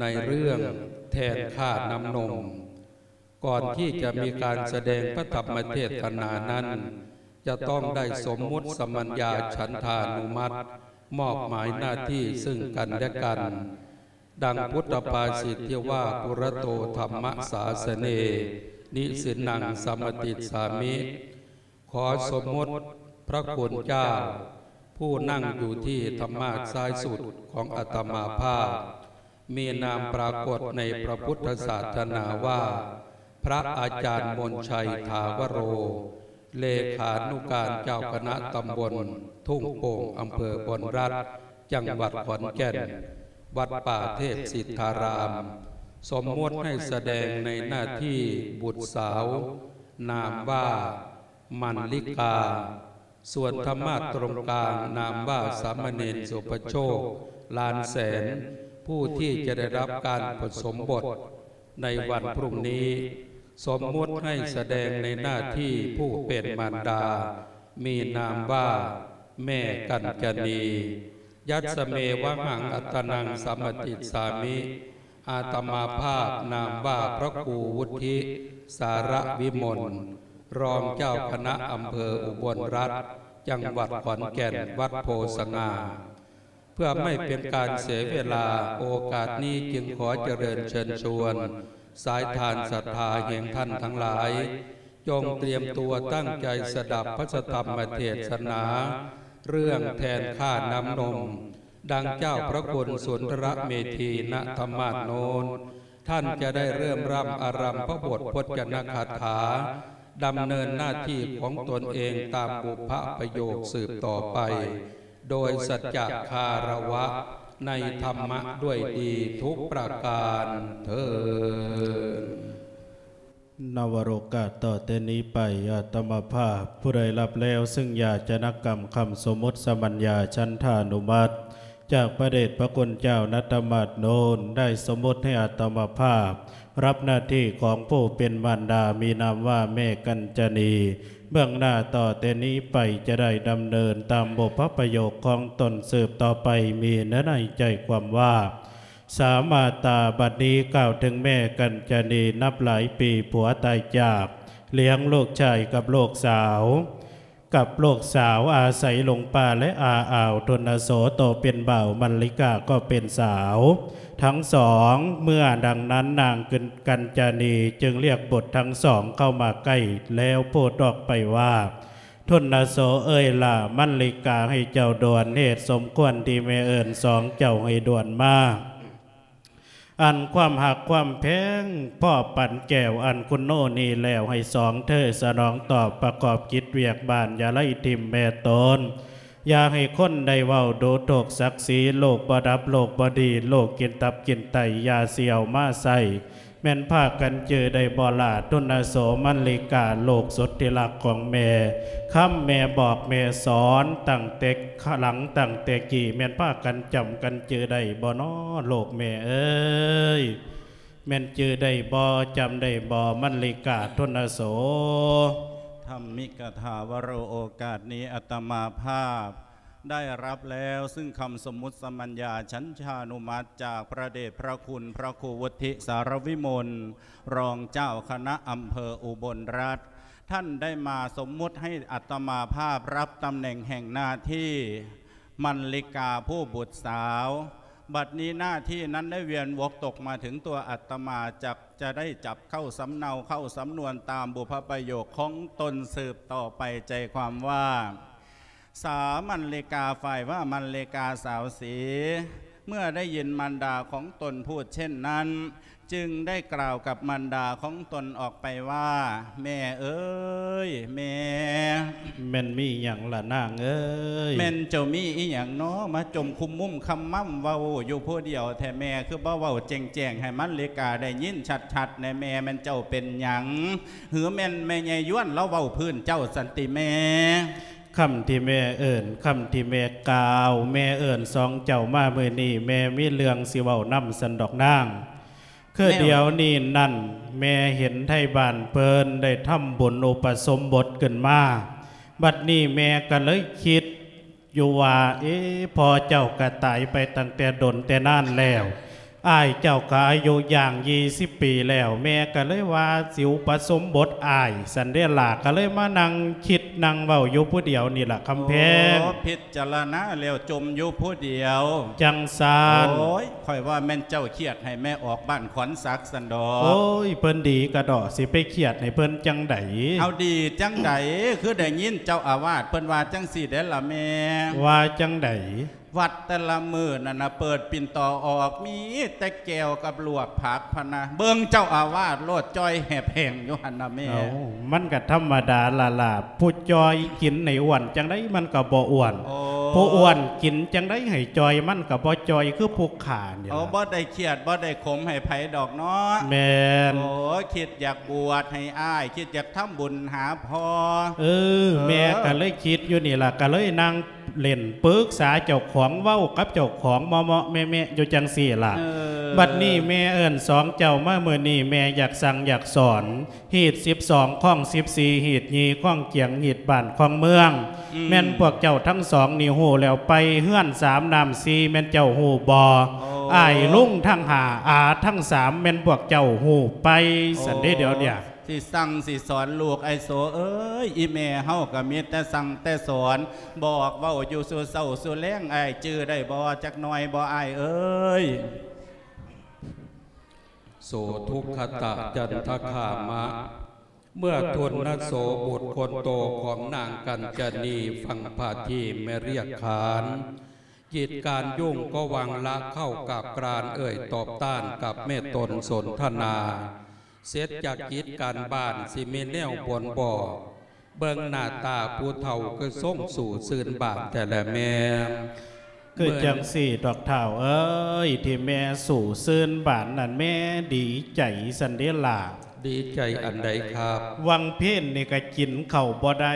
ໃນເລື່ອງແທນຂ້ານ້ຳນົມ. ກ່ອນທີ່ຈະມີການສະແດງພະທຳມະເທດສະໜານັ້ນ ຈະຕ້ອງໄດ້ສົມມຸດສະມັນຍາສັນທານຸມັດ ມອບໝາຍໜ້າທີ່ເຊິ່ງກັນແລະກັນ, ດັ່ງພຸດທະພາສິດທີ່ວ່າ ປຸຣະໂຕທຳມະສາສະເນ ນິສິນນັງສະມະຕິດສາມິ. ຂໍສົມມຸດພະຄຸນເຈົ້າ ຜູ້ນັ່ງຢູ່ທີ່ທຳມາດຊ້າຍສຸດຂອງອາດຕະມາພາບ ມີນາມປາກົດໃນພະພຸດທະສາສະໜາວ່າ ພະອາຈານມົນໄຊ ຖາວະໂຣ ເລຂານຸການເຈົ້າຄະນະຕຳບົນທົ່ງໂປ່ງ ອຳເພີບົນລັດ ຈັງຫວັດຂອນແກ່ນ, ວັດປ່າເທບສິດທາລາມ, ສົມມຸດໃຫ້ສະແດງໃນໜ້າທີ່ບຸດສາວ ນາມວ່າ ມັນລິກາ, ສ່ວນທຳມາດຕົງກາງ ນາມວ່າ ສາມະເນນ ສຸພະໂຊກ ລານແສນ, ຜູ້ທີ່ຈະໄດ້ຮັບການປະສົມບົດໃນວັນພລຸ່ງນີ້, ສົມມຸດໃຫ້ສະແດງໃນໜ້າທີ່ຜູ້ເປັນມານດາ, ມີນາມວ່າ ແມ່ກັນຈະນີ. ຍັດສະເມວະຫັງ ອັດຕະນັງສະມະຕິດສາມິ. ອາດຕະມາພາບນາມວ່າ ພະຄູວຸດທິ ສາລະວິມົນ, ຮອງເຈົ້າຄະນະອຳເພີອຸບົນລັດ ຈັງຫວັດຂອນແກ່ນ, ວັດໂພສະຫງ່າ. ເພື່ອໄມ່ເປັນການເສຍເວລາ, ໂອກາດນີ້ຈຶ່ງຂໍຈະເລີນເຊີນຊວນ ສາຍທານສັດທາແຫ່ງທ່ານທັງຫຼາຍ, ຈົ່ງຕຽມຕົວຕັ້ງໃຈສະດັບພະທຳມະເທດສະໜາ ເລື່ອງແທນຂ້ານ້ຳນົມ, ດັ່ງເຈົ້າພະຄຸນສຸນທະລະເມທີນະທຳມາດໂນນ, ທ່ານຈະໄດ້ເລີ່ມຮ່ຳອາລັມພະບົດພົດຈະນະຄາຖາ, ດຳເນີນໜ້າທີ່ຂອງຕົນເອງຕາມບຸບພະປະໂຫຍກສືບຕໍ່ໄປ, ໂດຍສັດຈະຄາລະວະໃນທຳມະດ້ວຍດີທຸກປະການເທີ້ນ. ນະວະໂລກາດຕໍ່ແຕ່ນີ້ໄປ ອາດຕະມາພາບ ຜູ້ໃດຮັບແລ້ວເຊິ່ງຢາຈະນະກຳຄຳສົມມຸດສະມັນຍາສັນທານຸມັດ ຈາກພະເດດພະຄຸນເຈົ້ານະທຳມາດໂນນ ໄດ້ສົມມຸດໃຫ້ອາດຕະມາພາບ ຮັບໜ້າທີ່ຂອງຜູ້ເປັນມານດາ ມີນາມວ່າແມ່ກັນຈະນີ ເບື້ອງໜ້າຕໍ່ແຕ່ນີ້ໄປຈະໄດ້ດຳເນີນຕາມບຸບພະປະໂຫຍກຂອງຕົນສືບຕໍ່ໄປ ມີເນື້ອໃນໃຈຄວາມວ່າ ສາມາຕາ ບັດນີ້ກ່າວເຖິງແມ່ກັນຈະນີ ນັບຫຼາຍປີຜົວຕາຍຈາກ, ລ້ຽງລູກຊາຍກັບລູກສາວ, ກັບລູກສາວອາໄສຫຼົງປ່າ ແລະ ອາອາວ ທຸນນະໂສໂຕເປັນບ່າວ, ມັນລິກາກໍເປັນສາວ ທັງສອງ. ເມື່ອດັ່ງນັ້ນນາງກັນຈະນີຈຶ່ງລຽກບຸດທັງສອງເຂົ້າມາໃກ້ ແລ້ວພູດອອກໄປວ່າ ທຸນນະໂສເອີຍຫຼ້າ, ມັນລິກາໃຫ້ເຈົ້າດ່ວນ, ເຫດສົມຄວນທີ່ແມ່ເອີ້ນສອງເຈົ້າໃຫ້ດ່ວນມາ. ອັນຄວາມຮັກຄວາມແພງພໍປານແກ້ວ ອັນຄຸນໂນນີ້ແລ້ວ ໃຫ້ສອງເທີສະໜອງຕອບ ປະກອບກິດວຽກບ້ານ ຢ່າໄລ່ຖິ້ມແມ່ຕົນ. ຢ່າໃຫ້ຄົນໄດ້ເວົ້າດູຖູກສັກສີ, ລູກບໍ່ດັບ ລູກບໍ່ດີ, ລູກກິນຕັບກິນໄຕ, ຢ່າຊິເອົາມາໃຊ້. ແມ່ນພາກັນຈື່ໄດ້ບໍ່ລະ ທຸນນະໂສ ມັນລິກາ ລູກສຸດທີ່ຮັກຂອງແມ່? ຄຳແມ່ບອກແມ່ສອນຕັ້ງແຕ່ຫຼັງ ຕັ້ງແຕ່ກີ້ ແມ່ນພາກັນຈຳກັນຈື່ໄດ້ບໍ່ນໍ ລູກແມ່ເອີຍ? ແມ່ນຈື່ໄດ້ບໍ່ ຈຳໄດ້ບໍ່ ມັນລິກາ ທຸນນະໂສ? ທຳມິກະຖາວະໂຣ ໂອກາດນີ້ອາດຕະມາພາບ ໄດ້ຮັບແລ້ວຊຶ່ງຄຳສົມມຸດສະມັນຍາສັນທານຸມັດ ຈາກພະເດດພະຄຸນພະຄູວຸດທິ ສາລະວິມົນ ຮອງເຈົ້າຄະນະອຳເພີອຸບົນລັດ ທ່ານໄດ້ມາສົມມຸດໃຫ້ອາດຕະມາພາບຮັບຕຳແໜ່ງແຫ່ງໜ້າທີ່ ມັນລິກາຜູ້ບຸດສາວ. ບັດນີ້ໜ້າທີ່ນັ້ນໄດ້ວຽນວົກຕົກມາເຖິງຕົວອາດຕະມາ ຈັກຈະໄດ້ຈັບເຂົ້າສຳເນົາເຂົ້າສຳນວນຕາມບຸບພະປະໂຫຍກຂອງຕົນສືບຕໍ່ໄປ ໃຈຄວາມວ່າ ສາວມັນລິກາ ຝ່າຍວ່າມັນລິກາສາວສີ ເມື່ອໄດ້ຍິນມານດາຂອງຕົນພູດເຊັ່ນນັ້ນ ຈຶ່ງໄດ້ກ່າວກັບມານດາຂອງຕົນອອກໄປວ່າ ແມ່ເອີຍ ແມ່. ແມ່ນມີຫຍັງລະນາງເອີຍ? ແມ່ນເຈົ້າມີອີ່ຫຍັງນໍ ມາຈົ່ມຄຸມມຸມຄຳມ້ຳເວົ້າຢູ່ຜູ້ດຽວແທ້ ແມ່ຄືບໍ່ເວົ້າແຈ້ງໆ ໃຫ້ມັນລິກາໄດ້ຍິນຊັດໆແດ່ແມ່ ແມ່ນເຈົ້າເປັນຫຍັງ? ຫຼືແມ່ນແມ່ໃຫຍ່ຢວນລາວເວົ້າພື້ນເຈົ້າຊັ້ນຕິແມ່? ຄຳທີ່ແມ່ເອີ້ນ ຄຳທີ່ແມ່ກ່າວ ແມ່ເອີ້ນສອງເຈົ້າມາມື້ນີ້ ແມ່ມີເລື່ອງຊິເວົ້ານຳຊັ້ນດອກນາງ. ຄືດຽວນີ້ນັ້ນ ແມ່ເຫັນໄທບ້ານເພິ່ນໄດ້ທຳບຸນອຸປະສົມບົດຂຶ້ນມາ ບັດນີ້ແມ່ກໍເລີຍຄິດຢູ່ວ່າ ເອ ພໍ່ເຈົ້າກໍຕາຍໄປຕັ້ງແຕ່ດົນແຕ່ນານແລ້ວ ອ້າຍເຈົ້າກໍອາຍຸຍ່າງຊາວປີແລ້ວ ແມ່ກໍເລີຍວ່າຊິອຸປະສົມບົດອ້າຍ ຊັ້ນເດລະ ກໍເລີຍມານັ່ງຄິດນັ່ງເວົ້າຢູ່ຜູ້ດຽວນີ້ລະຄຳແພງ. ໂອ້ ພິຈາລະນາແລ້ວຈົ່ມຢູ່ຜູ້ດຽວ. ຈັ່ງຊັ້ນ. ໂອ້ຍ ຂ້ອຍວ່າແມ່ນເຈົ້າຄຽດໃຫ້ແມ່ອອກບ້ານຂວັນສັກຊັ້ນດອກ. ໂອ້ຍ ເພິ່ນດີກະເດາະ ຊິໄປຄຽດໃຫ້ເພິ່ນຈັ່ງໃດ? ເອົາ ດີຈັ່ງໃດ? ຄືໄດ້ຍິນເຈົ້າອາວາດເພິ່ນວ່າຈັ່ງຊີ້ເດ້ລະແມ່. ວ່າຈັ່ງໃດ? ວັດແຕ່ລະມື້ນັ້ນນະ ເປີດປິ່ນຕໍ່ອອກ ມີແຕ່ແຈ່ວກັບລວກຜັກພະນະ. ເບິ່ງເຈົ້າອາວາດໂລດ ຈ່ອຍແຫບແຫ້ງຢູ່ຫັ້ນນະແມ່. ເອົ້າ ມັນກະທຳມະດາລະລະ ຜູ້ຈ່ອຍກິນໃຫ້ອ້ວນຈັ່ງໃດມັນກະບໍ່ອ້ວນ. ໂອ້ ຜູ້ອ້ວນກິນຈັ່ງໃດໃຫ້ຈ່ອຍ ມັນກະບໍ່ຈ່ອຍ ຄືຜູ້ຂ້ານີ້. ໂອ້ ລະ ບໍ່ໄດ້ຄຽດ ບໍ່ໄດ້ຂົມໃຫ້ໃຜດອກເນາະ. ແມ່ນ. ໂອ້ ຄິດຢາກບວດໃຫ້ອ້າຍ ຄິດຢາກທຳບຸນຫາພໍ່. ເອີ ເອີ ແມ່ກະເລີຍຄິດຢູ່ນີ້ລະ ກະເລີຍນັ່ງ ເລ່ນປຶກສາເຈົ້າຂອງ ເວົ້າກັບເຈົ້າຂອງເມາະໆແມະໆຢູ່ຈັ່ງຊີ້ລະ. ເອີ ບັດນີ້ແມ່ເອີ້ນສອງເຈົ້າມາ ມື້ນີ້ແມ່ຢາກສັ່ງຢາກສອນ ຮີດສິບສອງ ຄອງສິບສີ່ ຮີດຍີ່ ຄອງຈຽງ ຮີດບ້ານ ຄອງເມືອງ. ອືມ ແມ່ນພວກເຈົ້າທັງສອງນີ້ຮູ້ແລ້ວໄປ ເຮືອນສາມນ້ຳສີ່ ແມ່ນເຈົ້າຮູ້ບໍ່? ໂອ້ ອ້າຍລຸງທັງຫ້າ ອາທັງສາມ ແມ່ນພວກເຈົ້າຮູ້ໄປ? ໂອ້ ຊັ້ນເດ ດຽວເນີ້ຍ ຊິສັ່ງຊິສອນລູກ ອ້າຍໂສເອີຍ ອີແມ່ເຮົາກໍມີແຕ່ສັ່ງແຕ່ສອນ ບອກເວົ້າຢູ່ສູ່ເຊົ້າສູ່ແລງ ອ້າຍຈື່ໄດ້ບໍ່ ຈັກໜ່ອຍບໍ່ ອ້າຍເອີຍ? ໂສທຸກຂະຕະຈັນທະຄາມະ ເມື່ອທຸນນະໂສ ບຸດຄົນໂຕຂອງນາງກັນຈະນີ ຝັ່ງພະທີ່ແມ່ລຽກຂານ ກິດການຫຍຸ້ງກໍຫວັງລະເຂົ້າກັບການເອີ່ຍຕອບຕ້ານກັບແມ່ຕົນສົນທະນາ ເສັດຈາກກິດການບ້ານຊິມີແນວບ່ອນບໍ່ ເບິ່ງໜ້າຕາຜູ້ເຖົ້າຄືຊົງຊູ່ຊື່ນບານແທ້ແລະແມ່. ຄືຈັ່ງຊີ້ດອກທ້າວເອີຍ ທີ່ແມ່ຊູ່ຊື່ນບານນັ້ນ ແມ່ດີໃຈຊັ້ນເດລະ. ດີໃຈອັນໃດຄັບ? ຫວ່າງເພນນີ້ກະກິນເຂົ້າບໍ່ໄດ້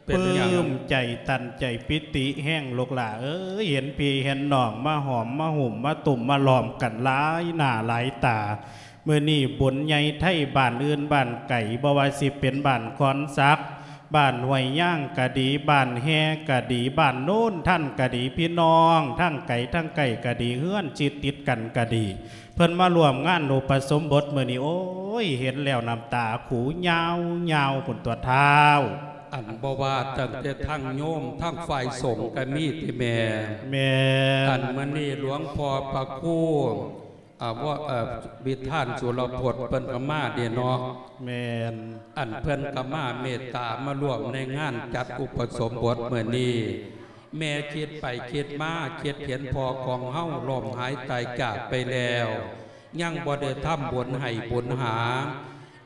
ເປັນຫຍັງ? ປຶ້ມໃຈຕັນໃຈປີຕິແຮງລູກຫຼ້າເອີຍ ເຫັນພີ່ເຫັນນ້ອງມາຫອມມາຫຸ້ມມາຕຸ້ມມາລ້ອມກັນຫຼາຍໜ້າຫຼາຍຕາ. ມື້ນີ້ບຸນໃຫຍ່ໄທບ້ານອື່ນບ້ານໄກ ບໍ່ວ່າຊິເປັນບ້ານຄອນສັກ ບ້ານຫ້ວຍຍາງກະດີ ບ້ານແຮ່ກະດີ ບ້ານໂນນທັນກະດີ ພີ່ນ້ອງທາງໄກທາງໃກ້ກະດີ ເຮືອນຊິດຕິດກັນກະດີ ເພິ່ນມາຮ່ວມງານອຸປະສົມບົດມື້ນີ້ ໂອ້ຍ ເຫັນແລ້ວນ້ຳຕາຂູຍາວໆພຸ້ນຕົວະທ້າວ. ອັນບໍ່ວ່າຕັ້ງແຕ່ທັງໂຍມ ທັງຝ່າຍສົງກະມີຕິແມ່? ແມ່ນ. ອັນມື້ນີ້ຫຼວງພໍ່ພະຄູ ອາ ວະ ເອີ ວິທານສຸລະພົດເພິ່ນກະມາເດເນາະ. ແມ່ນ. ອັນເພິ່ນກະມາເມດຕາມາຮ່ວມໃນງານຈັດອຸປະສົມບົດມື້ນີ້ ແມ່ຄິດໄປຄິດມາ ຄິດເຫັນພໍ່ຂອງເຮົາລົ້ມຫາຍຕາຍຈາກໄປແລ້ວ ຍັງບໍ່ໄດ້ທຳບຸນໃຫ້ບຸນຫາ.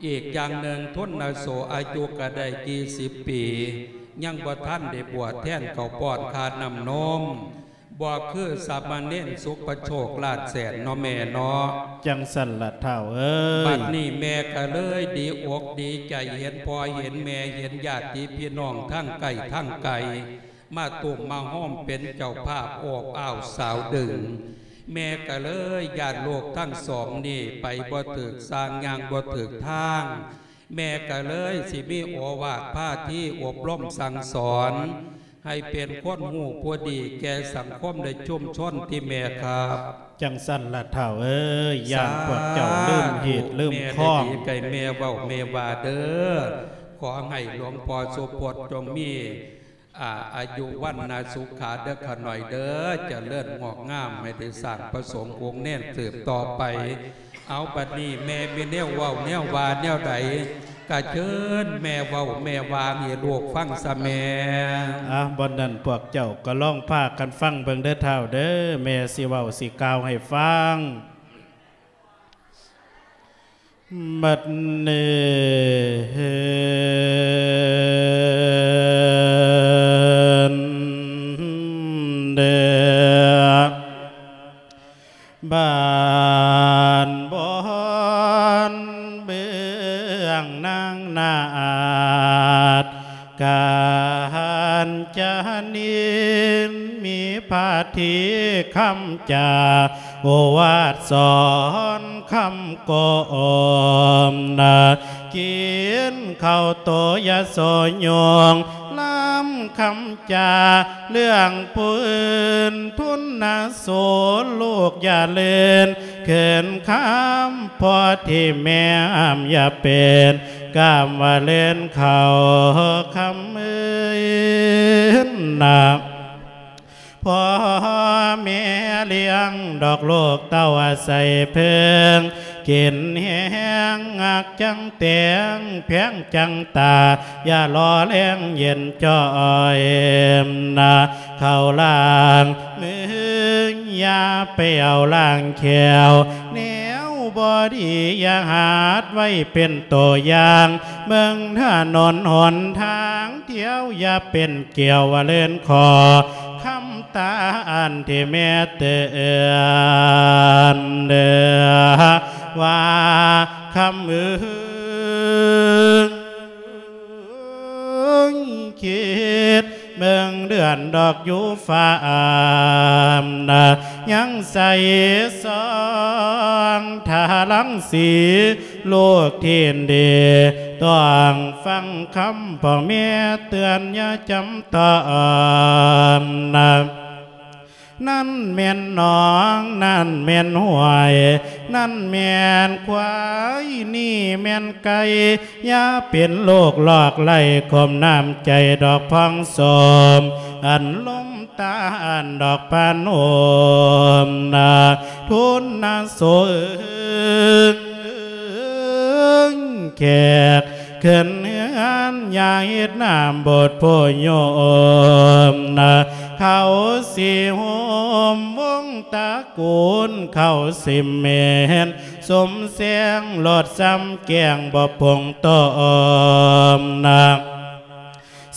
ອີກຢ່າງໜຶ່ງ ທຸນນະໂສອາຍຸກະໄດ້ສີ່ສິບປີ ຍັງບໍ່ທັນໄດ້ບວດແທນເຂົ້າປ້ອນຄ່ານ້ຳນົມ ບໍ່ຄືສາມະເນນສຸປະໂຊກ ລ້ານແສນເນາະແມ່ເນາະ. ຈັ່ງຊັ້ນລະທ້າວເອີຍ. ບັດນີ້ແມ່ກະເລີຍດີອົກດີໃຈ ເຫັນພໍ່ເຫັນແມ່ ເຫັນຍາດຕິພີ່ນ້ອງທັງໃກ້ທັງໄກ ມາຕຸ້ມມາໂຮມເປັນເຈົ້າພາບໂອບອ້າວສາວດຶງ. ແມ່ກະເລີຍຢ້ານລູກທັງສອງນີ້ໄປບໍ່ຖືກທາງ ຍ່າງບໍ່ຖືກທາງ ແມ່ກະເລີຍຊິມີໂອວາດພາທີອົບຮົມສັ່ງສອນ ໃຫ້ເປັນຄົນຮູ້ຜູ້ດີແກ່ສັງຄົມ ແລະ ຊຸມຊົນຕິແມ່ຄັບ. ຈັ່ງຊັ້ນລະທ້າວເອີຍ ຢ້ານພວກເຈົ້າລືມຮີດລືມຄອງ. ສາທຸ ແມ່ໄດ້ດີໃຈແມ່ເວົ້າແມ່ວ່າເດີ ຂໍໃຫ້ຫຼວງພໍ່ສຸພົດຈົ່ງມີ ອາ ອາຍຸວັນນະສຸຂະເດີຂະໜ້ອຍເດີ ຈະເລີນງອກງາມ ໃຫ້ໄດ້ສ້າງພະສົງອົງແນນສືບຕໍ່ໄປ. ເອົາ ບັດນີ້ແມ່ມີແນວເວົ້າແນວວ່າແນວໃດ ກະເຊີນແມ່ເວົ້າແມ່ວ່າໃຫ້ລູກຟັງຊະແມ່. ອາ ບໍ່ນັ້ນພວກເຈົ້າກໍລອງພາກັນຟັງເບິ່ງເດີທ້າວເດີ ແມ່ຊິເວົ້າຊິກ່າວໃຫ້ຟັງ. ບັດນີ້ເດ ບ້ານບ່ອນເບື້ອງນາງນາດ ການຈະນິນມີພາທີຄຳຈາ ໂອວາດສອນຄຳກົມນະ ກິນເຂົ້າໂຕຢ່າໂສໂຍງ ລຳຄຳຈາເລື່ອງຜູ້ອື່ນ ທຸນນະໂສລູກຢ່າເລີນເຂີນຄຳ ພໍ່ທີ່ແມ່ຫ້າມຢ່າເປັນ ກາມວ່າເລີນເຂົາຄຳອື່ນນະ ພໍ່ແມ່ລ້ຽງດອກລູກເຕົ້າອາໄສເພິ່ງ ກິນແຮງຮັກຈັ່ງແຕງ ແພງຈັ່ງຕາ ຢ່າລໍແລງເຢັນຈ່ອຍນະ ເຂົ້າລ້າງມື ຢ່າໄປເອົາລ້າງແຂ້ວ ແນວບໍ່ດີຢ່າຫາດໄວ້ເປັນໂຕຢ່າງ ເບິ່ງຖະໜົນຫົນທາງທ່ຽວ ຢ່າເປັນກ່ຽວວ່າເລີນຂໍ ຄຳຕາອັນທີ່ແມ່ເຕືອນເດີ ວ່າຄຳອື່ນ ຄິດເບິ່ງເດືອນດອກຢູ່ຟ້າ ນະ ຍັງໃສສ່ອງທາລັງສີ ລູກທີ່ດີ ຕ້ອງຟັງຄຳພໍ່ແມ່ເຕືອນ ຢ່າຈຳຕ້ອງນະ ນັ້ນແມ່ນໜອງ ນັ້ນແມ່ນຫ້ວຍ ນັ້ນແມ່ນຄວາຍ ນີ້ແມ່ນໄກ່ ຢ່າເປັນໂລກລອກໄຫຼ ຂົ່ມນ້ຳໃຈດອກພອງສົມ ອັນລົມຕານດອກປານໂອມນະ ທຸນນະໂສເອີຍ ແຂກ ຂຶ້ນເຮືອນ ຢ່າເຮັດນ້ຳບົດໂພໂຍມນະ ເຂົາຊິໂຮມວົງຕະກູນ ເຂົາຊິເໝັນສົມແສງ ລົດຊ້ຳແກງບໍ່ປົງຕົ້ມນະ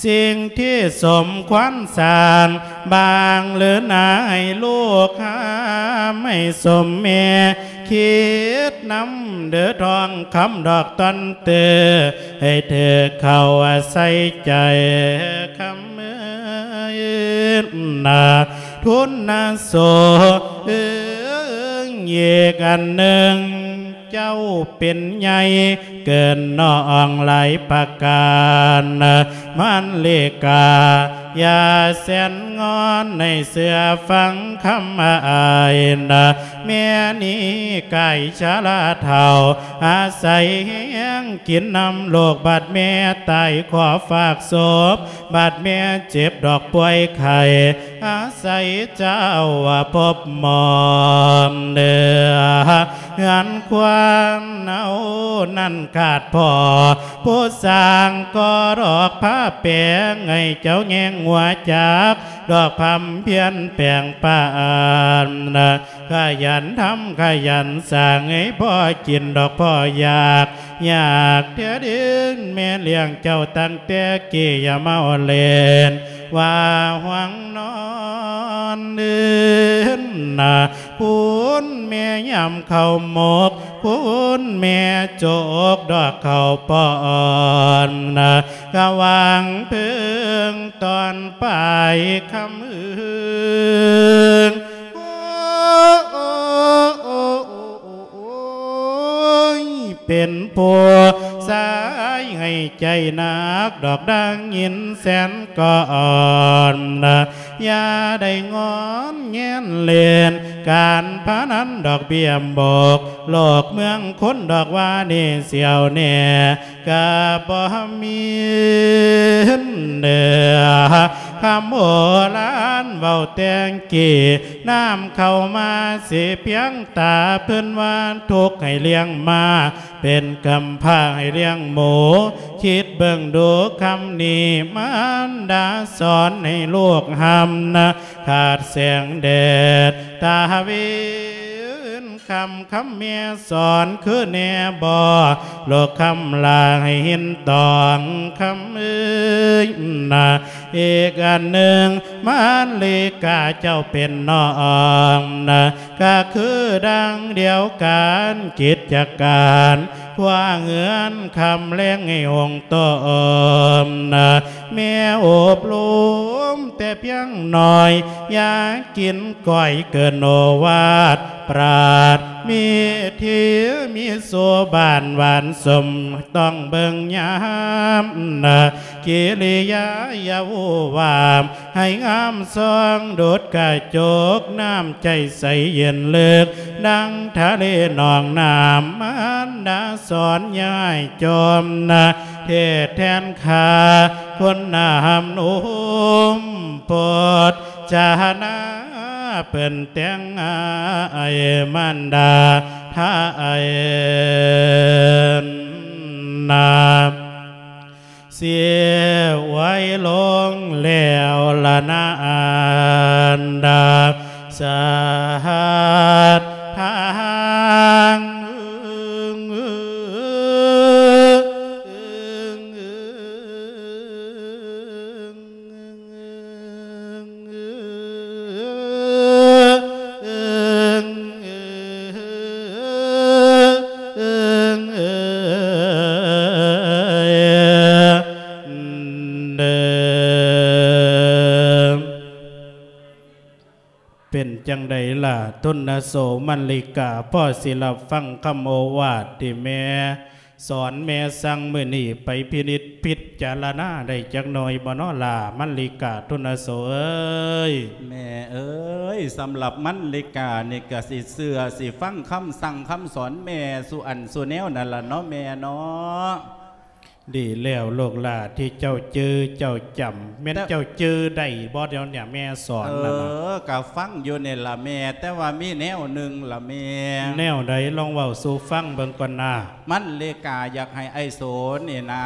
ສິ່ງທີ່ສົມຄວນສ້າງ ບາງເລີນາໃຫ້ລູກຫາ ໃຫ້ສົມແມ່ ຄິດນຳເດີທ້ອງຄຳດອກຕອນເຕີ ໃຫ້ຖືກເຂົ້າອາໄສໃຈຄຳເອີຍນາ ທຸນນະໂສເອີຍ ອີກອັນໜຶ່ງ ເຈົ້າເປັນໃຫຍ່ເກີນນ້ອງຫຼາຍປະການ ມານລິກາ ຢ່າແສນງອນໃນເຊື່ອຟັງຄຳອ້າຍນະ ແມ່ນີ້ກາຍຊະລາເຖົ້າ ອາໄສແຮງກິນນ້ຳລູກ ບັດແມ່ຕາຍຂໍຝາກສົບ ບັດແມ່ເຈັບດອກປ່ວຍໄຂ້ ອາໄສເຈົ້າວ່າພົບໝອມເດີ ເຮືອນຄວາມເນົານັ້ນຂາດພໍ ຜູ້ສ້າງກໍດອກພາແປງ ໃຫ້ເຈົ້າແຍງຫົວຈັກ ດອກພຳພຽນແປງປານ ຂະຫຍັນທຳຂະຫຍັນສ້າງ ໃຫ້ພໍກິນດອກພໍຢາກ ຢາກແທ້ເດີ ແມ່ລ້ຽງເຈົ້າຕັ້ງແຕ່ກີ້ ຢ່າເມົາເລ່ນ ວ່າຫວງນອນເດີນະ ຄຸນແມ່ຍາມເຂົ້າໝົກ ຄຸນແມ່ຈົກດອກເຂົ້າປ້ອນນະ ກະຫວ່າງເພິ່ງຕອນປາຍຄຳອື່ນ ໂອ້ ໂອ້ ໂອ້ ໂອ້ ໂອ້ຍ ເປັນຜູ້ຊາຍໃຫ້ໃຈໜັກດອກ ດັ່ງຍິນແສນກ່ອນນະ ຢ່າໄດ້ງອນແງນເລ່ນ ການພະນັນດອກເບ້ຍບົກ ໂລກເມືອງຄົນດອກວ່ານີ້ສຽວແນ່ ກະບໍ່ມີເໜືອ ຄຳໂບລານເວົ້າແຕ່ງກີ້ ນ້ຳເຂົ້າມາຊິພຽງຕາ ເພິ່ນວ່າທຸກໃຫ້ລ້ຽງມາ ເປັນກຳພ້າໃຫ້ລ້ຽງໝູ ຄິດເບິ່ງດູຄຳນີ້ ມານດາສອນໃຫ້ລູກຮຳນະ ຂາດແສງແດດ ຕາເວັນ ຄຳ ຄຳແມ່ສອນຄືແນ່ບໍ່ ລູກຄຳລາໃຫ້ເຫັນຕ້ອງ ຄຳເອີຍນະ ອີກອັນໜຶ່ງ ມານລິກາເຈົ້າເປັນນ້ອງນະ ກະຄືດັ່ງດຽວກັນ ກິດຈະການຄົວເຮືອນ ຄຳແລງໃຫ້ຫົງຕົ້ມນະ ແມ່ອົບລົມແຕ່ພຽງໜ້ອຍ ຢ່າກິນກ້ອຍເກີນໂອວາດ ປາດ ມີທີ່ມີໂສບານຫວານສົມ ຕ້ອງເບິ່ງຍາມນາ ກິລິຍາຢ່າວູວາມ ໃຫ້ງາມສ່ອງດຸດກະຈົກ ນ້ຳໃຈໃສເຢັນເລິກ ດັ່ງທະເລໜອງນ້ຳ ມານດາສອນຢ່າໃຫ້ຈມນາ ເທດແທນຂ້າ ຄົນນາຫຳນຸ່ມໂພດ ຈານາເພິ່ນແຕ່ງອ້າຍ ມານດາທາຍນາ ເສຍໄວ້ລົງແລ້ວລະນາ ອັນດາສາດທາງ ເປັນຈັ່ງໃດລະ ທຸນນະໂສ ມັນລິກາ ພໍຊິຮັບຟັງຄຳໂອວາດທີ່ແມ່ ສອນແມ່ສັ່ງມື້ນີ້ ໄປພິນິດພິຈາລະນາໄດ້ຈັກໜ່ອຍບໍ່ນໍລະ ມັນລິກາ ທຸນນະໂສເອີຍ? ແມ່ເອີຍ ສຳລັບມັນລິການີ້ກະຊິເຊື່ອ ຊິຟັງຄຳສັ່ງຄຳສອນແມ່ສູ່ອັນສູ່ແນວນັ້ນລະເນາະແມ່ເນາະ. ດີແລ້ວລູກຫຼານທີ່ເຈົ້າຈື່ເຈົ້າຈຳ ແມ່ນເຈົ້າຈື່ໄດ້ບໍ່ດຽວນີ້ແມ່ສອນນັ້ນນະ? ເອີ ກະຟັງຢູ່ນີ້ລະແມ່ ແຕ່ວ່າມີແນວໜຶ່ງລະແມ່. ແນວໃດ? ລອງເວົ້າສູ່ຟັງເບິ່ງກ່ອນນາ. ມັນເລກາຢາກໃຫ້ອ້າຍໂສນີ້ນາ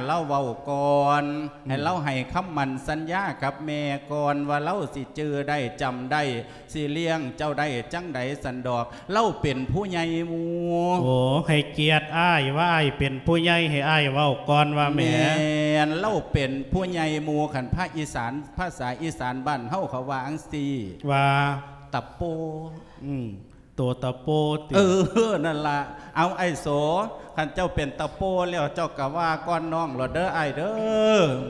ລາວເວົ້າກ່ອນ ໃຫ້ລາວໃຫ້ຄຳໝັ້ນສັນຍາກັບແມ່ກ່ອນວ່າລາວຊິຈື່ໄດ້ ຈຳໄດ້ ຊິລ້ຽງເຈົ້າໄດ້ຈັ່ງໃດສັນດອກ. ລາວເປັນຜູ້ໃຫຍ່ໝູ່. ໂອ້ ໃຫ້ກຽດອ້າຍ ວ່າອ້າຍເປັນຜູ້ໃຫຍ່ ໃຫ້ອ້າຍເວົ້າກ່ອນວ່າແມ່. ແມ່ນ ລາວເປັນຜູ້ໃຫຍ່ໝູ່. ຄັນພາກອີສານ ພາສາອີສານບ້ານເຮົາເຂົາວ່າຈັ່ງຊີ້ ວ່າ ຕະໂປ. ອືມ. ໂຕຕະໂປຕິ? ເອີ ນັ້ນລະ. ເອົາ ອ້າຍໂສ ຄັນເຈົ້າເປັນຕະໂປແລ້ວ ເຈົ້າກະວ່າກ່ອນນ້ອງໂລດເດີ ອ້າຍເດີ.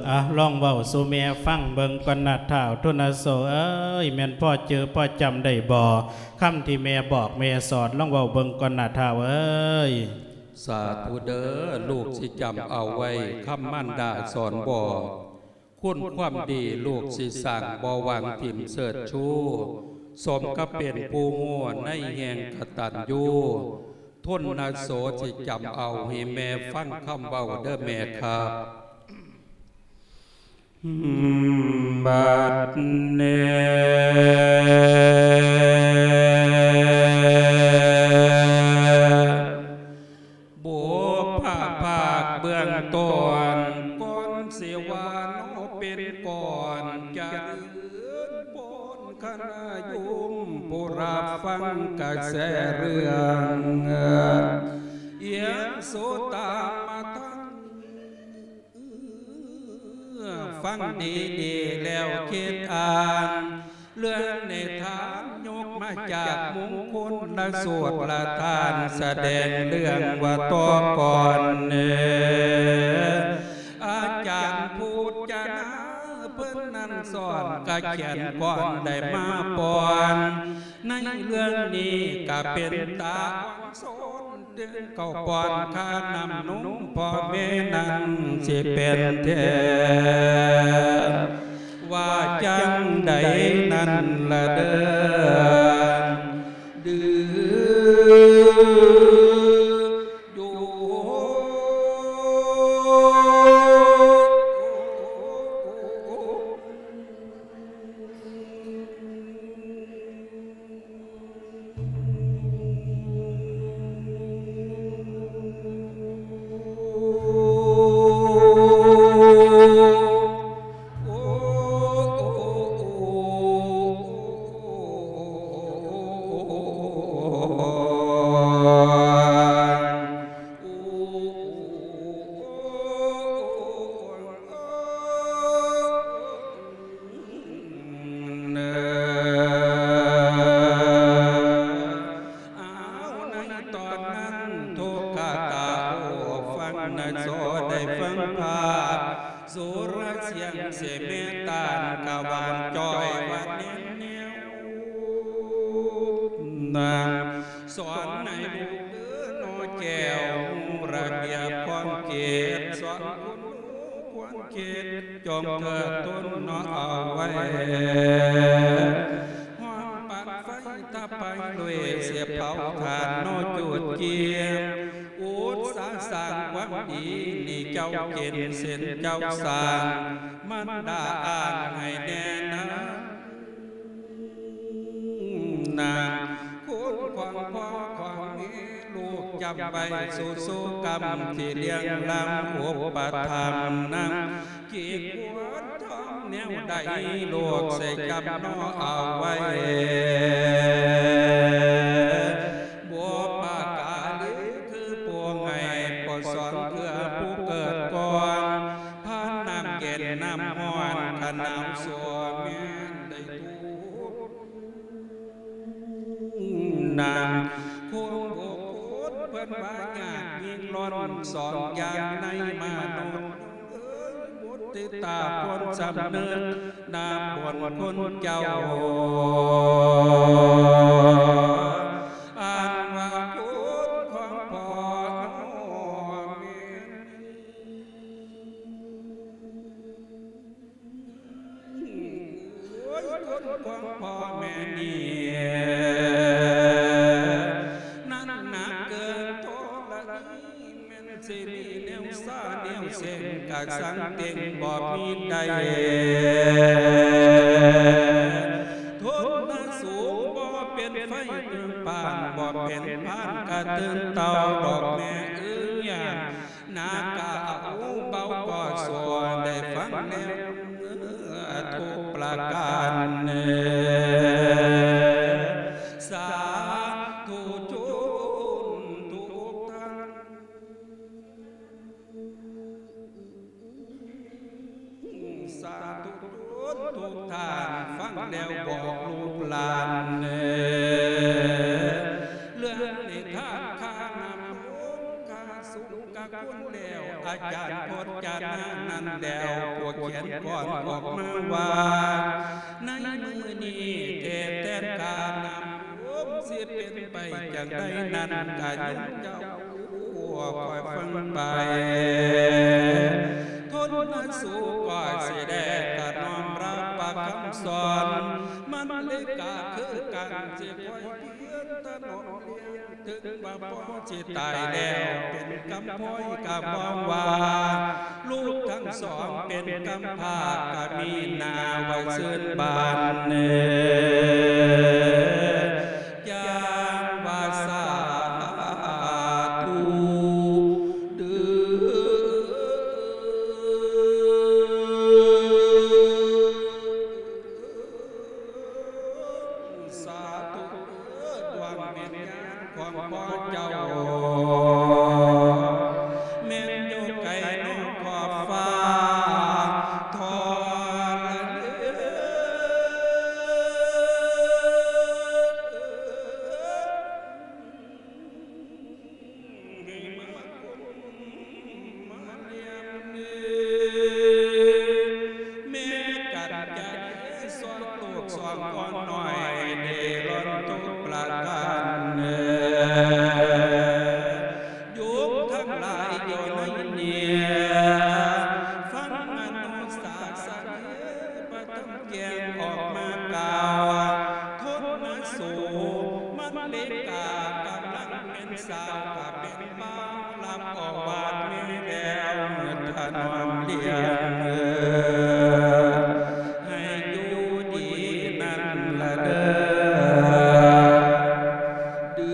ອາ ລອງເວົ້າສູ່ແມ່ຟັງເບິ່ງກ່ອນນະທ້າວທຸນນະໂສເອີຍ ແມ່ນພໍຈື່ພໍຈຳໄດ້ບໍ່ ຄຳທີ່ແມ່ບອກແມ່ສອນ ລອງເວົ້າເບິ່ງກ່ອນນະທ້າວເອີຍ. ສາທຸເດີ ລູກຊິຈຳເອົາໄວ້ ຄຳມານດາສອນບອກ. ຄຸນຄວາມດີລູກຊິສ້າງ ບໍ່ຫວັງຖິ້ມເຊີດຊູ ສົມກັບເປັນຜູ້ຮູ້ໃນແຫ່ງກະຕັນຍູ ທົນນະໂສຊິຈຳເອົາ ໃຫ້ແມ່ຟັງຄຳເວົ້າເດີແມ່ຄັບ. ບັດນີ້ ບຸບພະພາກເບື້ອງຕົ້ນ ກ່ອນຊິວ່າເນາະເປັນກ່ອນ ຈະເລີນພອນຄະນະໂຍມ ຜູ້ຮັບຟັງກະແສເລື່ອງ ເອີ ເອໂສຕາມະທັງ ຟັງດີໆແລ້ວຄິດອ່ານ ເລື່ອງນິທານຍົກມາຈາກມຸງຄຸນລະສູດລະທ່ານ ສະແດງເລື່ອງວ່າຕໍ່ກ່ອນເນ ອາຈານຜູ້ຈານາເພິ່ນນັ້ນສອນ ກະຂຽນກ່ອນໄດ້ມາກ່ອນ ໃນເລື່ອງນີ້ກະເປັນຕາອ່ອນໂຊນ ເຖິງເຂົ້າປ້ອນຄ່ານ້ຳນົມພໍ່ແມ່ນັ້ນຊິເປັນແທ້ ວ່າຈັ່ງໃດນັ້ນລະເດີ ດືຢູ່. ເອົາໃນຕອນນັ້ນ ທຸກຂະຕາຜູ້ຟັງນະ ໂສໄດ້ຟັງພາບ ສຸລະສຽງເສເມຕານກະຫວານຈ່ອຍຫວານແນມແນວນາງ ສອນໃນ ເດີນ້ອຍແກ້ວ ຮູ້ລະບຽບຂອງເຂດ ສອນຄົນຮູ້ຄວນຄິດ ຈົ່ງເທີດທົນເນາະເອົາໄວ້ ຮ້ອນປັນໄຟຕະໄປລຸຍ ສຽບເຜົາຖ່ານເນາະຈຸດກຽມ ອຸດສາສ້າງຄວາມດີ ນີ້ເຈົ້າເປັນເຊັ່ນເຈົ້າສ້າງ ມັນດາອ່ານໃຫ້ແນ່ນາ ນາງ ຄຸນຂອງພໍ່ຂອງແມ່ ລູກຈຳໄວ້ສູ່ໆກຳ ທີ່ລ້ຽງລ້ຳອຸປະຖຳນຳ ກີດຄວນທອງແນວໃດ ລູກຊິຈຳເນາະເອົາໄວ້ ບຸບປະກາລີ ຄືຜູ້ໃຫ້ ຜູ້ສອນເພື່ອຜູ້ເກີດກ່ອນ ຜ່ານນ້ຳເຢັນນ້ຳຮ້ອນ ຄັນໜາວຊົ່ວແມ່ນໄດ້ທຸກ ນາງຄົງບຸກຄຸນເພິ່ນວ່າຍາກຍິ່ງລ້ນ ສອງຢ່າງໃນມະນຸດເອີຍ ບຸດຕິຕາຄົນສຳນຶກ ນາບຸນຄຸນເຈົ້າ ອັນວ່າຄຸນຂອງພໍ່ນ້ອງແມ່ ໂອ້ຍ ຄົນຂອງພໍ່ແມ່ນີ້ ນັ້ນໜັກເກີນທໍລະນີ ແມ່ນຊິມີແນວຊາແນວເສັງ ກະສັງເຕັງບໍ່ມີໃດ ທົນນະສູງບໍ່ເປັນໄຟເຕີມປານ ບໍ່ເປັນພານກະຕື່ນເຕົາດອກແມ່ເອີຍ ໜັກກະເອົາເບົາກໍຊົ່ວ ໄດ້ຟັງແລ້ວທຸກປະການ ສາທຸຊົນທຸກທ່ານ ສາທຸຊົນທຸກທ່ານ ຟັງແລ້ວບອກລູກຫຼານ ເລື່ອງນິທານຂ້ານ້ຳລົງ ຂ້າສູງ ກະຄຸນແລ້ວ ອາຈານພົດຈະນານັ້ນແລ້ວ ຜູ້ຂຽນກ່ອນອອກມາວ່າ ໃນມື້ນີ້ເທດແທນຂ້ານ້ຳລົງ ຊິເປັນໄປຈັ່ງໃດນັ້ນ ກະຍືນເຈົ້າຄອຍຟັງໄປ ທົນນະສູກໍຊິໄດ້ກະນ້ອມຮັບພະຄຳສອນ ມັນເລີຍກະຄືກັນ ຊິຄອຍພຽນຖະໜອມລ້ຽງ ເຖິງວ່າພໍ່ຊິຕາຍແລ້ວເປັນກຳພ້ອຍກະບອກວ່າ ລູກທັງສອງເປັນກຳພ້າກະມີໜ້າໄວ້ຊື່ນບານ ຢ່າງວ່າສາທຸເດີ. ສາທຸເດີ ດວງວິນຍານຂອງພໍ່ເຈົ້າ ແມ່ນຢູ່ໄກນອກຂອບຟ້າທໍລະນີ ໃຫ້ມາກຸມມາລຽມເອີຍ ແມ່ກັນຈະເດສອນລູກສອງອ່ອນນ້ອຍ ເດລ່ອນທຸກປະການເອີຍ ໂຍມທັງຫຼາຍຢູ່ໃນນີ້ ຟັງມະນຸສາສະເນ ປະທຳແຈ້ງອອກມາກ່າວ ທົນນະສູ ມັນເລກາກຳລັງ ເປັນສາວກະເປັນບ່າວ ຮັບເອົາວາດແມ່ແລ້ວ ຖະໜອມລ້ຽງ ໃຫ້ຢູ່ດີນັ້ນລະເດີ ດື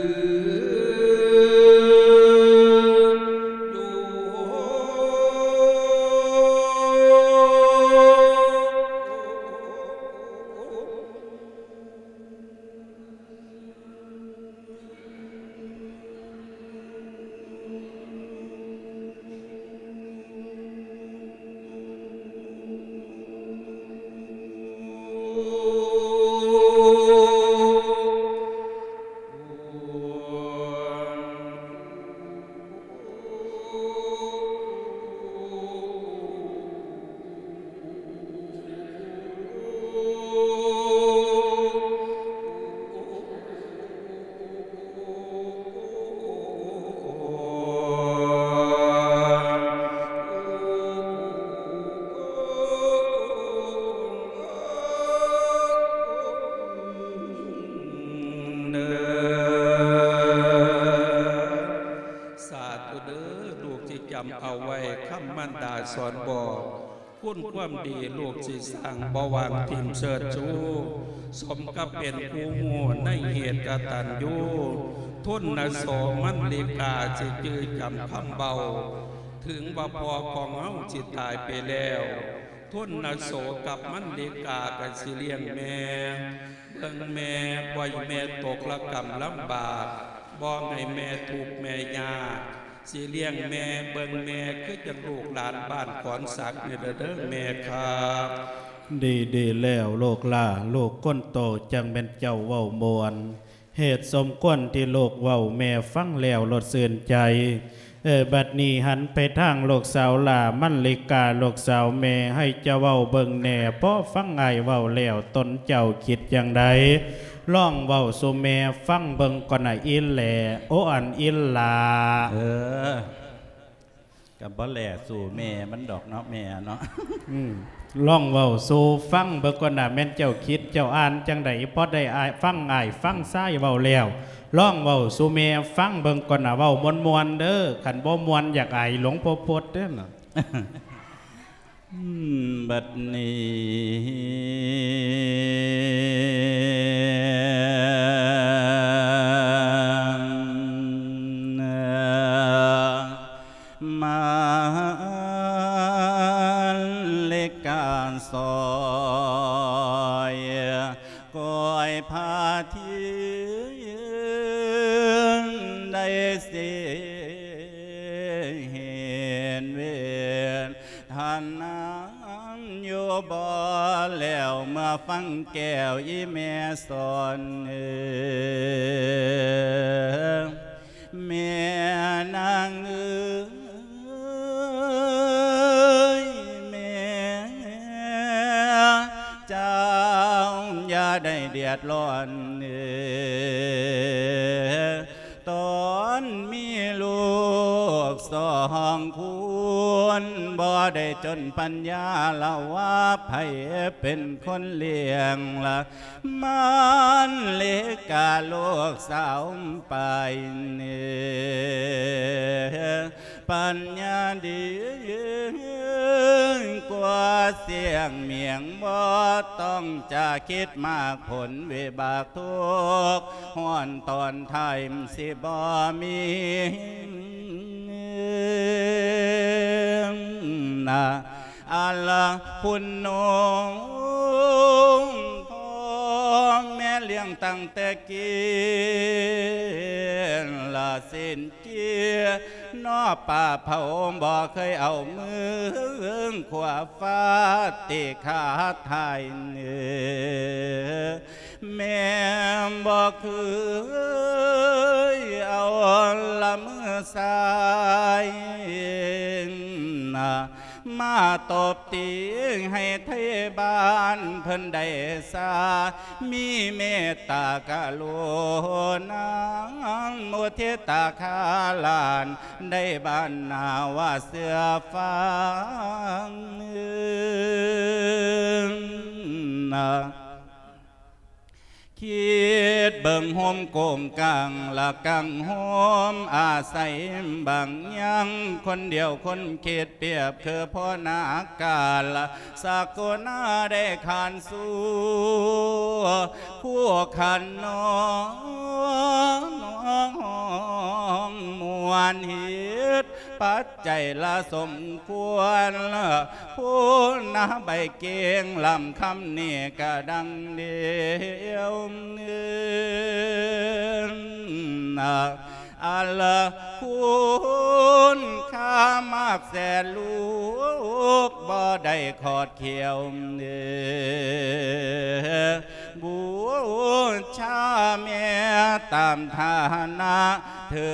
ຈຳເອົາໄວ້ຄຳມັນດາສອນບອກ ຄຸນຄວາມດີລູກຊິສ້າງບໍ່ວາງຖິ້ມເຊີດຊູ ສົມກັບເປັນຄູ່ຮູ້ໃນເຫດກະຕັນຍູ ທຸນນະໂສມັນລິກາຊິຈື່ຈຳຄຳເວົ້າ ເຖິງວ່າພໍ່ຂອງເຮົາຊິຕາຍໄປແລ້ວ ທຸນນະໂສກັບມັນລິກາກໍຊິລ້ຽງແມ່ ເບິ່ງແມ່ ບໍ່ໃຫ້ແມ່ຕົກລະກຳລຳບາກ ບໍ່ໃຫ້ແມ່ທຸກແມ່ຍາກ ຊິລ້ຽງແມ່ ເບິ່ງແມ່ ຄືຈັ່ງລູກຫຼານບ້ານຂອນສັກນີ້ແຫຼະເດີແມ່ຄັບ. ດີ ດີແລ້ວລູກຫຼ້າ ລູກຄົນໂຕຈັ່ງແມ່ນເຈົ້າເວົ້າມ່ວນ ເຫດສົມຄວນທີ່ລູກເວົ້າແມ່ຟັງແລ້ວໂລດຊື່ນໃຈ. ເອີ ບັດນີ້ຫັນໄປທາງລູກສາວຫຼ້າ ມັນລິກາ ລູກສາວແມ່ ໃຫ້ເຈົ້າເວົ້າເບິ່ງແດ່ ພໍຟັງອ້າຍເວົ້າແລ້ວ ຕົນເຈົ້າຄິດຈັ່ງໃດ? ລອງເວົ້າສູ່ແມ່ຟັງເບິ່ງກ່ອນນະອີ່ແຫຼ້ ໂອ ອັນອີ່ຫຼ້າ. ເອີ ກໍບໍ່ແຫຼ້ສູ່ແມ່ມັນດອກເນາະ ແມ່ເນາະ. ອືມ ລອງເວົ້າສູ່ຟັງເບິ່ງກ່ອນນະ ແມ່ນເຈົ້າຄິດເຈົ້າອ່ານຈັ່ງໃດ? ພໍໄດ້ອ້າຍ ຟັງອ້າຍຟັງຊາຍເວົ້າແລ້ວ ລອງເວົ້າສູ່ແມ່ຟັງເບິ່ງກ່ອນນະ ເວົ້າມ່ວນໆເດີ ຄັນບໍ່ມ່ວນຢາກອາຍຫຼວງພໍ່ພົດເດີນະ. ອືມ ບັດນີ້ ມາເລກກາຊອຍ ກ້ອຍພາທີໄດ້ສິເຫັນເວທະນາ ຢູ່ບໍ່ແລ້ວ ເມື່ອຟັງແກ້ວອີ່ແມ່ສອນເອີຍ ແມ່ນາງເອີຍ ແມ່ເຈົ້າຢ່າໄດ້ເດືອດຮ້ອນເອີຍ ຕອນມີລູກສອງຄົນ ບໍ່ໄດ້ຈົນປັນຍາລະວ່າໃຜເປັນຄົນລ້ຽງລະ ມານເລກາລູກສາວໄປເນ ປັນຍາດີກວ່າສຽງໝຽງ ບໍ່ຕ້ອງຈະຄິດມາກ ຜົນວິບາກທຸກຮ້ອນຕອນທ້າຍມັນຊິບໍ່ມີນະ ອັນລະຄຸນນົງ ພໍ່ແມ່ລ້ຽງຕັ້ງແຕ່ກີ້ລະ ເສັ້ນ ເກຍນໍ ປາເຜົາບໍ່ເຄີຍເອົາມືຂວາຟາດຕີຂາທ້າຍເນີ ແມ່ບໍ່ເຄີຍເອົາລະມືຊ້າຍ ມາຕົບຕີໃຫ້ໄທບ້ານເພິ່ນໄດ້ຊາ ມີເມດຕາກະລຸນາ ມຸທິຕາຄາຫຼານໄດ້ບ້ານນາວ່າເຊື່ອຟັງ. ຄິດເບິ່ງໂຮມໂກງກາງລະກັງໂຮມອາໄສບາງຍັງ ຄົນດຽວຄົນຄິດປຽບຄືພໍ່ນາກາລະ ສັກໂກນາໄດ້ຂານສູ່ ຜູ້ຂັນນ້ອງມວນເຮັດ ປັດໄຈລະສົມຄວນ ຜູ້ນາໃບເກັ່ງລຳຄຳນີ້ກະດັ່ງດຽວ ອັນລະຄຸນຄ່າມາກແສນລູກບໍ່ໄດ້ຂອດຂຽວ ບູຊາແມ່ຕາມຖານະ ເທີ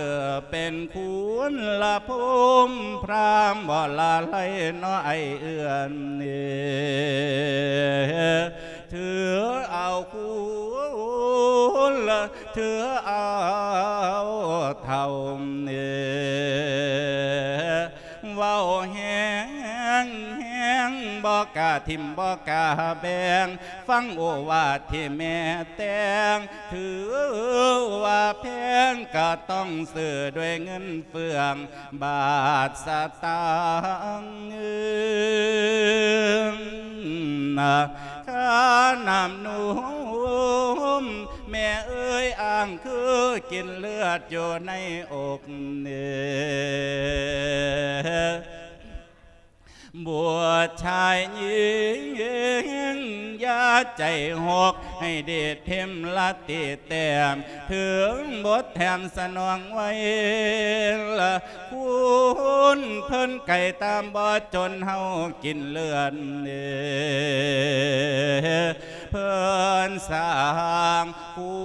ເປັນຄຸນລະພູມພຣາມບໍ່ລະໄລເນາະໄອເອື້ອນ ເທີເອົາຄຸນ ເທີເອົາເຖົ້າ ເວົ້າແຮງແຮງ ບໍ່ກ້າຖິ້ມບໍ່ກ້າແບ່ງ ຟັງໂອວາດທີ່ແມ່ແຕ່ງ ຖືວ່າແພງກໍຕ້ອງຊື້ດ້ວຍເງິນເຟືອງ ບາດສະຕາງ ຄ່ານ້ຳນົມ ແມ່ເອີຍ ອ້າງຄືກິນເລືອດຢູ່ໃນອົກ ບົວຊາຍຍິງ ຢ່າໃຈຫົກ ໃຫ້ດີດຖິ້ມລະຕິແຕ້ມ ເຖິງບົດແຖມສະໜອງໄວ້ ລະຄຸນເພິ່ນໄກ່ຕາມບໍ່ຈົນເຮົາກິນເລືອດ ເພິ່ນສ້າງຄຸ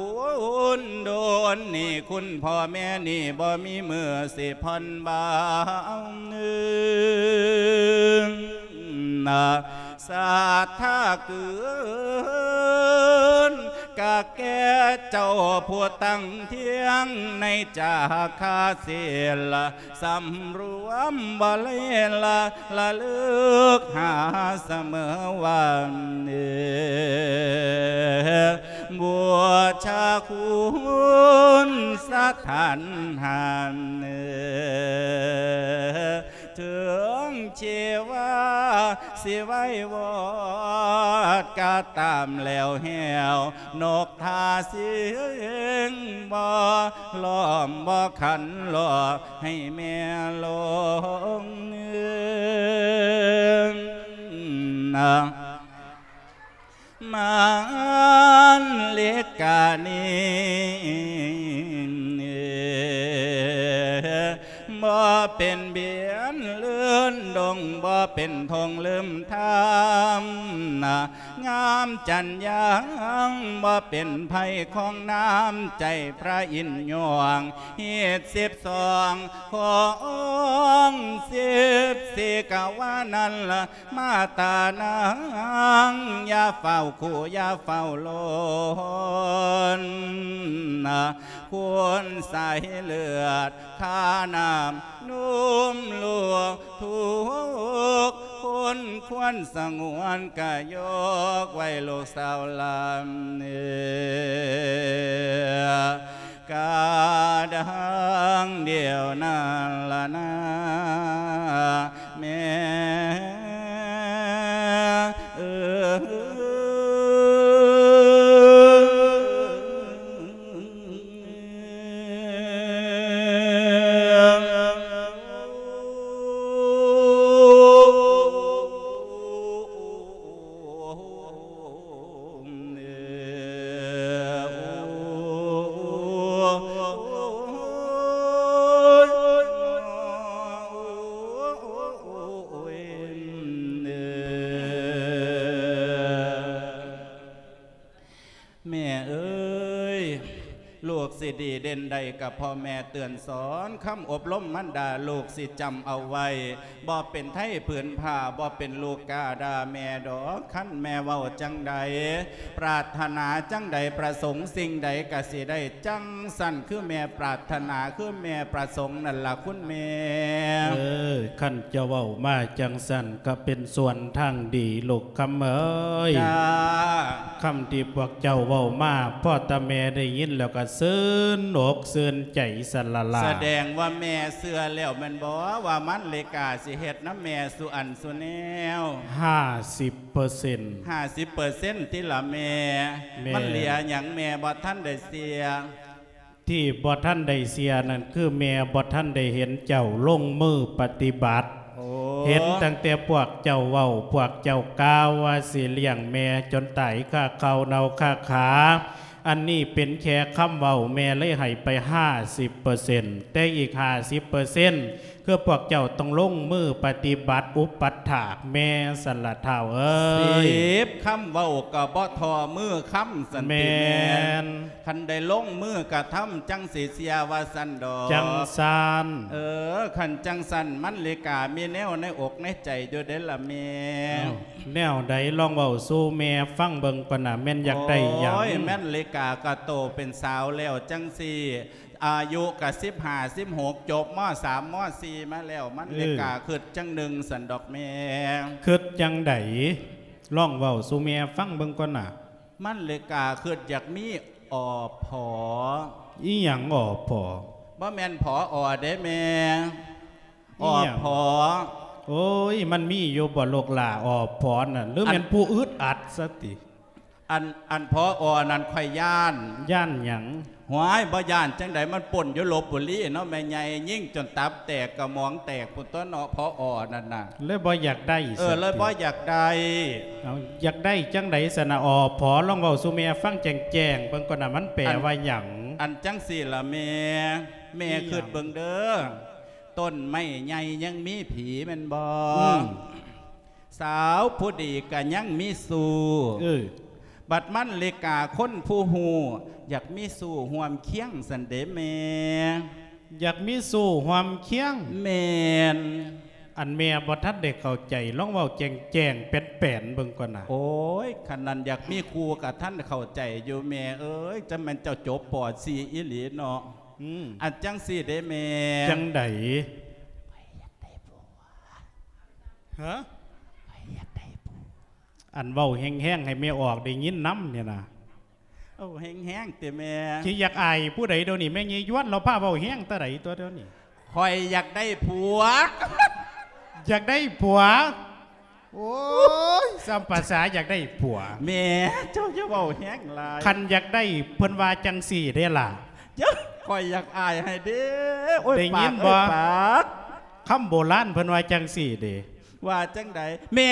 ນດົນ ໜີ້ຄຸນພໍ່ແມ່ນີ້ ບໍ່ມີມື້ຊິຜ່ອນບາງ ສັດທາເກີນ ກະແກ່ເຈົ້າຜູ້ຕັ້ງທ່ຽງ ໃນຈາຄາສິລ ສຳລວມບໍ່ເລລະ ລະລຶກຫາສະເໝີວັນ ບູຊາຄຸນສະຖານຫັນ ເຖິງຊີວາຊິໄວວອດກໍຕາມແລ້ວແຫ້ວ ນົກ ຖ້າສິງບໍ່ລ້ອມບໍ່ຂັນລໍ້ ໃຫ້ແມ່ລົງ ມານລິການີ້ ບໍ່ເປັນບຽນເລີນດົງ ບໍ່ເປັນທົ່ງລືມທຳ ງາມຈັນຍາງ ບໍ່ເປັນໄພຂອງນ້ຳໃຈພະອິນຍອງ ຮີດສິບສອງ ຂອງສິບສີ່ ກະວ່ານັ້ນລະ ມາຕານາງ ຢ່າຟ້າວຂູ່ ຢ່າຟ້າວລົນ ຄົນສາຍເລືອດ ຄ່ານ້ຳນົມລູກທຸກຄົນ ຄວນສະຫງວນກະຍົກໄວ້ລູກສາວຫຼານ ກະດັງດຽວນັ້ນລະນາ ແມ່ເອີຍ. ແມ່ເອີຍ ລູກຊິດີເດັ່ນໃດກໍເພາະແມ່ເຕືອນສອນ ຄຳອົບລົມມານດາລູກຊິຈຳເອົາໄວ້ ບໍ່ເປັນໄທຜືນຜ້າ ບໍ່ເປັນລູກກ້າດ່າແມ່ດອກ ຄັນແມ່ເວົ້າຈັ່ງໃດ ປາດຖະໜາຈັ່ງໃດ ປະສົງສິ່ງໃດກໍຊິໄດ້ຈັ່ງຊັ້ນ ຄືແມ່ປາດຖະໜາ ຄືແມ່ປະສົງນັ້ນລະຄຸນແມ່. ເອີ ຄັນເຈົ້າເວົ້າມາຈັ່ງຊັ້ນ ກໍເປັນສ່ວນທາງດີລູກຄຳເອີຍ. ຈ້າ. ຄຳທີ່ພວກເຈົ້າເວົ້າມາ ພໍ່ຕາແມ່ໄດ້ຍິນແລ້ວກໍຊື່ນອົກຊື່ນໃຈຊັ້ນລະລະ. ສະແດງວ່າແມ່ເຊື່ອແລ້ວແມ່ນບໍ່ ວ່າມັນເລກາຊິເຮັດນຳແມ່ສູ່ອັນສູ່ແນວ? ຫ້າສິບເປີເຊັນ. ຫ້າສິບເປີເຊັນຕິລະແມ່. ແມ່ນ. ມັນເຫຼືອຫຍັງແມ່ບໍ່ທັນໄດ້ເຊື່ອ? ທີ່ບໍ່ທັນໄດ້ເຊື່ອນັ້ນ ຄືແມ່ບໍ່ທັນໄດ້ເຫັນເຈົ້າລົງມືປະຕິບັດ. ໂອ້ ເຫັນຕັ້ງແຕ່ພວກເຈົ້າເວົ້າ ພວກເຈົ້າກ່າວວ່າຊິລ້ຽງແມ່ຈົນຕາຍຄາເຂົ້າເນົ່າຄາຂາ. ອັນນີ້ເປັນແຄ່ຄຳເວົ້າ ແມ່ເລີຍໃຫ້ໄປຫ້າສິບເປີເຊັນ ແຕ່ອີກຫ້າສິບເປີເຊັນ ຄືພວກເຈົ້າຕ້ອງລົງມືປະຕິບັດອຸປັດຖາກແມ່ຊັ້ນລະທ້າວເອີຍ. ສິບຄຳເວົ້າກໍບໍ່ທໍ່ມືຄຳຊັ້ນຕິແມ່. ແມ່ນ. ຄັນໄດ້ລົງມືກະທຳ ຈັ່ງຊິເຊື່ອວ່າຊັ້ນດອກ. ຈັ່ງຊັ້ນ. ເອີ ຄັນຈັ່ງຊັ້ນ ມັນເລກາມີແນວໃນອົກໃນໃຈຢູ່ເດ້ລະແມ່. ເອົ້າ ແນວໃດ ລອງເວົ້າສູ່ແມ່ຟັງເບິ່ງກ່ອນນະ ແມ່ນຢາກໄດ້ຫຍັງ? ໂອ້ຍ ແມ່ນເລກາກະໂຕເປັນສາວແລ້ວຈັ່ງຊີ້ ອາຍຸກະສິບຫ້າ ສິບຫົກ ຈົບ ມ.ສາມ ມ.ສີ່ ມາແລ້ວ ມັນເອີ ເລີກາຄຶດຈັ່ງໜຶ່ງຊັ້ນດອກແມ່. ຄຶດຈັ່ງໃດ? ລອງເວົ້າສູ່ແມ່ຟັງເບິ່ງກ່ອນນະ. ມັນເລີກາຄຶດຢາກມີ ອ.ພ. ອີ່ຫຍັງ ອ.ພ.? ບໍ່ແມ່ນ ຜອ ເດ້ແມ່. ອີ່ຫຍັງ? ອ.ພ. ໂອ້ຍ ມັນມີຢູ່ບໍ່ລູກຫຼ້າ ອ.ພ. ນັ້ນ ຫຼືແມ່ນ ອັນ ຜູ້ອຶດອັດຊະຕິ? ອັນ ອັນ ຜອ ນັ້ນຂ້ອຍຢ້ານ. ຢ້ານຫຍັງ? ຫວຍ ບໍ່ຢ້ານຈັ່ງໃດ ມັນປົນຢູ່ລົບບຸລີເນາະແມ່ໃຫຍ່ ຍິງຈົນຕັບແຕກກະໝອງແຕກພຸ້ນຕົວະເນາະ ຜອ ນັ້ນນະ. ເລີຍບໍ່ຢາກໄດ້ ເອີ ຊັ້ນຕິ? ເລີຍບໍ່ຢາກໄດ້. ເອົາ ຢາກໄດ້ຈັ່ງໃດຊັ້ນນະ ອ.ພ.? ລອງເວົ້າສູ່ແມ່ຟັງແຈ້ງໆເບິ່ງກ່ອນນະ ມັນແປ ອັນ ວ່າຫຍັງ? ອັນຈັ່ງຊີ້ລະແມ່ ແມ່ ອີ່ຫຍັງ? ຄຶດເບິ່ງເດີ ຕົ້ນໄມ້ໃຫຍ່ຍັງມີຜີແມ່ນບໍ່? ອືມ ສາວຜູ້ດີກະຍັງມີຊູ້. ເອີ ບັດມັນເລີກາຄົນຜູ້ຮູ້ ຢາກມີຊູ້ຮ່ວມຄຽງຊັ້ນເດແມ່. ຢາກມີຊູ້ຮ່ວມຄຽງ? ແມ່ນ. ອັນແມ່ບໍ່ທັນໄດ້ເຂົ້າໃຈ ລອງເວົ້າແຈ້ງໆແປນໆເບິ່ງກ່ອນນະ. ໂອ້ຍ ຄັນນັ້ນຢາກມີຄູ່ກະທັນເຂົ້າໃຈຢູ່ແມ່ເອີຍ ຈັ່ງແມ່ນເຈົ້າຈົບ ປໍສີ່ ອີ່ຫຼີເນາະ. ອືມ ອັນຈັ່ງຊີ້ເດ້ແມ່. ຈັ່ງໃດ? ຂ້ອຍຢາກໄດ້ຜົວ. ຮະ? ຂ້ອຍຢາກໄດ້ຜົວ. ອັນເວົ້າແຮງໆໃຫ້ແມ່ອອກໄດ້ຍິນນຳນີ້ນະ. ເອົາແຮງໆຕິແມ່. ຊິຢາກອາຍຜູ້ໃດດຽວນີ້ ແມ່ໃຫຍ່ຢວນລາວພາເວົ້າແຮງຕາໃດຕົວະດຽວນີ້. ຂ້ອຍຢາກໄດ້ຜົວ. ຢາກໄດ້ຜົວ? ໂອ້ຍ ສ່ຳພາສາຢາກໄດ້ຜົວ. ແມ່ ເຈົ້າຢ່າເວົ້າແຮງຫຼາຍ. ຄັນຢາກໄດ້ເພິ່ນວ່າຈັ່ງຊີ້ເດ້ລະ. ເຈົ້າ ຂ້ອຍຢາກອາຍໃຫ້ເດ້. ໂອ້ຍ ໄດ້ຍິນບໍ່? ປາກເອີຍປາກ. ຄຳໂບລານເພິ່ນວ່າຈັ່ງຊີ້ເດ້. ວ່າຈັ່ງໃດແມ່?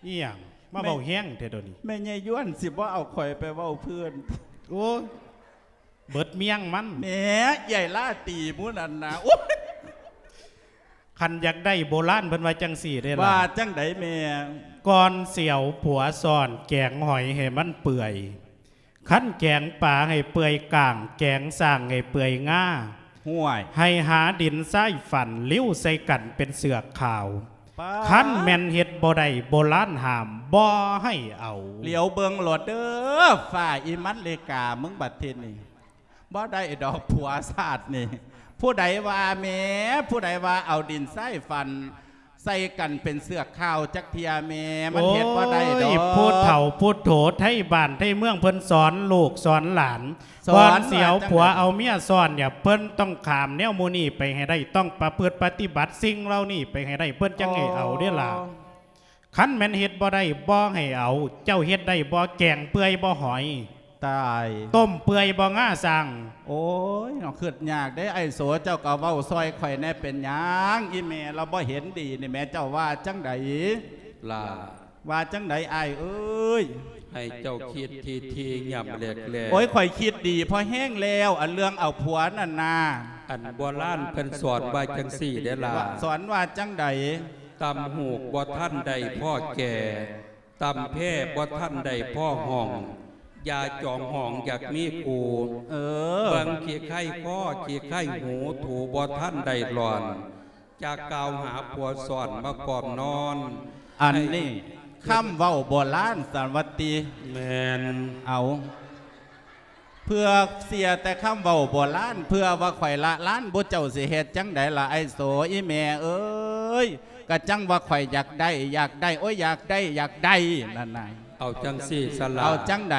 ອີ່ຫຍັງ? ມາເວົ້າແຮງແທ້ດຽວນີ້. ແມ່ໃຫຍ່ຢວນຊິບໍ່ເອົາຂ້ອຍໄປເວົ້າເພື່ອນ. ໂອ້ຍ ເບິດມຽງມັນ. ແໝ ເອື້ອຍລາຕີໝູ່ນັ້ນນະ. ໂອ້ຍ ຄັນຢາກໄດ້ໂບລານເພິ່ນວ່າຈັ່ງຊີ້ເດ້ລະ. ວ່າຈັ່ງໃດແມ່? ກ່ອນຊິເອົາຜົວຊ້ອນ ແກງຫອຍໃຫ້ມັນເປື່ອຍ, ຄັນແກງປາໃຫ້ເປື່ອຍກ້າງ, ແກງຊ້າງໃຫ້ເປື່ອຍງາ. ຫ້ວຍ ໃຫ້ຫາດິນຊາຍຟັນ, ລິ້ວໃສ່ກັນເປັນເສືອກຂາວ. ປາດ ຄັນແມ່ນເຮັດບໍ່ໄດ້ ໂບລານຫ້າມບໍ່ໃຫ້ເອົາ. ຫຼຽວເບິ່ງໂລດເດີ ຟ້າອີ່ມັນເລກາ ມຶງບັດທີນີ້. ບໍ່ໄດ້ດອກຜົວຊາດນີ້. ຜູ້ໃດວ່າແໝ ຜູ້ໃດວ່າເອົາດິນຊາຍຟັນໃສ່ກັນເປັນເສືອກຂາວຈັກເທື່ອແໝ ມັນເຮັດບໍ່ໄດ້ດອກ. ໂອ້ຍ ຜູ້ເຖົ້າຜູ້ໂຖໄທບ້ານໄທເມືອງເພິ່ນສອນລູກສອນຫຼານ ສອນ ກ່ອນຊິເອົາຜົວເອົາເມຍຊ້ອນນີ້ ເພິ່ນຕ້ອງຂ້າມແນວໝູ່ນີ້ໄປໃຫ້ໄດ້ ຕ້ອງປະພຶດປະຕິບັດສິ່ງເຫຼົ່ານີ້ໄປໃຫ້ໄດ້ ເພິ່ນຈັ່ງໃຫ້ເອົາເດ້ລະ. ອໍ ຄັນແມ່ນເຮັດບໍ່ໄດ້ ບໍ່ໃຫ້ເອົາ. ເຈົ້າເຮັດໄດ້ບໍ່? ແກງເປື່ອຍບໍ່ຫອຍ? ຕາຍ ຕົ້ມເປື່ອຍບໍ່ງາຊ້າງ? ໂອ້ຍ ເນາະ ຄິດຍາກເດ້ ອ້າຍໂສ ເຈົ້າກໍເວົ້າຊ່ອຍຂ້ອຍແດ່ ເປັນຫຍັງ? ອີ່ແມ່ລາວບໍ່ເຫັນດີນີ້ແໝ ເຈົ້າວ່າຈັ່ງໃດ? ຫຼ້າ ວ່າຈັ່ງໃດອ້າຍເອີຍ? ໃຫ້ເຈົ້າຄິດຖີ່ໆ ຫຍ້ຳແລກໆ. ໂອ້ຍ ຂ້ອຍຄິດດີພໍແຮງແລ້ວ ອັນເລື່ອງເອົາຜົວນັ້ນນາ. ອັນໂບລານເພິ່ນສອນວ່າຈັ່ງຊີ້ເດ້ລະ. ວ່າ ສອນວ່າຈັ່ງໃດ? ຕຳຫູກບໍ່ທັນໄດ້ພໍ້ແກ່, ຕຳແພ້ບໍ່ທັນໄດ້ພໍ້ຫ້ອງ, ຢ່າຈອງຫ້ອງຢາກມີຄູ່. ເອີ ເບິ່ງຂີ້ໄຄຄໍ ຂີ້ໄຄຫູ ຖູບໍ່ທັນໄດ້ຫຼອນ, ຈະກ່າວຫາຜົວຊ້ອນມາກ່ອມນອນ. ອັນນີ້ ໃຫ້ ຄຳເວົ້າໂບລານສັນວ່າຕິ. ແມ່ນ. ເອົາ ເພື່ອເຊື່ອແຕ່ຄຳເວົ້າໂບລານ ເພື່ອວ່າຂ້ອຍລະລານ ບຸເຈົ້າຊິເຮັດຈັ່ງໃດລະ ອ້າຍໂສ ອີ່ແມ່ເອີຍ? ກະຈັ່ງວ່າຂ້ອຍຢາກໄດ້ ຢາກໄດ້ ໂອ້ຍ ຢາກໄດ້ ຢາກໄດ້ນັ້ນນະ. ເອົາຈັ່ງຊີ້ສະລະ ເອົາຈັ່ງໃດ?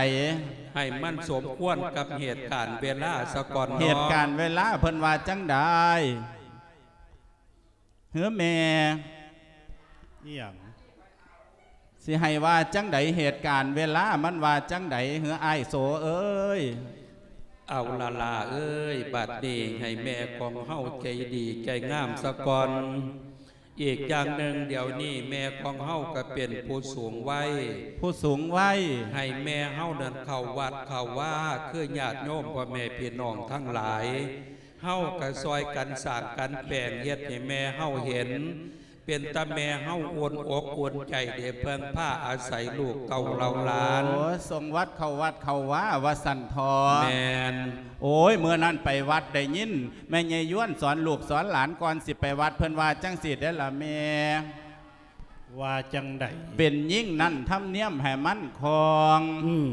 ໃຫ້ມັນສົມຄວນກັບເຫດການເວລາສະກ່ອນເນາະ. ເຫດການເວລາເພິ່ນວ່າຈັ່ງໃດ? ເຮີແມ່ ອີ່ຫຍັງ? ຊິໃຫ້ວ່າຈັ່ງໃດ ເຫດການເວລາມັນວ່າຈັ່ງໃດ ເຮີອ້າຍໂສເອີຍ? ເອົາລະຫຼ້າເອີຍ ບັດນີ້ໃຫ້ແມ່ຂອງເຮົາໃຈດີໃຈງາມສະກ່ອນ. ອີກຢ່າງໜຶ່ງ ດຽວນີ້ແມ່ຂອງເຮົາກໍເປັນຜູ້ສູງໄວ ຜູ້ສູງໄວ ໃຫ້ແມ່ເຮົານັ້ນເຂົ້າວັດເຂົ້າວາ ຄືຍາດໂຍມພໍ່ແມ່ພີ່ນ້ອງທັງຫຼາຍ ເຮົາກໍຊ່ອຍກັນສ້າງກັນແປງ ເຮັດໃຫ້ແມ່ເຮົາເຫັນ ເປັນຕາແມ່ເຮົາອຸ່ນອົກອຸ່ນໃຈ ໄດ້ເພິ່ງພາອາໄສລູກເຕົ້າເຫຼົ່າຫຼານ. ໂອ້ ສົ່ງວັດເຂົ້າວັດເຂົ້າວາວ່າຊັ້ນເຖາະ. ແມ່ນ. ໂອ້ຍ ມື້ນັ້ນໄປວັດໄດ້ຍິນແມ່ໃຫຍ່ຢວນສອນລູກສອນຫຼານ ກ່ອນຊິໄປວັດເພິ່ນວ່າຈັ່ງຊີ້ເດ້ລະແມ່. ວ່າຈັ່ງໃດ? ເປັນຍິງນັ້ນທຳນຽມໃຫ້ມັນຄອງ. ອືມ.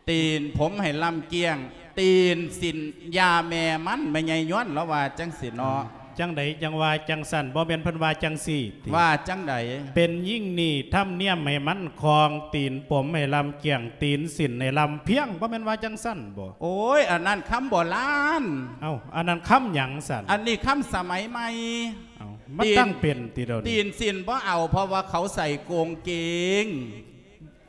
ຕີນຜົມໃຫ້ລຳກ້ຽງ ຕີນສິ້ນຢ່າແມ່ມັນ ແມ່ໃຫຍ່ຍວນລາວວ່າຈັ່ງຊີ້ເນາະ. ຈັ່ງໃດຈັ່ງວ່າຈັ່ງຊັ້ນ? ບໍ່ແມ່ນເພິ່ນວ່າຈັ່ງຊີ້ຕິ? ວ່າຈັ່ງໃດ? ເປັນຍິ່ງນີ້ທຳນຽມໃຫ້ມັນຄອງ ຕີນປົມໃຫ້ລຳກ້ຽງ ຕີນສິ້ນໃຫ້ລຳພຽງ ບໍ່ແມ່ນວ່າຈັ່ງຊັ້ນບໍ? ໂອ້ຍ ອັນນັ້ນຄຳໂບລານ. ເອົ້າ ອັນນັ້ນຄຳຫຍັງຊັ້ນ? ອັນນີ້ຄຳສະໄໝໃໝ່. ເອົ້າ ມັນຕັ້ງເປັນຕິດຽວນີ້? ຕີນສິ້ນບໍ່ເອົາ ເພາະວ່າເຂົາໃສ່ກົງເກງ.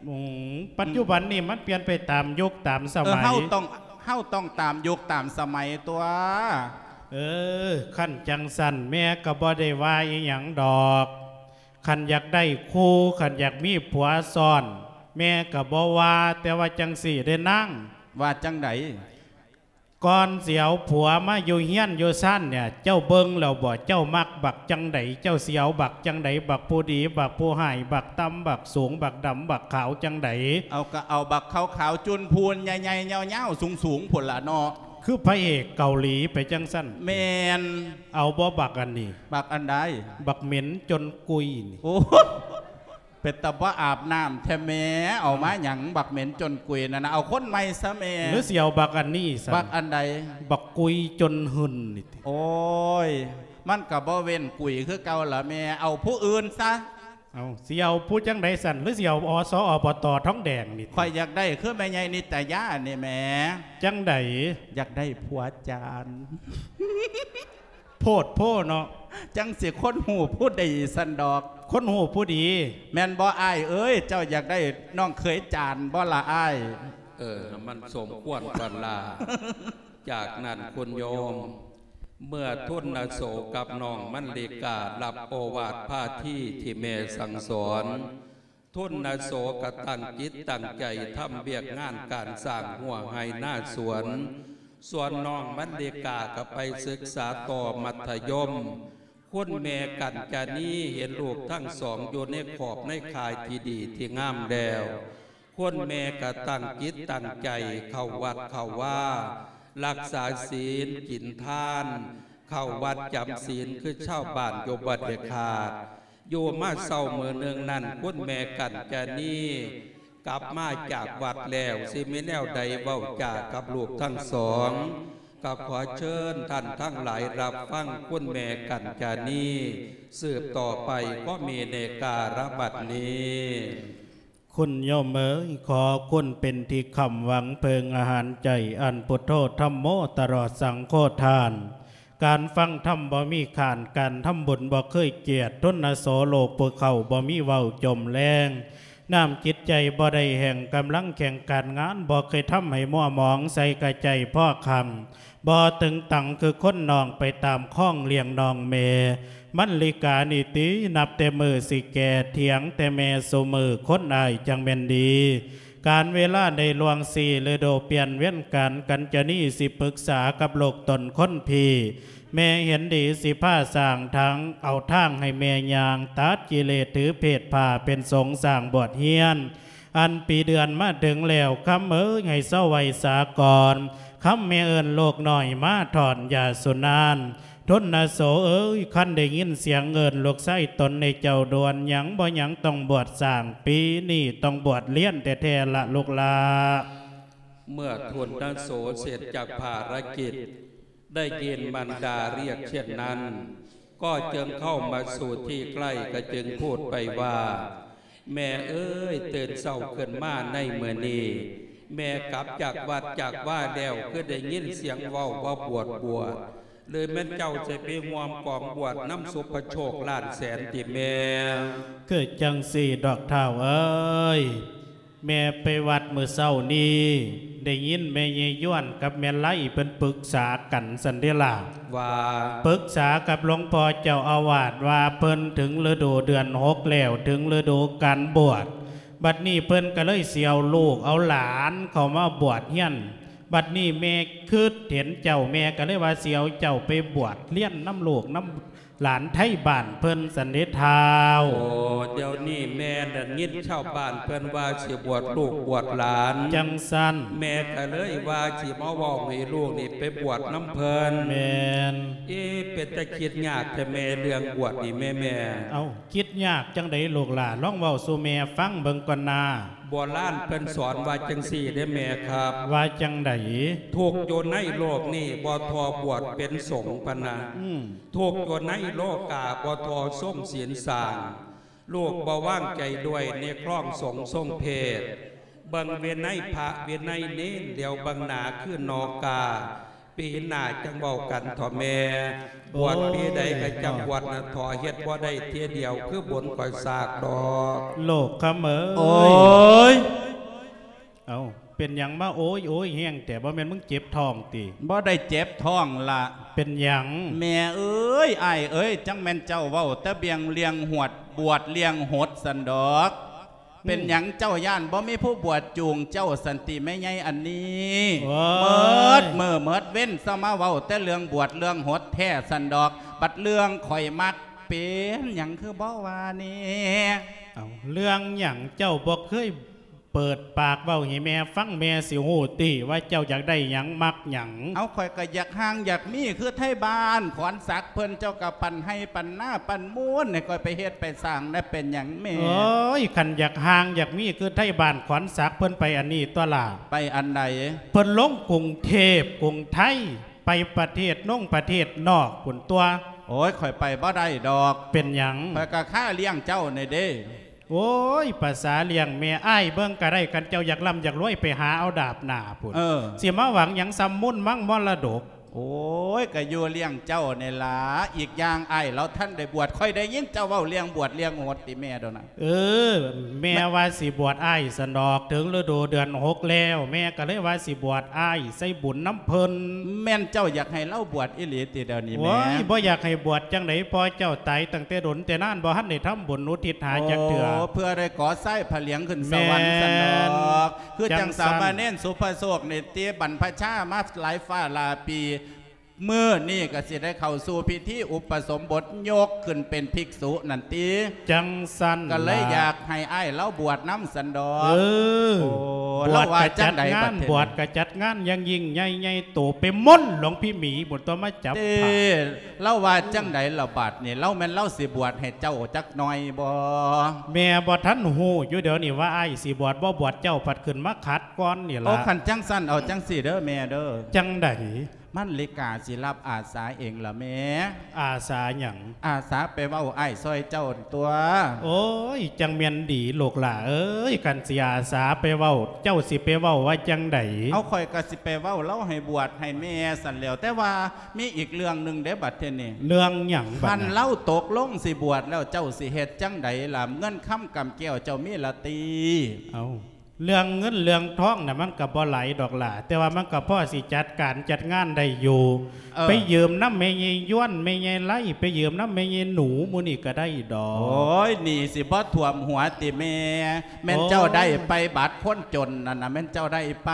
ອືມ ປັດຈຸບັນນີ້ມັນປ່ຽນໄປຕາມຍຸກຕາມສະໄໝ. ເອີ ເຮົາຕ້ອງ ເຮົາຕ້ອງຕາມຍຸກຕາມສະໄໝຕົວະ. ເອີ ຄັນຈັ່ງຊັ້ນແມ່ກໍບໍ່ໄດ້ວ່າອີ່ຫຍັງດອກ. ຄັນຢາກໄດ້ຄູ່ ຄັນຢາກມີຜົວຊ້ອນ ແມ່ກໍບໍ່ວ່າ. ແຕ່ວ່າຈັ່ງຊີ້ເດ້ນາງ. ວ່າຈັ່ງໃດ? ກ່ອນຊິເອົາຜົວມາຢູ່ເຮືອນຢູ່ຊານເນ່ຍ ເຈົ້າເບິ່ງແລ້ວບໍ? ເຈົ້າມັກບັກຈັ່ງໃດ? ເຈົ້າຊິເອົາບັກຈັ່ງໃດ? ບັກຜູ້ດີ ບັກຜູ້ຮ້າຍ ບັກຕ່ຳ ບັກສູງ ບັກດຳ ບັກຂາວ ຈັ່ງໃດ? ເອົາ ກໍເອົາບັກຂາວໆ ຈູນພູນ ໃຫຍ່ໆ ຍາວໆ ສູງໆ ພຸ້ນລະເນາະ. ຄືພະເອກເກົາຫຼີໄປຈັ່ງຊັ້ນ. ແມ່ນ. ເອົາບໍ່ບັກອັນນີ້? ບັກອັນໃດ? ບັກເໝັນຈົນກຸຍນີ້. ໂອ້ ເປັນຕາບໍ່ອາບນ້ຳແທ້ແມ່. ເອົາມາຫຍັງ ບັກເໝັນຈົນກຸຍນັ້ນນະ? ເອົາຄົນໃໝ່ຊະແມ່. ຫຼືຊິເອົາບັກອັນນີ້ຊັ້ນ? ບັກອັນໃດ? ບັກກຸຍຈົນຫຶ່ນນີ້ຕິ. ໂອ້ຍ ມັນກໍບໍ່ເວັ້ນກຸຍຄືເກົ່າລະແມ່. ເອົາຜູ້ອື່ນຊະ. ເອົາ ຊິເອົາຜູ້ຈັ່ງໃດຊັ້ນ? ຫຼືຊິເອົາ ອສ ອບຕ ທອງແດງນີ້ຕິ? ຂ້ອຍຢາກໄດ້ຄືແມ່ໃຫຍ່ນິດຕະຍານີ້ແໝ່. ຈັ່ງໃດ? ຢາກໄດ້ຜົວຈານ. ໂພດໂພເນາະ. ຈັ່ງຊິຄົນຮູ້ຜູ້ດີຊັ້ນດອກ. ຄົນຮູ້ຜູ້ດີ. ແມ່ນບໍ່ອ້າຍເອີຍ? ເຈົ້າຢາກໄດ້ນ້ອງເຂີຍຈານບໍ່ລະອ້າຍ? ເອີ ມັນສົມຄວນກັນລະ. ຈາກນັ້ນຄຸນໂຍມ ເມື່ອທຸນນະໂສກັບນ້ອງມັນລິກາ ຮັບໂອວາດພາທີທີ່ແມ່ສັ່ງສອນ, ທຸນນະໂສກໍຕັ້ງຈິດຕັ້ງໃຈທຳວຽກງານການສ້າງຮົ້ວໄຮ່ນາສວນ, ສ່ວນນ້ອງມັນລິກາກໍໄປສຶກສາຕໍ່ມັດທະຍົມ. ຄຸນແມ່ກັນຈານີເຫັນລູກທັງສອງຢູ່ໃນຂອບໃນຂ່າຍທີ່ດີທີ່ງາມແລ້ວ, ຄົນແມ່ກະຕັ້ງຈິດຕັ້ງໃຈເຂົ້າວັດເຂົ້າວາ, ຮັກສາສິນ, ກິນທານ, ເຂົ້າວັດຈຳສິນຄືຊາວບ້ານຢູ່ບໍ່ໄດ້ຂາດ. ຢູ່ມາເຊົ້າມື້ໜຶ່ງນັ້ນ, ຄຸນແມ່ກັນຈານີກັບມາຈາກວັດແລ້ວ, ຊິມີແນວໃດເວົ້າຈາກັບລູກທັງສອງ, ກໍຂໍເຊີນທ່ານທັງຫຼາຍຮັບຟັງຄຸນແມ່ກັນຈານີສືບຕໍ່ໄປ, ກໍມີໃນກາລະບັດນີ້. ຄຸນໂຍມເອີຍ, ຂໍຄຸນເປັນທີ່ຄ້ຳຫວັງເພິ່ງອາຫານໃຈ, ອັນພຸດໂທທຳໂມຕະຫຼອດສັງໂຄທານ. ການຟັງທຳບໍ່ມີຄ້ານ, ການທຳບຸນບໍ່ເຄີຍກຽດ, ທຸນນະໂສໂລກຜູ້ເຖົ້າບໍ່ມີເວົ້າຈົມແລງ, ນ້ຳຈິດໃຈບໍ່ໄດ້ແຫ້ງ, ກຳລັງແຂງການງານບໍ່ເຄີຍທຳໃຫ້ມົວໝອງ, ໃສ່ກະໃຈພໍຄ້ຳ ບໍ່ຕຶງຕັງຄືຄົນນ້ອງໄປຕາມຄອງລ້ຽງນ້ອງແມ່. ມັນລິການີ້ຕິ ນັບແຕ່ມື້ຊິແກ່ ຖຽງແຕ່ແມ່ຊຸມື້ ຄົນອ້າຍຈັ່ງແມ່ນດີ. ການເວລາໄດ້ລ່ວງສີ່ລະດູ ປ່ຽນວຽນການກັນຈະນີ້ ຊິປຶກສາກັບລູກຕົນຄົນພີ່. ແມ່ເຫັນດີຊິພາສ້າງທາງ ເອົາທາງໃຫ້ແມ່ຍ່າງ ຕັດກິເລດຖືເພດຜ້າເປັນສົງ ສ້າງບວດຮຽນ. ອັນປີເດືອນມາເຖິງແລ້ວ ຄຳເອີຍ ໃຫ້ເຊົາໄວ້ສາກ່ອນ. ຄຳແມ່ເອີ້ນລູກນ້ອຍມາຖອນຢາສຸນານ. ທົນນະໂສເອີຍ ຄັນໄດ້ຍິນສຽງເອີ້ນລູກຊາຍຕົນໃນເຈົ້າດ່ວນ ຫຍັງບໍ່ຫຍັງຕ້ອງບວດສ້າງ ປີນີ້ຕ້ອງບວດລຽນແທ້ໆລະລູກຫຼ້າ. ເມື່ອທົນນະໂສເສັດຈາກພາລະກິດ ໄດ້ຍິນມັນດາຮຽກເຊັ່ນນັ້ນ ກໍຈຶ່ງເຂົ້າມາສູ່ທີ່ໃກ້ ກໍຈຶ່ງພູດໄປວ່າ ແມ່ເອີຍ ຕື່ນເຊົ້າຂຶ້ນມາໃນມື້ນີ້ ແມ່ກັບຈາກວັດຈາກວາແລ້ວ ຄືໄດ້ຍິນສຽງເວົ້າວ່າບວດ ບວດ ຫຼືແມ່ນເຈົ້າຈະໄປຮ່ວມກອງບວດນຳສຸພະໂຊກລ້ານແສນຕິແມ່? ຄືຈັ່ງຊີ້ດອກທ້າວເອີຍ ແມ່ໄປວັດມື້ເຊົ້ານີ້ ໄດ້ຍິນແມ່ຍາຍຢວນກັບແມ່ໄລເພິ່ນປຶກສາກັນຊັ້ນເດລະ ວ່າ ປຶກສາກັບຫຼວງພໍ່ເຈົ້າອາວາດວ່າ ເພິ່ນເຖິງລະດູເດືອນຫົກແລ້ວ ເຖິງລະດູການບວດ ບັດນີ້ເພິ່ນກໍເລີຍຊິເອົາລູກເອົາຫຼານເຂົ້າມາບວດຮຽນ ບັດນີ້ແມ່ຄິດເຫັນເຈົ້າ ແມ່ກໍເລີຍວ່າຊິເອົາເຈົ້າໄປບວດຮຽນນຳລູກນຳ ຫຼານໄທບ້ານເພິ່ນຊັ້ນເດທ້າວ. ໂອ້ ດຽວນີ້ແມ່ໄດ້ຍິນຊາວບ້ານເພິ່ນວ່າຊິບວດລູກບວດຫຼານ ຈັ່ງຊັ້ນ ແມ່ກໍເລີຍວ່າຊິມາເວົ້າໃຫ້ລູກນີ້ໄປບວດນຳເພິ່ນ. ແມ່ນ. ເອ ເປັນຕາຄິດຍາກແທ້ແມ່ ເລື່ອງບວດນີ້ແມ່ ແມ່. ເອົ້າ ຄິດຍາກຈັ່ງໃດລູກຫຼ້າ? ລອງເວົ້າສູ່ແມ່ຟັງເບິ່ງກ່ອນນາ. ໂບລານເພິ່ນສອນວ່າຈັ່ງຊີ້ເດ້ແມ່ຄັບ. ວ່າຈັ່ງໃດ? ທຸກຢູ່ໃນໂລກນີ້ບໍ່ທໍ່ບວດເປັນສົງ ພະນະ. ອືມ. ທຸກຢູ່ໃນໂລກາບໍ່ທໍ່ຊົງສິນສ້າງ. ລູກບໍ່ວາງໃຈດ້ວຍໃນຄອງສົງຊົງເພດ. ເບິ່ງວິໄນພະວິໄນເນນ ຫຼຽວເບິ່ງໜ້າຄືນອກກາ. ປີໜ້າຈັ່ງເວົ້າກັນເຖາະແມ່. ບວດປີໃດກໍຈັ່ງບວດນະເຖາະ ເຮັດບໍ່ໄດ້ເທື່ອດຽວຄືບຸນຂ້ອຍສາກດອກ. ໂລກຄຳເອີຍ. ໂອ້ຍ ເອົ້າ ເປັນຫຍັງມາໂອ້ຍໂອ້ຍແຮງແທ້? ບໍ່ແມ່ນມຶງເຈັບທ້ອງຕິ? ບໍ່ໄດ້ເຈັບທ້ອງລະ. ເປັນຫຍັງ? ແມ່ເອີຍ ອ້າຍເອີຍ ຈັກແມ່ນເຈົ້າເວົ້າແຕ່ບຽງເລື່ອງຫວດ ບວດເລື່ອງຫົດຊັ້ນດອກ. ເປັນຫຍັງເຈົ້າຢ້ານບໍ່ມີຜູ້ບວດຈູງເຈົ້າຊັ້ນຕິແມ່ໃຫຍ່ອັນນີ້? ໂອ້ຍ ເໝິດມື້ເໝິດເວັນຊະມາເວົ້າແຕ່ເລື່ອງບວດເລື່ອງຫົດແທ້ຊັ້ນດອກ. ບັດເລື່ອງຂ້ອຍມັກເປັນຫຍັງຄືບໍ່ວ່າແດ່? ເອົ້າ ເລື່ອງຫຍັງ? ເຈົ້າບໍ່ເຄີຍເປີດປາກເວົ້າໃຫ້ແມ່ຟັງ ແມ່ຊິຮູ້ຕິວ່າເຈົ້າຢາກໄດ້ຫຍັງ ມັກຫຍັງ? ເອົາ ຂ້ອຍກໍຢາກຮ່າງຢາກມີຄືໄທບ້ານຂອນສັກເພິ່ນ ເຈົ້າກໍປັນໄຮ່ປັນນາ ປັນມູນໃຫ້ຂ້ອຍໄປເຮັດໄປສ້າງນະ ເປັນຫຍັງແມ່? ໂອ້ຍ ຄັນຢາກຮ່າງຢາກມີຄືໄທບ້ານຂອນສັກ ເພິ່ນໄປອັນນີ້ຕົວລະ. ໄປອັນໃດ? ເພິ່ນລົງກຸງເທບກຸງໄທ ໄປປະເທດນົງປະເທດນອກພຸ້ນຕົວະ. ໂອ້ຍ ຂ້ອຍໄປບໍ່ໄດ້ດອກ. ເປັນຫຍັງ? ຂ້ອຍກະຄາລ້ຽງເຈົ້ານີ້ເດ້. ໂອ້ຍ ພາສາລ້ຽງແມ່ ອ້າຍເບິ່ງກະໄດ້ ຄັນເຈົ້າຢາກລ່ຳຢາກລວຍ ໄປຫາເອົາດາບໜ້າພຸ້ນ. ເອີ ຊິມາຫວັງຫຍັງ ຊ່ຳມູນມັງມໍລະດົກ. ໂອ້ຍ ກະຢູ່ລ້ຽງເຈົ້ານີ້ລະ. ອີກຢ່າງອ້າຍລາວທັນໄດ້ບວດ ຂ້ອຍໄດ້ຍິນເຈົ້າເວົ້າເລື່ອງບວດເລື່ອງຫົດຕິແມ່ໂດນນະ. ເອີ ແມ່ວ່າຊິບວດອ້າຍຊັ້ນດອກ ເຖິງລະດູເດືອນຫົກແລ້ວ ແມ່ກໍເລີຍວ່າຊິບວດອ້າຍໃສ່ບຸນນຳເພິ່ນ. ແມ່ນເຈົ້າຢາກໃຫ້ລາວບວດອີ່ຫຼີຕິດຽວນີ້ແມ່? ໂອ້ຍ ບໍ່ຢາກໃຫ້ບວດຈັ່ງໃດ ພໍ່ເຈົ້າຕາຍຕັ້ງແຕ່ດົນແຕ່ນານ ບໍ່ທັນໄດ້ທຳບຸນອຸທິດຫາຈັກເທື່ອ. ໂອ້ ເພື່ອໄດ້ເກາະຊາຍພະຫຼຽງຂຶ້ນສະຫວັນຊັ້ນດອກ. ແມ່ນ ຄືຈັ່ງສາມະເນນສຸພະໂຊກນີ້ຕິ ບັນພະຊາມາຫຼາຍຟ້າຫຼາຍປີ ມື້ນີ້ກໍຊິໄດ້ເຂົ້າສູ່ພິທີອຸປະສົມບົດ ຍົກຂຶ້ນເປັນພິກສຸນັ້ນຕິ. ຈັ່ງຊັ້ນ ກໍເລີຍຢາກໃຫ້ອ້າຍລາວບວດນຳຊັ້ນດອກ. ເອີ ໂອ້ ບວດກໍຈັດງານ ບວດກໍຈັດງານຢ່າງຍິ່ງໃຫຍ່ ໃຫຍ່ໂຕໄປໝົດ ຫຼວງພີ່ໝີພຸ້ນຕົວະມາຈັບ. ເອີ ລາວວ່າຈັ່ງໃດລະບາດນີ້? ລາວແມ່ນລາວຊິບວດໃຫ້ເຈົ້າຈັກໜ່ອຍບໍ່? ແມ່ບໍ່ທັນຮູ້ຢູ່ດຽວນີ້ວ່າອ້າຍຊິບວດບໍ່ບວດ ເຈົ້າພັດຂຶ້ນມາຂັດກ່ອນນີ້ລະ. ໂອ້ ຄັນຈັ່ງຊັ້ນເອົາຈັ່ງຊີ້ເດີແມ່ເດີ. ຈັ່ງໃດ? ມັນລິກາຊິຮັບອາສາເອງລະແມ່. ອາສາຫຍັງ? ອາສາໄປເວົ້າອ້າຍຊ່ອຍເຈົ້າຕົວະ. ໂອ້ຍ ຈັ່ງແມ່ນດີລູກຫຼ້າເອີຍ ຄັນຊິອາສາໄປເວົ້າ ເຈົ້າຊິໄປເວົ້າວ່າຈັ່ງໃດ? ເອົາ ຂ້ອຍກໍຊິໄປເວົ້າລາວໃຫ້ບວດໃຫ້ແມ່ຊັ້ນແຫຼ້ວ. ແຕ່ວ່າມີອີກເລື່ອງໜຶ່ງເດ້ບັດທີນີ້. ເລື່ອງຫຍັງບັດນັ້ນ? ຄັນລາວຕົກລົງຊິບວດແລ້ວ ເຈົ້າຊິເຮັດຈັ່ງໃດລະ? ເງິນຄຳກຳແກ້ວເຈົ້າມີລະຕິ? ເອົ້າ ເລື່ອງເງິນເລື່ອງທອງນະ ມັນກໍບໍ່ຫຼາຍດອກຫຼ້າ ແຕ່ວ່າມັນກໍພໍຊິຈັດການຈັດງານໄດ້ຢູ່. ເອີ ໄປຢືມນຳແມ່ໃຫຍ່ຢວນ ແມ່ໃຫຍ່ໄລ ໄປຢືມນຳແມ່ໃຫຍ່ໜູ ໝູ່ນີ້ກໍໄດ້ດອກ. ໂອ້ຍ ໜີ້ຊິບໍ່ຖ້ວມຫົວຕິແມ່? ແມ່ນເຈົ້າໄດ້ໄປບັດຄົນຈົນນັ້ນນະ ແມ່ນເຈົ້າໄດ້ໄປ.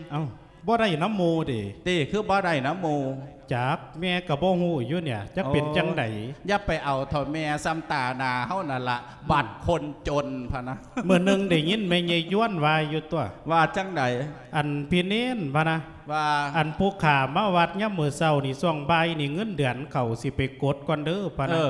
ເອົ້າ ບໍ່ໄດ້ນຳໝູ່ເດ. ຕິ ຄືບໍ່ໄດ້ນຳໝູ່? ຈັກ ແມ່ກໍບໍ່ຮູ້ຢູ່ເນຍ ຈັກເປັນຈັ່ງໃດ. ໂອ້ ຢ່າໄປເອົາເຖາະແມ່ ສ່ຳຕາໜ້າເຮົານັ້ນລະ ບັດຄົນຈົນພະນະ. ມື້ໜຶ່ງໄດ້ຍິນແມ່ໃຫຍ່ຢວນວ່າຢູ່ຕົວະ. ວ່າຈັ່ງໃດ? ອັນພີ່ເນນພະນະ ວ່າ ອັນຜູ້ຂ້າມາວັດຍາມມື້ເຊົ້ານີ້ ຊ່ວງບ່າຍນີ້ເງິນເດືອນເຂົ້າ ຊິໄປກົດກ່ອນເດີພະນະ. ເອີ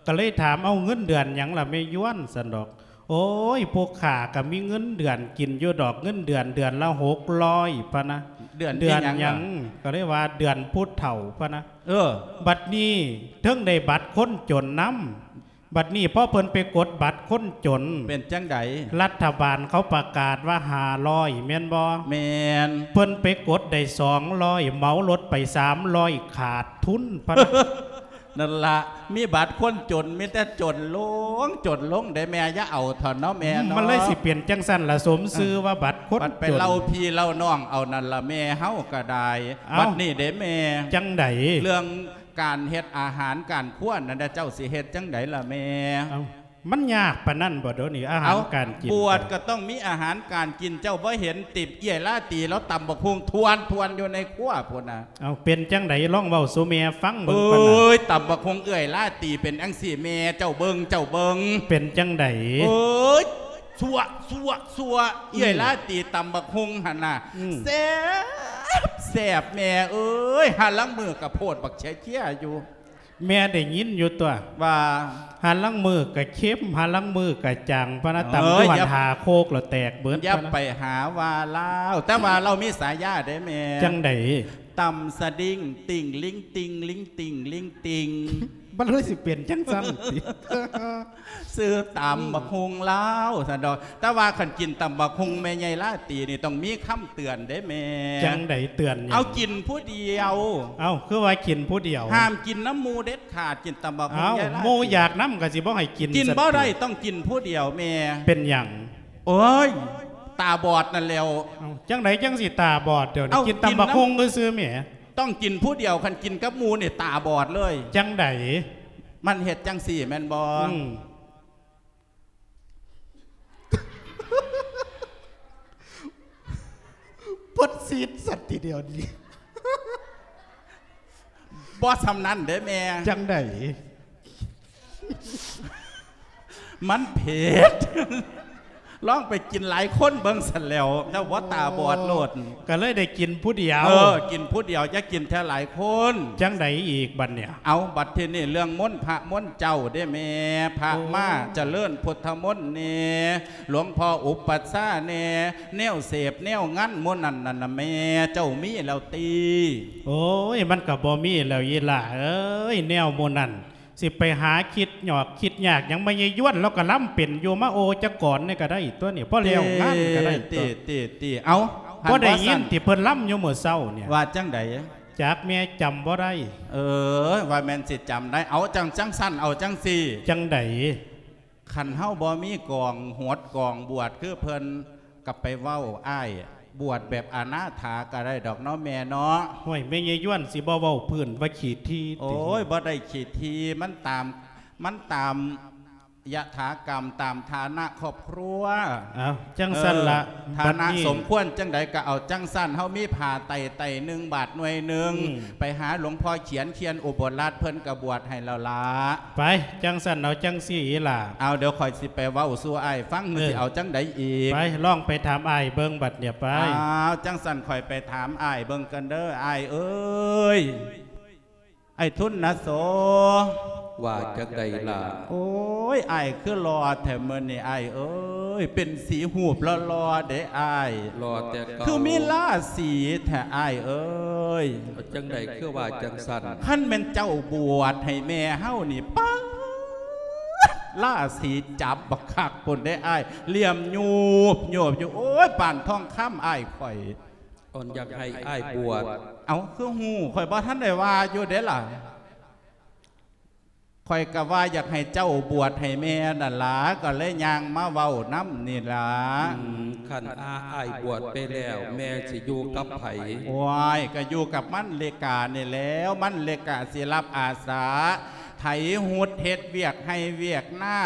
ກໍເລີຍຖາມ ເອົາ ເງິນເດືອນຫຍັງລະແມ່ຢວນ ຊັ້ນດອກ. ໂອ້ຍ ພວກຂ້າກໍມີເງິນເດືອນກິນຢູ່ດອກ ເງິນເດືອນເດືອນລະຫົກຮ້ອຍພະນະ. ເດືອນ ເດືອນຫຍັງ? ກໍເລີຍວ່າເດືອນຜູ້ເຖົ້າພະນະ. ເອີ ບັດນີ້ເຖິງໄດ້ບັດຄົນຈົນນຳ. ບັດນີ້ພໍເພິ່ນໄປກົດບັດຄົນຈົນ ເປັນຈັ່ງໃດ? ລັດຖະບານເຂົາປະກາດວ່າຫ້າຮ້ອຍແມ່ນບໍ່? ແມ່ນ. ເພິ່ນໄປກົດໄດ້ສອງຮ້ອຍ ເໝົາລົດໄປສາມຮ້ອຍ ຂາດທຶນພະນະ. ນັ້ນລະ ມີບັດຄົນຈົນ ມີແຕ່ຈົນລົງ ຈົນລົງເດ້ແມ່ ຢ່າເອົາເຖາະເນາະແມ່ເນາະ. ມັນເລີຍຊິເປັນຈັ່ງຊັ້ນລະ ສົມຊື່ວ່າບັດຄົນຈົນ. ບັດໄປເລົ່າພີ່ເລົ່ານ້ອງເອົານັ້ນລະແມ່ ເຮົາກໍໄດ້. ເອົ້າ ບັດນີ້ເດ້ແມ່ ຈັ່ງໃດ? ເລື່ອງການເຮັດອາຫານການຄົວນັ້ນນະ ເຈົ້າຊິເຮັດຈັ່ງໃດລະແມ່? ເອົ້າ ມັນຍາກປານນັ້ນບໍ່ດຽວນີ້ ອາຫານການກິນ? ບວດກໍຕ້ອງມີອາຫານການກິນ ເຈົ້າບໍ່ເຫັນຕິ ເອື້ອຍລາຕີລາວຕຳບັກຫຸ່ງທວນໆຢູ່ໃນຄົວພຸ້ນນະ. ເອົ້າ ເປັນຈັ່ງໃດ ລອງເວົ້າສູ່ແມ່ຟັງເບິ່ງກ່ອນນະ. ໂອ້ຍ ຕຳບັກຫຸ່ງເອື້ອຍລາຕີເປັນຈັ່ງຊີ້ ແມ່ເຈົ້າເບິ່ງ ເຈົ້າເບິ່ງ. ເປັນຈັ່ງໃດ? ໂອ້ຍ ຊົ່ວ ຊົ່ວ ຊົ່ວ ອືມ ເອື້ອຍລາຕີຕຳບັກຫຸ່ງຫັ້ນນະ ອືມ ແຊບ ແຊບແມ່ເອີຍ ຫາລາງມື້ກະໂພດບັກເຊຍໆຢູ່. ແມ່ໄດ້ຍິນຢູ່ຕົວະ ວ່າ ຫາລາງມື້ກະເຄັມ ຫາລາງມື້ກະຈາງ ພະນະ ຕຳຢູ່ຫັ້ນຫ້າໂຄກແລ້ວແຕກເບິດ ຢ່າໄປຫາວ່າລາວ ແຕ່ວ່າລາວມີສາຍາເດ້ແມ່. ຈັ່ງໃດ? ຕຳສະດິງ ຕິ່ງລິງຕິ່ງ ລິງຕິ່ງ ລິງຕິ່ງ ມັນເລີຍຊິເປັນຈັ່ງຊັ້ນຕິ? ຊື່ຕຳບັກຫຸ່ງລາວຊັ້ນດອກ ແຕ່ວ່າຄັນກິນຕຳບັກຫຸ່ງແມ່ໃຫຍ່ລາຕີນີ້ ຕ້ອງມີຄຳເຕືອນເດ້ແມ່. ຈັ່ງໃດເຕືອນຫຍັງ? ເອົາກິນຜູ້ດຽວ. ເອົ້າ ຄືວ່າກິນຜູ້ດຽວ? ຫ້າມກິນນຳໝູ່ເດັດຂາດ ກິນຕຳບັກຫຸ່ງ ເອົ້າ ຍາຍລາຕີ ໝູ່ຢາກນຳກໍຊິບໍ່ໃຫ້ກິນ. ກິນບໍ່ໄດ້ ຕິ? ຕ້ອງກິນຜູ້ດຽວແມ່. ເປັນຫຍັງ? ໂອ້ຍ ຕາບອດນັ້ນແຫຼ້ວ. ເອົ້າ ຈັ່ງໃດຈັ່ງຊິຕາບອດ? ດຽວນີ້ ເອົ້າ ກິນຕຳບັກຫຸ່ງຊື່ໆແໝ. ຕ້ອງກິນຜູ້ດຽວ ຄັນກິນກັບໝູ່ນີ້ຕາບອດເລີຍ. ຈັ່ງໃດ? ມັນເຮັດຈັ່ງຊີ້ແມ່ນບໍ່? ອືມ ປົດຊີດສັດທີດຽວນີ້ ບໍ່ສ່ຳນັ້ນເດ້ແມ່. ຈັ່ງໃດ? ມັນເຜັດ ລອງໄປກິນຫຼາຍຄົນເບິ່ງຊັ້ນແຫຼ້ວ ເຈົ້າບໍ່ຕາບອດໂລດ. ກໍເລີຍໄດ້ກິນຜູ້ດຽວ. ເອີ ກິນຜູ້ດຽວ ຢ່າກິນເທື່ອຫຼາຍຄົນ. ຈັ່ງໃດອີກບັດນີ້? ເອົາ ບັດທີນີ້ເລື່ອງມົນພະມົນເຈົ້າເດ້ແມ່. ພະ ໂອ້ ມາຈະເລີນພຸດທະມົນແດ່ ຫຼວງພໍ່ອຸປັດຊາແດ່ ແນວເສບແນວງັນໝູ່ນັ້ນນັ້ນນະແມ່ ເຈົ້າມີແລ້ວຕິ? ໂອ້ຍ ມັນກໍບໍ່ມີແລ້ວອີ່ຫຼ້າເອີຍ ແນວໝູ່ນັ້ນ. ຊິໄປຫາຄິດຫຍອກຄິດຍາກຫຍັງ ມາຍາຍຢວນລາວກໍລຳເປັນຢູ່ ມາໂອຈະກອນນີ້ກໍໄດ້ຕົວະນີ້ ພໍແລ້ວງານກໍໄດ້ຕົວະ. ຕິ ຕິ ຕິ ເອົາ ບໍ່ໄດ້ຍິນຕິເພິ່ນລຳຢູ່ມື້ເຊົ້ານີ້? ວ່າຈັ່ງໃດ? ຈັກແມ່ຈຳບໍ່ໄດ້. ເອີ ວ່າແມ່ນຊິຈຳໄດ້. ເອົາ ຈັ່ງ ຈັ່ງຊັ້ນ ເອົາຈັ່ງຊີ້. ຈັ່ງໃດ? ຄັນເຮົາບໍ່ມີກອງຫົດກອງບວດຄືເພິ່ນ ກໍໄປເວົ້າອ້າຍ ບວດແບບອະນາຖາກໍໄດ້ດອກເນາະແມ່ເນາະ. ໂອ້ຍ ແມ່ຍາຍຢວນຊິບໍ່ເວົ້າພື້ນວ່າຂີ້ຖີ່ຕິ? ໂອ້ຍ ບໍ່ໄດ້ຂີ້ຖີ່ ມັນຕາມ ມັນຕາມຍະຖາກຳ ຕາມຖານະຄອບຄົວ. ເອົ້າ ຈັ່ງຊັ້ນລະ ເອີ ຖານະ ບັດນີ້ສົມຄວນຈັ່ງໃດກໍເອົາຈັ່ງຊັ້ນ. ເຮົາມີຜ້າໄຕໄຕໜຶ່ງ ບາດໜ່ວຍໜຶ່ງ ອືມ ໄປຫາຫຼວງພໍ່ຂຽນ ຂຽນອຸບົດລັດ ເພິ່ນກໍບວດໃຫ້ແລ້ວລະ. ໄປ ຈັ່ງຊັ້ນເອົາຈັ່ງຊີ້ອີ່ຫຼ້າ. ເອົາ ດຽວຂ້ອຍຊິໄປເວົ້າສູ່ອ້າຍຟັງ ເອີ ຊິເອົາຈັ່ງໃດອີກ? ໄປ ລອງໄປຖາມອ້າຍເບິ່ງບັດນີ້ໄປ. ເອົາ ຈັ່ງຊັ້ນຂ້ອຍໄປຖາມອ້າຍເບິ່ງກັນເດີ ອ້າຍເອີຍ. ອ້າຍທຸນນະໂສ. ວ່າຈັ່ງໃດລະ? ໂອ້ຍ ອ້າຍຄືຫຼໍ່ແທ້ມື້ນີ້ ອ້າຍເອີຍ. ເປັນສີຫູບຫຼໍ່ໆເດ້ອ້າຍ. ຫຼໍ່ແຕ່ເກົ່າ. ຄືມີລາສີແທ້ອ້າຍເອີຍ. ຈັ່ງໃດຄືວ່າຈັ່ງຊັ້ນ? ຄັນແມ່ນເຈົ້າບວດໃຫ້ແມ່ເຮົານີ້ ປາດ ລາສີຈັບບັກຄັກພຸ້ນເດ້ອ້າຍ. ຫຼ່ຽມຍູບໆຢູ່ ໂອ້ຍ ປານທອງຄຳອ້າຍຂ້ອຍ. ອັນຢາກໃຫ້ອ້າຍບວດ. ເອົ້າ ຄືຮູ້? ຂ້ອຍບໍ່ທັນໄດ້ວ່າຢູ່ເດ້ລະ. ຂ້ອຍກໍວ່າຢາກໃຫ້ເຈົ້າບວດໃຫ້ແມ່ນັ້ນລະ ກໍເລີຍຍ່າງມາເວົ້ານຳນີ້ລະ. ອືມ ຄັນອ້າຍບວດໄປແລ້ວ ແມ່ຊິຢູ່ກັບໃຜ? ໂອ້ຍ ກໍຢູ່ກັບມັນເລການີ້ແຫຼ້ວ. ມັນເລກາຊິຮັບອາສາ ໄຖຫຸດ ເຮັດວຽກໄຮ່ວຽກນາ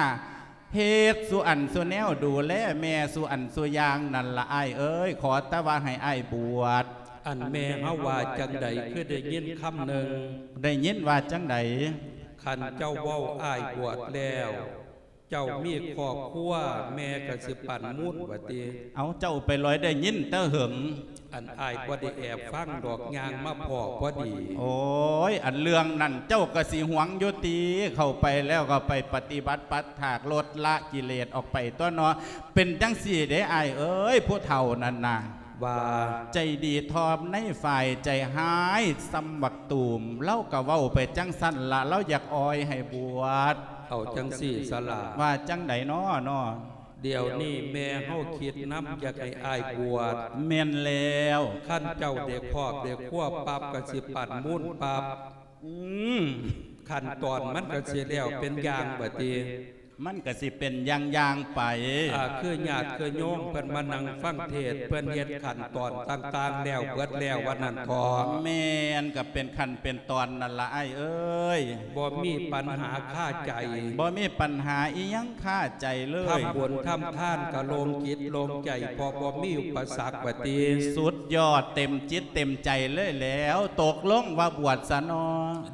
ເຮັດສູ່ອັນສູ່ແນວ ດູແລແມ່ສູ່ອັນສູ່ຢ່າງນັ້ນລະອ້າຍເອີຍ. ຂໍແຕ່ວ່າໃຫ້ອ້າຍບວດ. ອັນແມ່ເຮົາວ່າຈັ່ງໃດ ຄືໄດ້ຍິນຄຳໜຶ່ງ? ໄດ້ຍິນວ່າຈັ່ງໃດ? ຄັນເຈົ້າເວົ້າອ້າຍບວດແລ້ວ ເຈົ້າມີຄອບຄົວ ແມ່ກໍຊິປັ້ນມູນວ່າຕິ. ເອົ້າ ເຈົ້າໄປລອຍໄດ້ຍິນແຕ່ເຫິງ. ອັນອ້າຍບໍ່ໄດ້ແອບຟັງດອກ ຍ່າງມາພໍ້ພໍດີ. ໂອ້ຍ ອັນເລື່ອງນັ້ນເຈົ້າກໍຊິຫວງຢູ່ຕິ? ເຂົ້າໄປແລ້ວກໍໄປປະຕິບັດປັດຖາກ ລົດລະກິເລດອອກໄປຕົວະເນາະ. ເປັນຈັ່ງຊີ້ເດ້ອ້າຍເອີຍ ຜູ້ເຖົ້ານັ້ນນະ ວ່າ ໃຈດີທອມໃນຝ່າຍ ໃຈຮ້າຍສ່ຳບັກຕູມ. ລາວກໍເວົ້າໄປຈັ່ງຊັ້ນລະ ລາວຢາກອອຍໃຫ້ບວດ. ເອົາຈັ່ງຊີ້ສະລະ. ວ່າຈັ່ງໃດນໍ? ດຽວນີ້ແມ່ເຮົາຄິດນຳ ຢາກໃຫ້ອ້າຍບວດ. ແມ່ນແລ້ວ. ຄັນເຈົ້າໄດ້ຄອບໄດ້ຄົວປັບ ກໍຊິປັ້ນມູນປັບ. ອືມ ຂັ້ນຕອນມັນກໍຊິແລ້ວເປັນຢ່າງບາດນີ້. ມັນກໍຊິເປັນຢ່າງໆໄປ. ອາ ຄືຍາດຄືໂຍມເພິ່ນມານັ່ງຟັງເທດ ເພິ່ນເຮັດຂັ້ນຕອນຕ່າງໆແລ້ວເບິດແລ້ວວ່ານັ້ນເຖາະ. ແມ່ນ ກໍເປັນຂັ້ນເປັນຕອນນັ້ນລະອ້າຍເອີຍ. ບໍ່ມີປັນຫາຄາໃຈ. ບໍ່ມີປັນຫາອີ່ຫຍັງຄາໃຈເລີຍ. ທຳບຸນທຳທານກໍໂລ່ງຈິດໂລ່ງໃຈ ເພາະບໍ່ມີອຸປະສັກວ່າຕິ. ສຸດຍອດ ເຕັມຈິດເຕັມໃຈເລີຍແລ້ວ. ຕົກລົງວ່າບວດຊະເນາ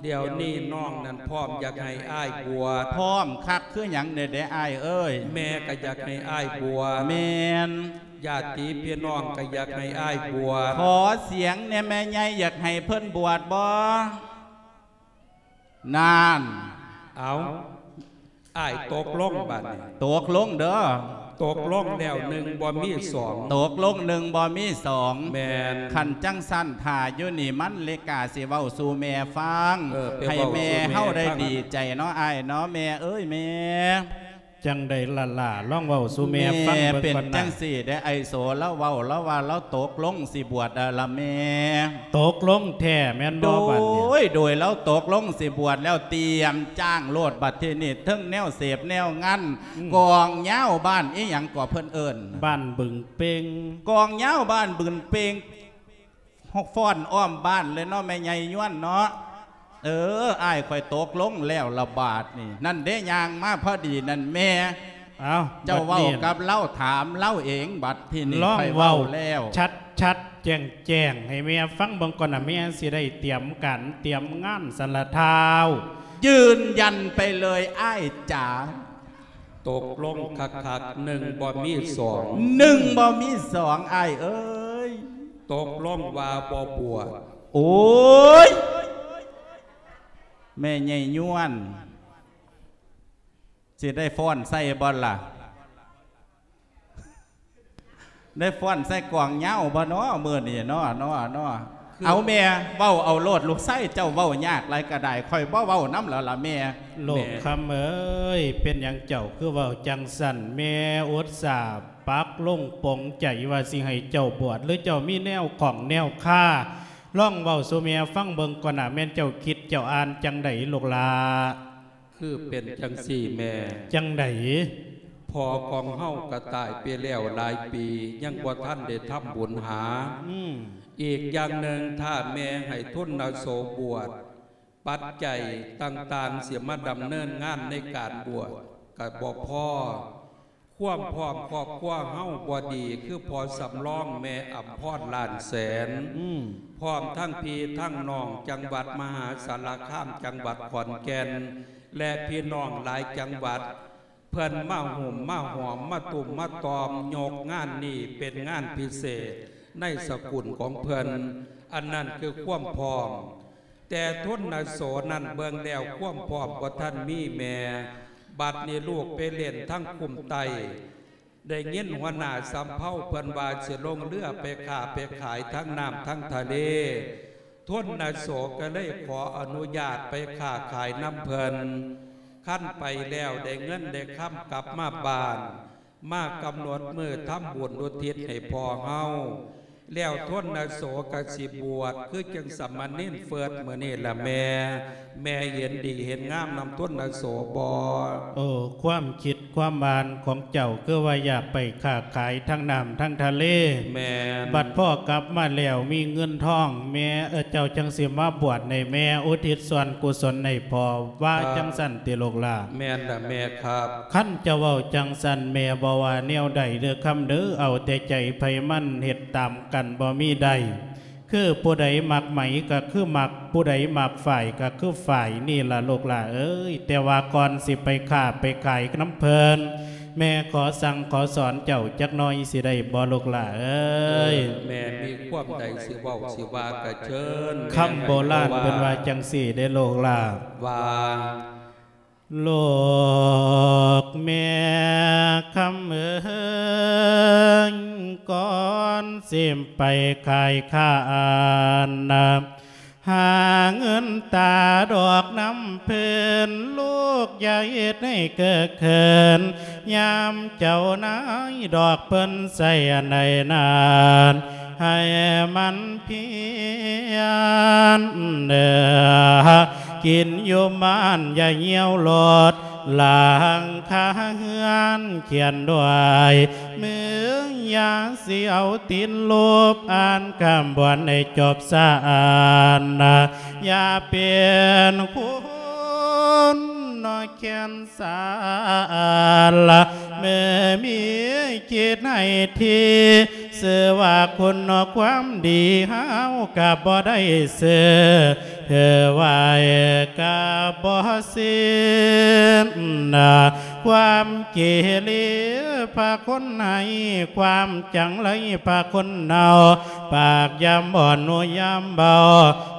ະ. ດຽວນີ້ນ້ອງນັ້ນພ້ອມຢາກໃຫ້ອ້າຍບວດ. ພ້ອມຄັກຄືຫຍັງແດ່ເດອ້າຍເອີຍ. ແມ່ກໍຢາກໃຫ້ອ້າຍບວດ. ແມ່ນ. ຍາດຕິພີ່ນ້ອງກໍຢາກໃຫ້ອ້າຍບວດ. ຂໍສຽງແດ່ແມ່ໃຫຍ່ ຢາກໃຫ້ເພິ່ນບວດບໍ່? ນານ ເອົາ ອ້າຍຕົກລົງບາດນີ້ ຕົກລົງເດີ້ ຕົກລົງແລ້ວໜຶ່ງບໍ່ມີສອງ ຕົກລົງໜຶ່ງບໍ່ມີສອງ ແມ່ນ ຄັນຈັ່ງຊັ້ນຖ້າຢູ່ນີ້ມັນເລກາຊິເວົ້າສູ່ແມ່ຟັງ ເອີ ໄປເວົ້າສູ່ແມ່ ໃຫ້ແມ່ເຮົາໄດ້ ແມ່ຟັງ ດີໃຈເນາະອ້າຍເນາະ ແມ່ເອີຍແມ່ ຈັ່ງໃດຫຼ້າໆ ລອງເວົ້າສູ່ແມ່ຟັງເບິ່ງກ່ອນນະ ແມ່ເປັນຈັ່ງຊີ້ເດ້ ອ້າຍໂສລາວເວົ້າ ລາວວ່າລາວຕົກລົງຊິບວດແລ້ວລະແມ່ ຕົກລົງແທ້ແມ່ນບໍ່ບາດນີ້ ໂດຍ ໂດຍລາວຕົກລົງຊິບວດແລ້ວ ຕຽມຈ້າງໂລດ ບັດທີນີ້ເຖິງແນວເສບແນວງັນ ອືມ ກອງຍາວບ້ານອີ່ຫຍັງກໍເພິ່ນເອີ້ນ ບ້ານບຶງເປັງ ກອງຍາວບ້ານບຶງເປັງ ຮອກຟ້ອນອ້ອມບ້ານເລີຍເນາະ ແມ່ໃຫຍ່ຍວນເນາະ ເອີ ອ້າຍຂ້ອຍຕົກລົງແລ້ວລະບາດນີ້ ນັ້ນເດ້ ຍ່າງມາພໍດີນັ້ນແມ່ ເອົ້າ ເຈົ້າເວົ້າກັບລາວ ຖາມລາວເອງ ບັດທີນີ້ ລອງເວົ້າແລ້ວ ເວົ້າຊັດໆ ແຈ້ງໆ ໃຫ້ແມ່ຟັງເບິ່ງກ່ອນນະ ແມ່ຊິໄດ້ຕຽມການຕຽມງານຊັ້ນລະທ້າວ ຢືນຢັນໄປເລີຍອ້າຍຈ໋າ ຕົກລົງຄັກໆ ໜຶ່ງບໍ່ມີສອງ ໜຶ່ງບໍ່ມີສອງ ອ້າຍເອີຍ ຕົກລົງວ່າບໍ່ບວດ ໂອ້ຍ ແມ່ໃຫຍ່ຍວນ ຊິໄດ້ຟ້ອນໃສ່ບໍ່ລະ ໄດ້ຟ້ອນໃສ່ກອງຍາວບໍ່ເນາະ ມື້ນີ້ເນາະ ເນາະ ເນາະ ຄື ເອົາແມ່ ເວົ້າເອົາໂລດ ລູກຊາຍເຈົ້າເວົ້າຍາກຫຼາຍກະດາຍ ຂ້ອຍບໍ່ເວົ້ານຳແລ້ວລະແມ່ ລູກຄຳເອີຍ ເປັນຫຍັງເຈົ້າຄືເວົ້າຈັ່ງຊັ້ນ ແມ່ອຸດສ່າປັກລົງປົງໃຈວ່າຊິໃຫ້ເຈົ້າບວດ ຫຼືເຈົ້າມີແນວຂ້ອງແນວຄາ ລອງເວົ້າສູ່ແມ່ຟັງເບິ່ງກ່ອນນະ ແມ່ນເຈົ້າຄິດເຈົ້າອ່ານຈັ່ງໃດລູກຫຼ້າ? ຄືເປັນຈັ່ງຊີ້ແມ່ ຈັ່ງໃດ? ພໍ່ຂອງເຮົາກະຕາຍໄປແລ້ວຫຼາຍປີ ຍັງບໍ່ທັນໄດ້ທຳບຸນຫາ ອືມ ອີກຢ່າງໜຶ່ງ ຖ້າແມ່ໃຫ້ທຶນນະໂສບວດ ປັດໄຈຕ່າງໆ ຊິມາດຳເນີນງານໃນການບວດກະບໍ່ພໍ ຄວາມພ້ອມຄອບຄົວເຮົາບໍ່ດີ ຄືພໍ່ສຳລອງ ແມ່ອຳພອນ ລ້ານແສນ ອືມ ພ້ອມທັງພີ່ທັງນ້ອງ ຈັງຫວັດມະຫາສາລະຄາມ ຈັງຫວັດຂອນແກ່ນ ແລະ ພີ່ນ້ອງຫຼາຍຈັງຫວັດ ເພິ່ນມາຫຸ້ມມາຫອມ ມາຕຸ້ມມາຕ່ອມ ຍົກງານນີ້ເປັນງານພິເສດໃນສະກຸນຂອງເພິ່ນ ອັນນັ້ນຄືຄວາມພ້ອມ ແຕ່ທຶນນະໂສນັ້ນເບິ່ງແລ້ວຄວາມພ້ອມບໍ່ທັນມີແມ່ ບັດນີ້ລູກໄປຫຼິ້ນທາງຄຸ້ມໃຕ້ ໄດ້ຍິນຫົວໜ້າສຳເພົາເພິ່ນວ່າຊິລົງເຮືອໄປຄ້າໄປຂາຍທາງນ້ຳທາງທະເລ ທຸນນະໂສກະເລີຍຂໍອະນຸຍາດໄປຄ້າຂາຍນຳເພິ່ນ ຄັນໄປແລ້ວໄດ້ເງິນໄດ້ຄຳກັບມາບ້ານ ມາກຳນົດມື້ທຳບຸນອຸທິດໃຫ້ພໍ່ເຮົາ ແລ້ວທົນນະໂສກະຊິບວດ ຄືຈັ່ງສາມະເນນເຟີດມື້ນີ້ລະແມ່ ແມ່ເຫັນດີເຫັນງາມນຳທົນນະໂສບໍ່? ໂອ້ ຄວາມຄິດຄວາມອ່ານຂອງເຈົ້າ ຄືວ່າຢາກໄປຄ້າຂາຍທາງນ້ຳທາງທະເລ ແມ່ນ ບັດພໍກັບມາແລ້ວມີເງິນທອງ ແມ່ ເອີ ເຈົ້າຈັ່ງຊິມາບວດໃຫ້ແມ່ ອຸທິດສ່ວນກຸສົນໃຫ້ພໍ່ ວ່າ ຄັບ ຈັ່ງຊັ້ນຕິລູກຫຼ້າ? ແມ່ນລະແມ່ຄັບ. ຄັນເຈົ້າເວົ້າຈັ່ງຊັ້ນ ແມ່ບໍ່ວ່າແນວໃດເດີ້ຄຳເດີ້ ເອົາແຕ່ໃຈໃຜມັນ ເຮັດຕາມກັນບໍ່ມີໄດ້ ຄືຜູ້ໃດມັກໄໝກໍຄືມັກ ຜູ້ໃດມັກຝ້າຍກໍຄືຝ້າຍ ນີ້ລະລູກຫຼ້າເອີຍ. ແຕ່ວ່າກ່ອນຊິໄປຄ້າໄປຂາຍນຳເພິ່ນ ແມ່ຂໍສັ່ງຂໍສອນເຈົ້າຈັກໜ້ອຍຊິໄດ້ບໍ່ລູກຫຼ້າເອີຍ? ເອີ ແມ່ມີຄວາມໃດຊິເວົ້າຊິວ່າກະເຊີນ. ຄຳໂບລານເພິ່ນວ່າຈັ່ງຊີ້ເດ້ລູກຫຼ້າ ວ່າ ລູກແມ່ຄຳເອີຍ ກ່ອນຊິໄປຂາຍຂ້ານນະ ຫາເງິນຕາດອກນຳເພິ່ນ ລູກຢ່າເຮັດໃຫ້ເກີກເຂີນ ຍາມເຈົ້ານາຍດອກເພິ່ນໃສ່ອັນໃດນັ້ນ ໃຫ້ມັນພຽນເດີ້ ກິນຢູ່ບ້ານຢ່າຫ່ຽວໂລດ ຫຼັງຄາເຮືອນຂຽນດ້ວຍ ເມືອງຢ່າຊິເອົາຕີນລູບ ອ່ານຄຳບວນໃຫ້ຈົບສານນະ ຢ່າເປັນຄົນນອກແຄນ ສາລະ ເມື່ອມີຈິດໃຫ້ທີ່ ຊື່ວ່າຄຸນນອກຄວາມດີ ເຮົາກະບໍ່ໄດ້ຊື່ ເພື່ອໄວ້ກະບໍ່ສິ້ນນະ ຄວາມເກເລພາຄົນໃຫ້ ຄວາມຈັງໄລພາຄົນເນົ່າ ປາກຍາມອ່ອນ ຫູຍາມເບົາ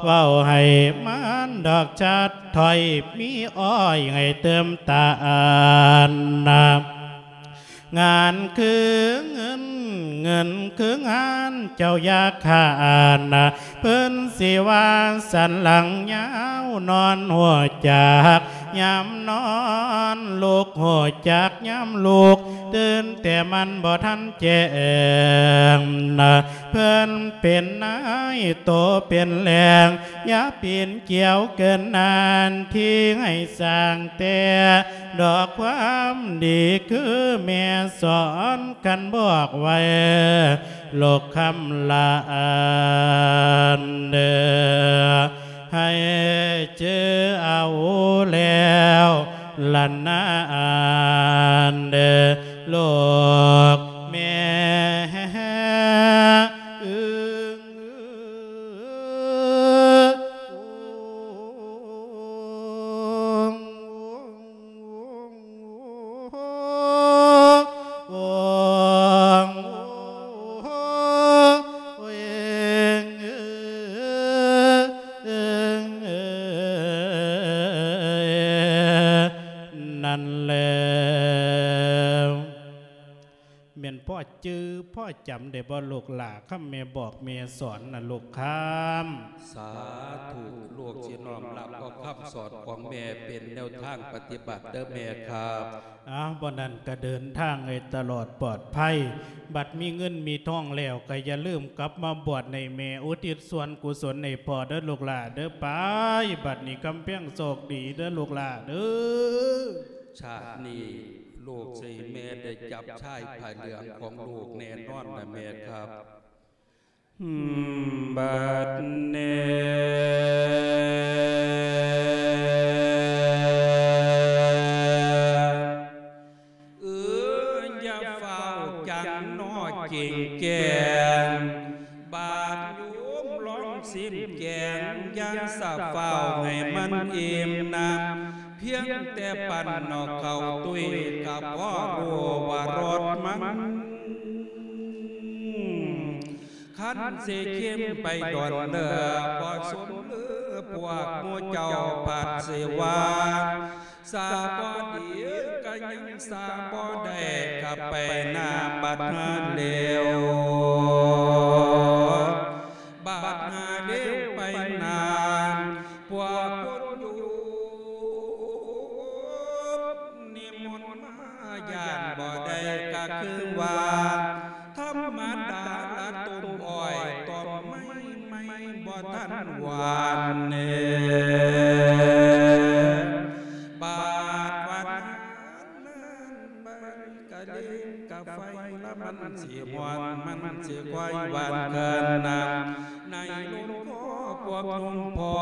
ເວົ້າໃຫ້ມັນດອກຈັດ ຖ້ອຍມີອ້ອຍໃຫ້ເຕີມຕານນະ ງານຄືເງິນ ເງິນຄືງານ ເຈົ້າຢ່າຄ້ານນະ ເພິ່ນຊິວ່າສັນຫຼັງຍາວ ນອນຮູ້ຈັກຍາມນອນ ລຸກຮູ້ຈັກຍາມລຸກ ຕື່ນແຕ່ມັນບໍ່ທັນແຈ້ງນະ ເພິ່ນເປັນນາຍໂຕເປັນແຫຼ່ງ ຢ່າປີນກ່ຽວເກີນນານ ທີ່ໃຫ້ສ້າງແຕ່ດອກຄວາມດີ ຄືແມ່ສອນກັນບອກໄວ້ ລູກຄຳຫຼານເດີ ໃຫ້ຈື່ເອົາແລ້ວລະນານເດີ ລູກແມ່ເອີຍ. ນັ້ນແຫຼະ ແມ່ນພໍ່ຈື່ພໍ່ຈຳໄດ້ບໍ່ລູກຫຼ້າ ຄຳແມ່ບອກແມ່ສອນນະລູກຄຳ? ສາທຸ ລູກຊິນ້ອມຮັບເອົາຄຳສອນຂອງແມ່ເປັນແນວທາງປະຕິບັດເດີແມ່ຄັບ. ອ້າວ ບໍ່ນັ້ນກະເດີນທາງໃຫ້ຕະຫຼອດປອດໄພ ບັດມີເງິນມີທອງແລ້ວ ກະຢ່າລືມກັບມາບວດໃຫ້ແມ່ ອຸທິດສ່ວນກຸສົນໃຫ້ພໍ່ເດີລູກຫຼ້າເດີ ໄປ ບັດນີ້ກຳແພງໂຊກດີເດີລູກຫຼ້າເດີ. ຊາດນີ້ລູກຊິໃຫ້ແມ່ໄດ້ຈັບຊາຍຜ້າເຫຼືອງຂອງລູກແນ່ນອນນະແມ່ຄັບ. ບັດນີ້ ເອີ ຢ່າຟ້າວຈັງນໍເກັ່ງແຈ້ງ ບາດໂຍມລອງຊິມແກງ ຢ່າສະຟ້າວໃຫ້ມັນອີ່ມນຳ ພຽງແຕ່ປັ້ນເອົາເຂົ້າຕຸ້ຍ ກະພໍຮູ້ວ່າລົດມັນ ຄັນຊິເຄັມໄປດົນເດີ ບໍ່ສົມຫຼືພວກໝູ່ເຈົ້າພັດຊິວ່າ ສາບໍ່ດີກະຍັງສາບໍ່ໄດ້ ກະໄປໜ້າບັດຫາເລວ ບັດຫາເລວໄປໜ້າ ພວກຄົນຢູ່ ນິມົນມາຢ້ານບໍ່ໄດ້ກະຄືວ່າ ທຳມະດາລະຕົ້ນອ້ອຍ ຕົ້ນໄມ້ໃໝ່ບໍ່ທັນຫວານເນ ບາດວ່ານານໄປ ກະເລງກະໄຟລະມັນຊິຮ້ອນ ມັນຊິຄວາຍຫວານເກີນນຳ ໃນລົມຄໍພວກໜຸ່ມພໍ່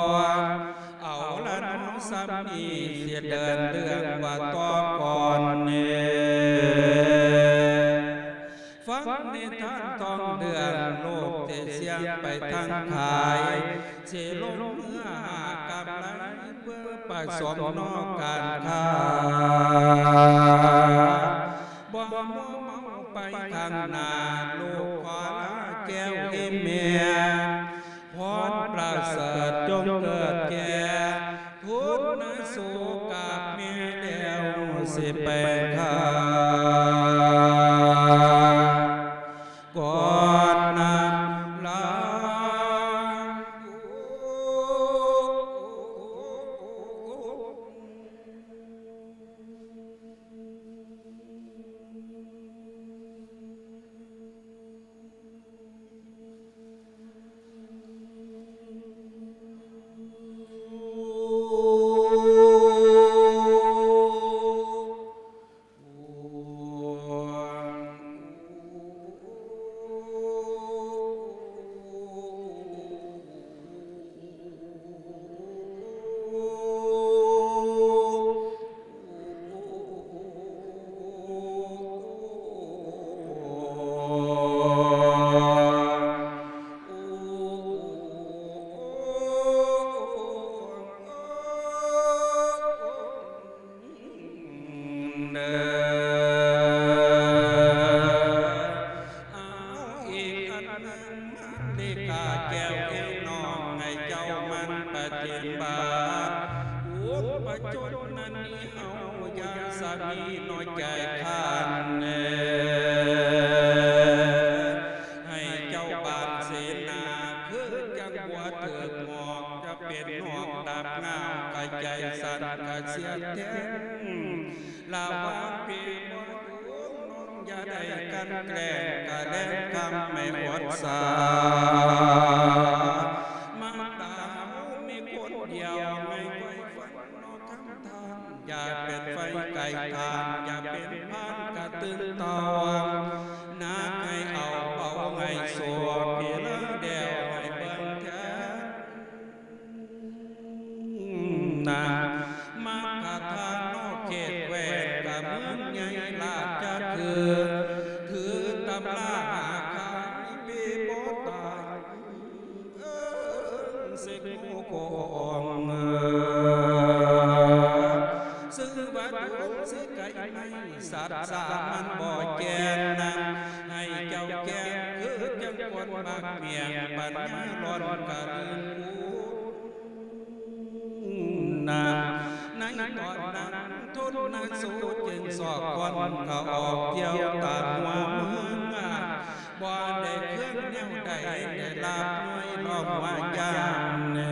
ເອົາລະເນາະ ສ່ຳນີ້ຊິເດີນເລື່ອງວ່າຕໍ່ກ່ອນເນ ຟັງນິທານທ່ອງເລື່ອງ ໂລກທີ່ສ່ຽງໄປທາງຂາຍ ຊິລົງເຮືອຫາກຳໄລ ເພື່ອປະສົມນອກການຄ້າ ບໍ່ມົວເມົາໄປຂ້າງໜ້າ ລູກຂໍລາແກ້ວອີ່ແມ່ ພອນປະເສີດຈົ່ງເກີດແກ່ ທຸນນະສູ່ກັບແມ່ແລ້ວຊິໄປຂ້າ ກ່ອນນຳລາ. ເອົາອີກອັນໜຶ່ງ ມາລິກາແກ້ວເອີຍນ້ອງ ໃຫ້ເຈົ້າໝັ່ນປະຕິບັດ ອຸປະຈົນນັນນີ້ເຮົາ ຢ່າສະມີນ້ອຍໃຈຄັນເອີ ໃຫ້ເຈົ້າບານເສນາ ຄືຈັ່ງບົວຖືກໝອກ ຈະເປັນຫອກດາບງາວ ກະໃຈສັ່ນກະສຽດແທ້ງ ລະຫວ່າງປີບໍ່ດົງນ້ອງ ຢ່າໄດ້ກັ່ນແກລ້ງ ກະແລງຄຳໃຫ້ອົດສາ ມາດຕາເຮົາມີຄົນດຽວ ໃຫ້ໄວຝັນນອກຄຳທ່ານ ຢ່າເປັນໄຟໄກ່ທ່ານ ຢ່າເປັນພານກະຕື່ນຕອງ ໜັກໃຫ້ເອົາເບົາໃຫ້ສວບ ປີລາແດວໃຫ້ເບິ່ງແທ້ ນາ ມັກກະທານອກເຂດແຂວນ ກະເມືອງໃຫຍ່ລາດຈະຄື ຖືຕຳລາຫາຂາຍ ປີບໍ່ຕາຍ ເອີ ເສກໂກອງ ເອີ ຊື່ວ່າດວງຊິໄກໄມ້ ສັດສາມັນບໍ່ແກ່ນນະ ໃຫ້ເຈົ້າແກ່ນຄືຈັ່ງຄົນມັກມ້ຽງ ປັນຍາລ້ອນກະລືມຄູນນະ ໃນຕອນນັ້ນ ທົນນະສູຈຶ່ງຊອກຄວາມກະອອກ ທ່ຽວຕາມຫົວເມືອງ ບໍ່ໄດ້ເຄື່ອງແນວໃດ ໄດ້ລາບນ້ອຍລອງວ່າຢ່າງເໜີ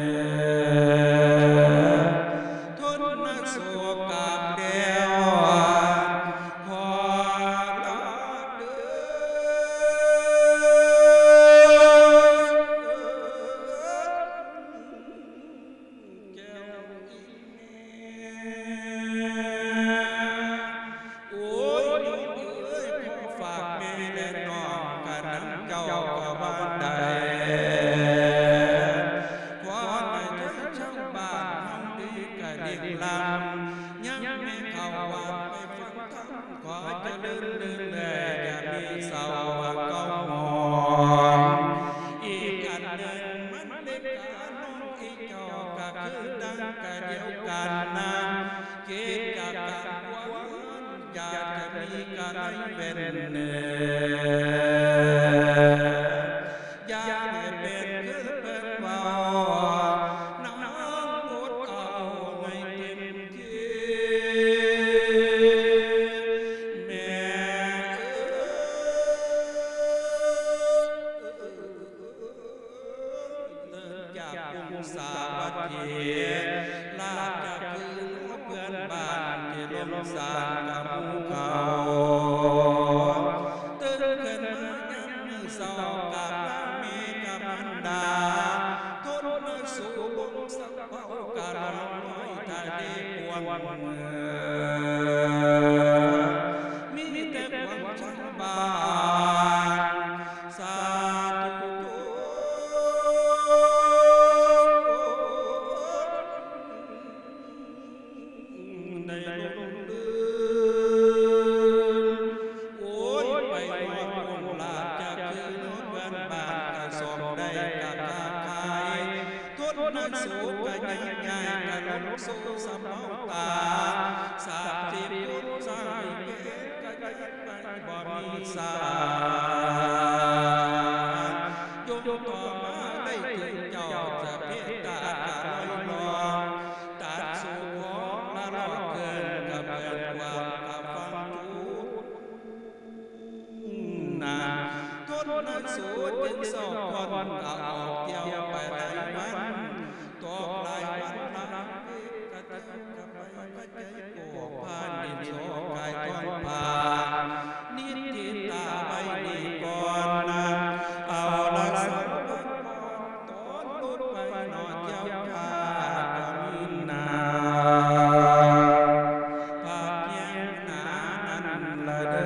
ທົນນະສູກັບແລ້ວ ຂໍລາເດີ ແກ້ວອີແມ່ ໂອ້ຍ ໂຍມເອີຍ ຂໍຝາກແມ່ແລະນ້ອງ ກະນຳເຈົ້າກະວ່າໄດ້ ຂໍໃຫ້ໃຈຊາວບ້ານເຮົາດີກະເລີງລຳ ຍາມແມ່ເຂົ້າວັດໄປຟັງທຳ ຂໍຈະເລີນເລື່ອງແລ ຢ່າມີເສົ້າວ່າເກົ່າໝອງ ອີກອັນໜຶ່ງ ມັນເປັນການນ້ອງ ເຈົ້າກະຄືກັນກະດຽວກັນນະ ເກດຈາກການຄວາມເຮືອນ ຢາກຈະມີກະໄລເວັນເນີ ຢ່າໃຫ້ເປັນຄືເພິ່ນເວົ້າ ນ້ອງອົດເອົາໃຫ້ເຕັມທີ່ ແມ່ເອີຍ ເລີ່ມຈາກກຸງສາວັດຖີ ລາດຈະຄືເພື່ອນບ້ານທີ່ລົງສ້າງກັບໝູ່ເຂົາ ຕື່ນຂຶ້ນມາຍາມມື້ເຊົ້າ ກາບລາແມ່ກັບມານດາ ທົນນະສູລົງສະເປົາ ກະລ່ອງລອຍທະເລກວ້າງ ມີແຕ່ຄວາມຊ່າງບານ ສາທຸ ໃນລົມລື່ນ ໂອ້ຍ ໄປຮອດໂຄງລາດຈະຄືຮອດເຮືອນບ້ານ ກະສ້ອມໄດ້ກະຄ້າຂາຍ ທົນນະສູກະຍາກຍ້າຍ ກະລົງສູ່ສຳເນົາຕາ ສາມສິບຄົນຊາຍແກ່ ກະຍັງໄປບໍ່ມີສານ ຍົມຕໍ່ມາໄດ້ເຖິງເຈົ້າຈະເມດຕາກະລອຍລອງ ຕັດສູ່ຂອງລະລອກເກີນກະເບີນກວ້າງກະຟັງຈູນນາ ທົນນະສູຈຶ່ງຊອກຄອນກະອອກທ່ຽວໄປຫຼາຍວັນ ຕົກຫຼາຍວັນຫຼາຍເວກະເທີກະໄປ ພານິດໂຊກາຍທອງພາ ນິດທິດຕາໄວ້ນີ້ກ່ອນນະ ເອົາລະສາວະກອນ ຕອນລຸດໄປນອກເຈົ້າຂ້າກະມີນາ ພາກແຍງໜານັ້ນລະເດີ.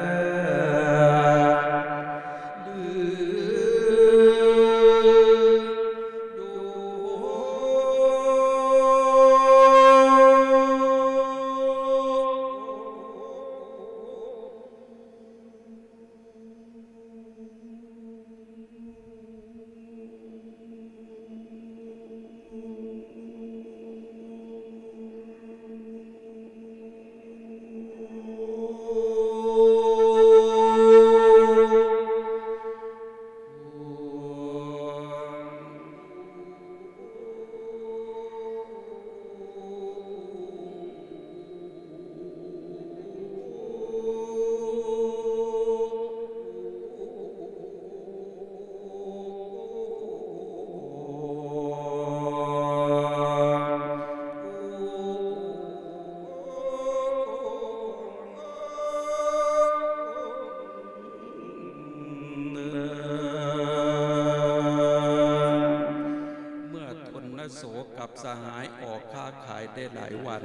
ຫຼາຍໆວັນ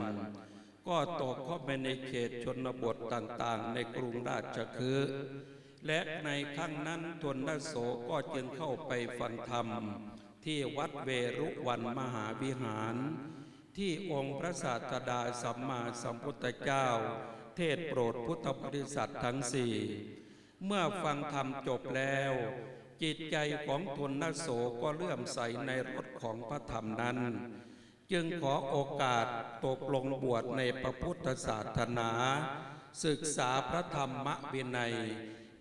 ກໍຕົກເຂົ້າໄປໃນເຂດຊົນນະບົດຕ່າງໆໃນກຸງລາຊະຄຶ ແລະ ໃນຄັ້ງນັ້ນ ທົນນະໂສກໍຈຶ່ງເຂົ້າໄປຟັງທຳທີ່ວັດເວລຸວັນມະຫາວິຫານ ທີ່ອົງພະສາສະດາສຳມາສຳພຸດທະເຈົ້າເທດໂປດພຸດທະບໍລິສັດທັງສີ່. ເມື່ອຟັງທຳຈົບແລ້ວ, ຈິດໃຈຂອງທົນນະໂສກໍເຫຼື້ອມໃສໃນລົດຂອງພະທຳນັ້ນ, ຈຶ່ງຂໍໂອກາດຕົກລົງບວດໃນພະພຸດທະສາສະໜາ, ສຶກສາພະທຳມະວິໄນ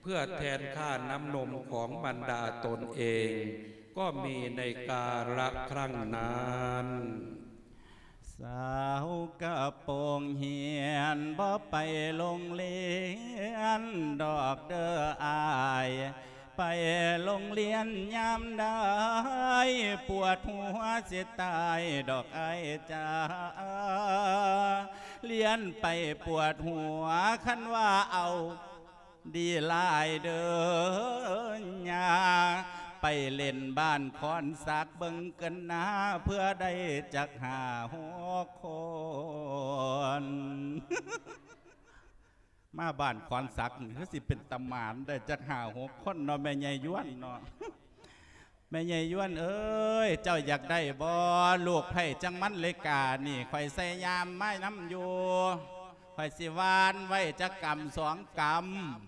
ເພື່ອແທນຄ່ານ້ຳນົມຂອງບັນດາຕົນເອງ ກໍມີໃນກາລະຄັ້ງນັ້ນ. ສາວກະໂປງຮຽນ ບໍ່ໄປໂລງລຽນດອກເດີອ້າຍ, ໄປໂລງລຽນຍາມໃດ ປວດຫົວຊິຕາຍດອກອ້າຍຈ້າ, ລຽນໄປປວດຫົວ ຄັນວ່າເອົາ ດີຫຼາຍເດີຍ່າ, ໄປເລ່ນບ້ານຄອນສັກເບິ່ງກັນນາ ເພື່ອໄດ້ຈັກຫ້າຫົກຄົນ. ມາບ້ານຄອນສັກນີ້ ຄືຊິເປັນຕາໝານໄດ້ຈັກຫ້າຫົກຄົນເນາະ ແມ່ໃຫຍ່ຢວນເນາະ. ແມ່ໃຫຍ່ຢວນເອີຍ ເຈົ້າຢາກໄດ້ບໍ່ ລູກໃພ້ຈັກມັນເລການີ້ ຂ້ອຍໃສ່ຍາມມານຳຢູ່, ຂ້ອຍຊິຫວ່ານໄວ້ຈັກກຳສອງກຳ,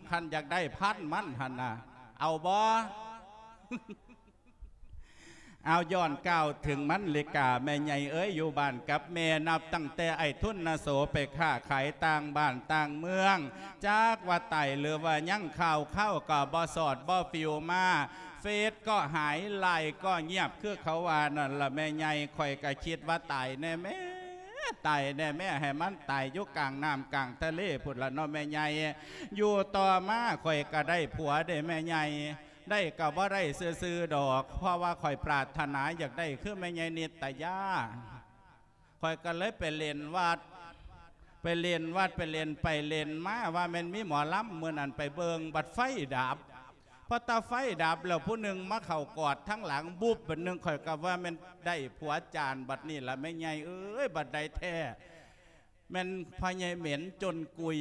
ຄັນຢາກໄດ້ພັນມັນຫັ້ນນະ ເອົາບໍ່? ເອົາ ຍ້ອນກ່າວເຖິງມັນເລກາ ແມ່ໃຫຍ່ເອີຍ ຢູ່ບ້ານກັບແມ່ ນັບຕັ້ງແຕ່ອ້າຍທຸນນະໂສໄປຄ້າຂາຍຕ່າງບ້ານຕ່າງເມືອງ, ຈັກວ່າຕາຍຫຼືວ່າຍັງ ຂ່າວຄາວກໍບໍ່ສອດບໍ່ຟິວມາ. ເຟສກໍຫາຍ ລາຍກໍງຽບ ຄືເຂົາວ່ານັ້ນລະແມ່ໃຫຍ່. ຂ້ອຍກໍຄິດວ່າຕາຍແນ່ແມ້ ຕາຍແນ່ແມ້ ໃຫ້ມັນຕາຍຢູ່ກາງນ້ຳກາງທະເລພຸ້ນລະເນາະແມ່ໃຫຍ່. ຢູ່ຕໍ່ມາຂ້ອຍກໍໄດ້ຜົວເດ້ແມ່ໃຫຍ່, ໄດ້ກໍບໍ່ໄດ້ຊື່ໆດອກ ເພາະວ່າຂ້ອຍປາດຖະໜາຢາກໄດ້ຄືແມ່ໃຫຍ່ນິດຕະຍາ. ຂ້ອຍກໍເລີຍໄປເລ່ນວັດ ໄປເລ່ນວັດ ໄປເລ່ນໄປເລ່ນມາ ວ່າແມ່ນມີໝໍລຳ. ມື້ນັ້ນໄປເບິ່ງ ບັດໄຟດັບ, ພໍຕາໄຟດັບແລ້ວ ຜູ້ໜຶ່ງມາເຂົ້າກອດທາງຫຼັງ ບຸບ ບັດໜຶ່ງ ຂ້ອຍກໍວ່າແມ່ນໄດ້ຜົວຈານ. ບັດນີ້ລະແມ່ໃຫຍ່ເອີຍ ບັດໃດແທ້ ແມ່ນພໍ່ໃຫຍ່ເໝັນຈົນກຸຍ.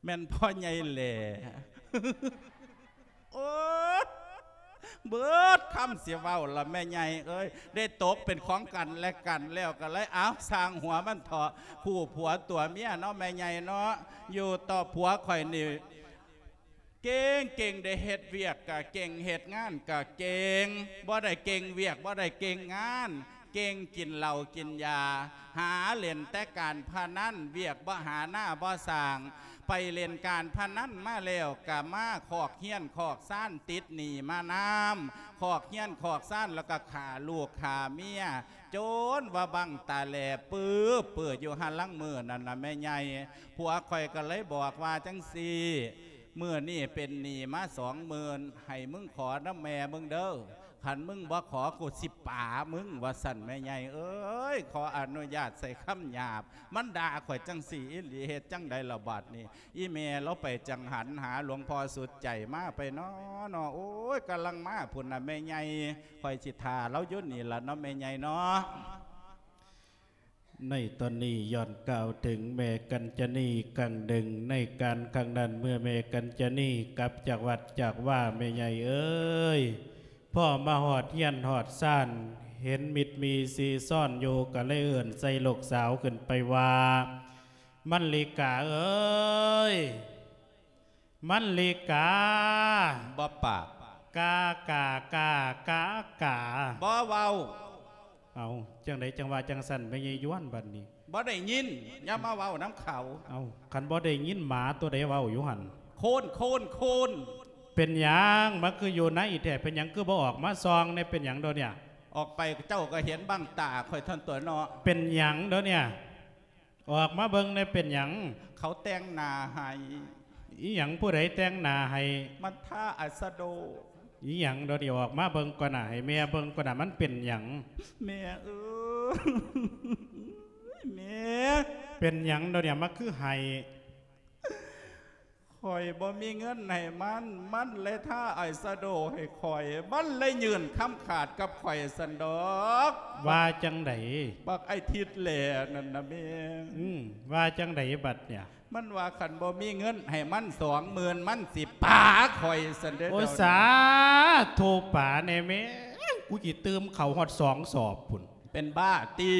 ແມ່ນພໍ່ໃຫຍ່ແຫຼ. ໂອ້ ເບິດຄຳຊິເວົ້າລະແມ່ໃຫຍ່ເອີຍ. ໄດ້ຕົກເປັນຂອງກັນແລະກັນແລ້ວ ກໍເລີຍ ເອົາ ຊ່າງຫົວມັນເຖາະ, ຄູ່ຜົວຕົວເມຍເນາະແມ່ໃຫຍ່ເນາະ. ຢູ່ຕໍ່ ຜົວຂ້ອຍນີ້ເກັ່ງ ເກັ່ງເດ້, ເຮັດວຽກກະເກັ່ງ ເຮັດງານກະເກັ່ງ, ບໍ່ໄດ້ເກັ່ງວຽກ ບໍ່ໄດ້ເກັ່ງງານ. ເກັ່ງກິນເຫຼົ້າກິນຢາ, ຫາຫຼິ້ນແຕ່ການພະນັນ, ວຽກບໍ່ຫາໜ້າບໍ່ສ້າງ. ໄປຫຼິ້ນການພະນັນມາແລ້ວ ກະມາຄອກເຮືອນຄອກຊານ, ຕິດໜີ້ມານຳຄອກເຮືອນຄອກຊານ, ແລ້ວກະຂ້າລູກຂ້າເມຍ ຈົນວ່າບັ້ງຕາແຫຼປຶບປຶບຢູ່ຫັ້ນ. ລາງມື້ນັ້ນນະແມ່ໃຫຍ່ ຜົວຂ້ອຍກໍເລີຍບອກວ່າຈັ່ງຊີ້, ມື້ນີ້ເປັນໜີ້ມາສອງໝື່ນ ໃຫ້ມຶງຂໍນຳແມ່ມຶງເດີ. ຄັນມຶງບໍ່ຂໍ ກູຊິປາມຶງ ວ່າຊັ້ນແມ່ໃຫຍ່ເອີຍ. ຂໍອະນຸຍາດໃຊ້ຄຳຫຍາບ, ມັນດ່າຂ້ອຍຈັ່ງຊີ້ອີ່ຫຼີ. ເຮັດຈັ່ງໃດລະບາດນີ້? ອີ່ແມ່ລາວໄປຈັງຫັນຫາຫຼວງພໍ່ສຸດໃຈມາໄປນໍເນາະ. ໂອ້ຍ ກຳລັງມາພຸ້ນນະແມ່ໃຫຍ່, ຂ້ອຍຊິຖ້າລາວຢູ່ນີ້ລະເນາະແມ່ໃຫຍ່ເນາະ. ໃນຕອນນີ້ຍ້ອນກ່າວເຖິງແມ່ກັນຈະນີຄັ້ງໜຶ່ງ. ໃນການຄັ້ງນັ້ນ ເມື່ອແມ່ກັນຈະນີກັບຈາກວັດຈາກວາ ແມ່ໃຫຍ່ເອີຍ ພໍມາຮອດເຮືອນຮອດຊານ ເຫັນມິດມີຊີຊອນຢູ່ ກໍເລີຍເອີ້ນໃສ່ລູກສາວຂຶ້ນໄປວ່າ ມັນລີກາເອີຍ ມັນລີກາ. ບໍ່ປາກ. ກາກາກາກາກາ. ບໍ່ເວົ້າ. ເອົາ ຈັ່ງໃດຈັ່ງວ່າຈັ່ງຊັ້ນ ແມ່ໃຫຍ່ຢວນ ບັດນີ້? ບໍ່ໄດ້ຍິນ ຢ່າມາເວົ້ານຳເຂົາ. ເອົາ ຄັນບໍ່ໄດ້ຍິນ ໝາຕົວໃດເວົ້າຢູ່ຫັ້ນ? ໂຄນ ໂຄນ ໂຄນ. ເປັນຫຍັງ ມັນຄືຢູ່ໃນແທ້? ເປັນຫຍັງຄືບໍ່ອອກມາສ່ອງແດ່? ເປັນຫຍັງດອກເນຍ? ອອກໄປເຈົ້າກໍເຫັນບັ້ງຕາຂ້ອຍເທົ່ານັ້ນຕົວະເນາະ. ເປັນຫຍັງດອກເນຍ? ອອກມາເບິ່ງແດ່ ເປັນຫຍັງ? ເຂົາແຕ່ງໜ້າໃຫ້. ອີຫຍັງ? ຜູ້ໃດແຕ່ງໜ້າໃຫ້? ມັນທາອາຊະໂດ. ອີຫຍັງ? ດຽວນີ້ອອກມາເບິ່ງກ່ອນນະ ໃຫ້ແມ່ເບິ່ງກ່ອນນະ ມັນເປັນຫຍັງ? ແມ່ເອີຍ ແມ່. ເປັນຫຍັງດຽວນີ້ ມາຄືໄຫ້? ໂຄ ຂ້ອຍບໍ່ມີເງິນໃຫ້ມັນ, ມັນເລີຍທາອາຍແຊໂດໃຫ້ຂ້ອຍ, ມັນເລີຍຍື່ນຄຳຂາດກັບຂ້ອຍຊັ້ນດອກ. ວ່າຈັ່ງໃດ? ບັກໄອ້ທິດແຫຼນັ້ນນະແມ່. ອືມ, ວ່າຈັ່ງໃດບັດເນຍ? ມັນວ່າຄັນບໍ່ມີເງິນໃຫ້ມັນສອງໝື່ນ ມັນຊິປາຂ້ອຍຊັ້ນເດ້. ໂອ້ ດຽວນີ້ ສາທຸ ປາແດ່ແມ່, ກູຊິຕື່ມເຂົ້າຮອດສອງສອບພຸ້ນ. ເປັນບ້າຕິ?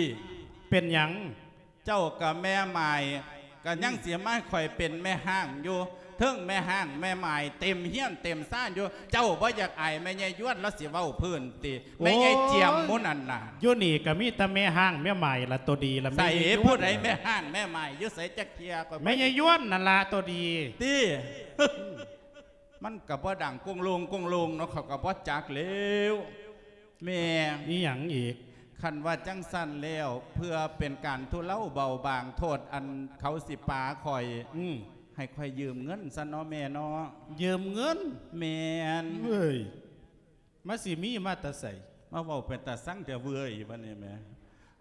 ເປັນຫຍັງ? ເຈົ້າກັບແມ່ໝາຍ ກໍຍັງ ອືມ ຊິມາໃຫ້ຂ້ອຍເປັນແມ່ຮ້າງຢູ່, ເທິງແມ່ຮ້າງແມ່ໝາຍເຕັມເຮືອນເຕັມຊານຢູ່. ເຈົ້າບໍ່ຢາກອາຍແມ່ໃຫຍ່ຢວນລາວຊິເວົ້າພື້ນຕິ? ໂອ້ຍ ແມ່ໃຫຍ່ຈຽມໝູ່ນັ້ນນະ. ຢູ່ນີ້ກໍມີແຕ່ແມ່ຮ້າງແມ່ໝາຍລະໂຕດີລະ. ໃສ? ແມ່ໃຫຍ່ຢວນ ຜູ້ໃດແມ່ຮ້າງແມ່ໝາຍ? ຢູ່ໃສຈັກເທື່ອ? ຂ້ອຍ ແມ່ໃຫຍ່ຢວນນັ້ນລະໂຕດີ. ຕິ? ມັນກໍບໍ່ດັງກົງໂລງກົງໂລງເນາະ, ເຂົາກໍບໍ່ຈັກແລ້ວ. ແມ່ ອີຫຍັງອີກ? ຄັນວ່າຈັ່ງຊັ້ນແລ້ວ ເພື່ອເປັນການທຸເລົາເບົາບາງໂທດອັນເຂົາຊິປາຂ້ອຍ, ອືມ ໃຫ້ຂ້ອຍຢືມເງິນຊະເນາະແມ່ເນາະ. ຢືມເງິນ? ແມ່ນ. ເວີ້ຍ ມັນຊິມີມາແຕ່ໃສ? ມາເວົ້າເປັນຕາຊັງແທ້ເວີ້ຍບັດນີ້ແມ່.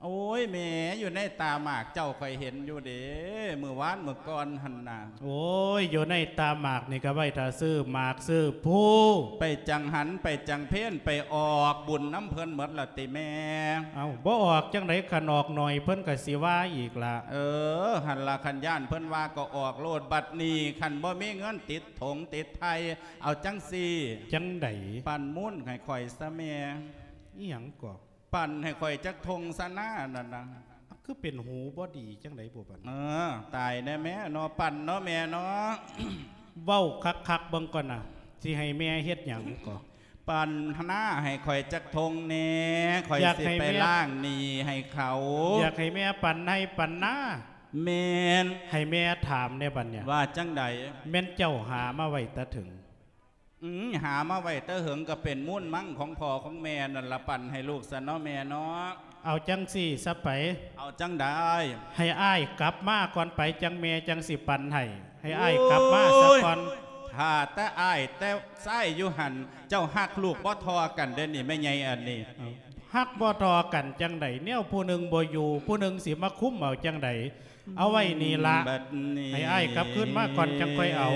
ໂອ້ຍແມ່, ຢູ່ໃນຕາໝາກເຈົ້າຂ້ອຍເຫັນຢູ່ເດ້, ມື້ວານມື້ກ່ອນຫັ້ນນະ. ໂອ້ຍ, ຢູ່ໃນຕາໝາກນີ້ກໍໄວ້ຖ້າຊື້ໝາກຊື້ພູ. ໄປຈັງຫັນ ໄປຈັງເພນ ໄປອອກບຸນນຳເພິ່ນໝົດລະຕິແມ່? ເອົ້າ, ບໍ່ອອກຈັ່ງໃດ, ຄັນອອກໜ້ອຍເພິ່ນກໍຊິວ່າອີກລະ. ເອີ, ຫັ້ນລະ, ຄັນຢ້ານເພິ່ນວ່າກໍອອກໂລດ. ບັດນີ້ຄັນບໍ່ມີເງິນຕິດຖົງຕິດໄຖ່, ເອົາຈັ່ງຊີ້. ຈັ່ງໃດ? ປັ້ນມູນໃຫ້ຂ້ອຍຊະແມ່. ອີຫຍັງກໍ? ປັ້ນໃຫ້ຂ້ອຍຈັກຖົງຊະນານັ້ນນະ. ຄືເປັນຫູບໍ່ດີຈັ່ງໃດບຸບັດ? ເອີ, ຕາຍແນ່ແມ່ເນາະ, ປັ້ນເນາະແມ່ເນາະ. ເວົ້າຄັກໆເບິ່ງກ່ອນນະ, ຊິໃຫ້ແມ່ເຮັດຫຍັງກໍ? ປັ້ນນາໃຫ້ຂ້ອຍຈັກຖົງແດ່, ຂ້ອຍ ຢາກໃຫ້ ຊິໄປ ແມ່ ລ້າງໜີ້ໃຫ້ເຂົາ. ຢາກໃຫ້ແມ່ປັ້ນໄຮ່ປັ້ນນາ? ແມ່ນ. ໃຫ້ແມ່ຖາມແດ່ບັດເນີ້ຍ. ວ່າຈັ່ງໃດ? ແມ່ນເຈົ້າຫາມາໄວ້ແຕ່ເຖິງ? ອືມ, ຫາມາໄວ້ແຕ່ເຫິງກໍເປັນມູນມັງຂອງພໍ່ຂອງແມ່ນັ້ນລະ, ປັ້ນໃຫ້ລູກຊະເນາະແມ່ເນາະ. ເອົາຈັ່ງຊີ້ຊະໄປ. ເອົາຈັ່ງໃດ? ໃຫ້ອ້າຍກັບມາກ່ອນໄປ, ຈັ່ງແມ່ຈັ່ງຊິປັນໃຫ້. ໃຫ້ອ້າຍກັບມາຊະກ່ອນ. ໂອ້ຍ, ຖ້າແຕ່ອ້າຍແຕ່ຊາຍຢູ່ຫັ້ນ, ເຈົ້າຮັກລູກບໍ່ທໍ່ກັນເດ້ນີ້ ແມ່ໃຫຍ່ອັນນີ້. ເອົ້າ, ຮັກບໍ່ທໍ່ກັນຈັ່ງໃດ? ແນວຜູ້ໜຶ່ງບໍ່ຢູ່, ຜູ້ໜຶ່ງຊິມາຄຸມເອົາຈັ່ງໃດ? ເອົາໄວ້ນີ້ລະ, ບັດນີ້ ໃຫ້ອ້າຍກັບຄືນມາກ່ອນຈັ່ງຄ່ອຍເອົາ.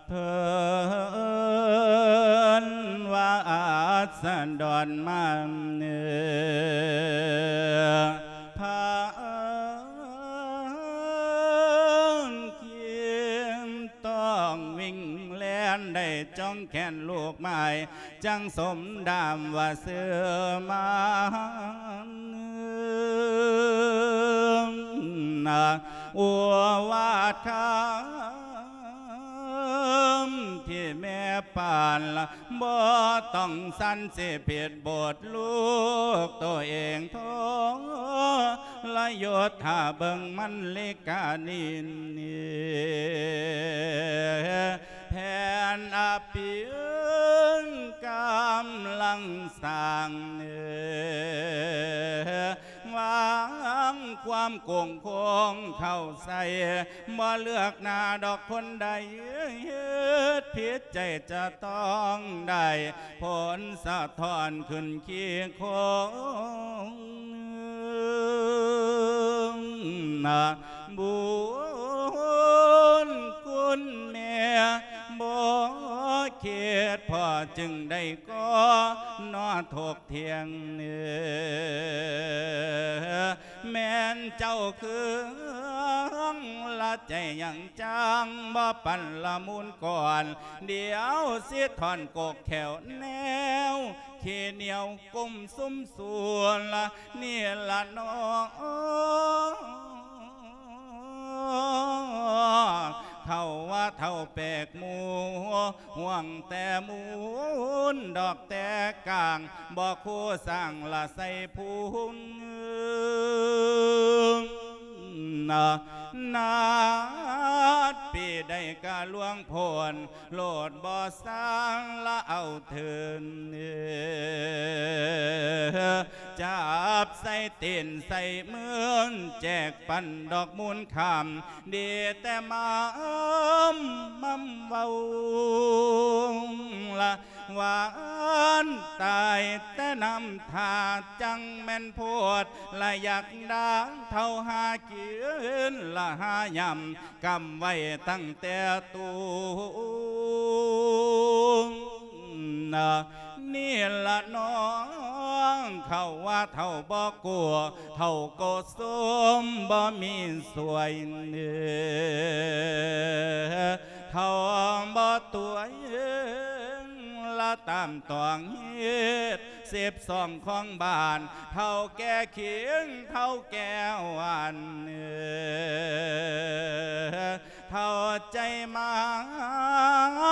ເພິ່ນວ່າອາສະດອນມາເນີ ພາ ຄິດຕ້ອງວິ່ງແລ່ນ ໄດ້ຈ້ອງແຂນລູກໝາຍ ຈັ່ງສົມດາມວ່າຊື່ມານ ໂອວາດຄຳທີ່ແມ່ປານ ບໍ່ຕ້ອງສັນ ຊິຜິດບົດລູກໂຕເອງ ທໍລະຍົດ ຖ້າເບິ່ງມັນລິການິນ ແຜນອະປິນກຳລັງສ້າງ ວາງຄວາມໂກງໂຄ້ງເຂົ້າໃສ່ ບໍ່ເລືອກໜ້າດອກຄົນໃດ ເຮັດຜິດໃຈຈະຕ້ອງໄດ້ ຜົນສະທ້ອນຂຶ້ນຂີ້ໂຄງ ບຸນຄຸນແມ່ບໍ່ຄິດ ພໍ່ຈຶ່ງໄດ້ກໍນອຖກ ທ່ຽງ ແມ່ນເຈົ້າເຄືອງລະໃຈຫຍັງ ຈັ່ງບໍ່ປັນລະມູນກ່ອນ ດຽວຊິຖອນກົກແຂ້ວແນວ ຂີ້ໜຽວກຸ້ມສຸມສູນ ນີ້ລະໜໍ. ເຂົາວ່າເຖົ້າແປກໝູ່ ຫ່ວງແຕ່ມູນດອກແຕ່ກາງ ບໍ່ຄູ່ສ້າງລະໃສ່ພູນ ນາດປີໃດກະລ່ວງພົ້ນ ໂລດບໍ່ສ້າງລະເອົາເທີນ ຈັບ ໃສ່ຕີນໃສ່ມື ແຈກປັນດອກມູນຂ້າມ ດີແຕ່ມາມຳເວົ້າ ລະຫວານຕາຍແຕ່ນ້ຳທ່າ ຈັ່ງແມ່ນໂພດ ລະຢາກດ່າເຖົ້າຫາກິນ ລະຫາຍາມ ກຳໄວ້ຕັ້ງແຕ່ຕູນ ນີ້ລະນ້ອງ ເຂົາວ່າເຖົ້າບໍ່ກົວ ເຖົ້າກໍສົມບໍ່ມີສວຍ ເຖົ້າບໍ່ຕົວເອງ ລະຕາມຕ້ອງເຮັດ ສິບສອງຂອງບ້ານ ເຖົ້າແກ່ຂີງ ເຖົ້າແກ່ຫວານ ເຖົ້າໃຈໝາ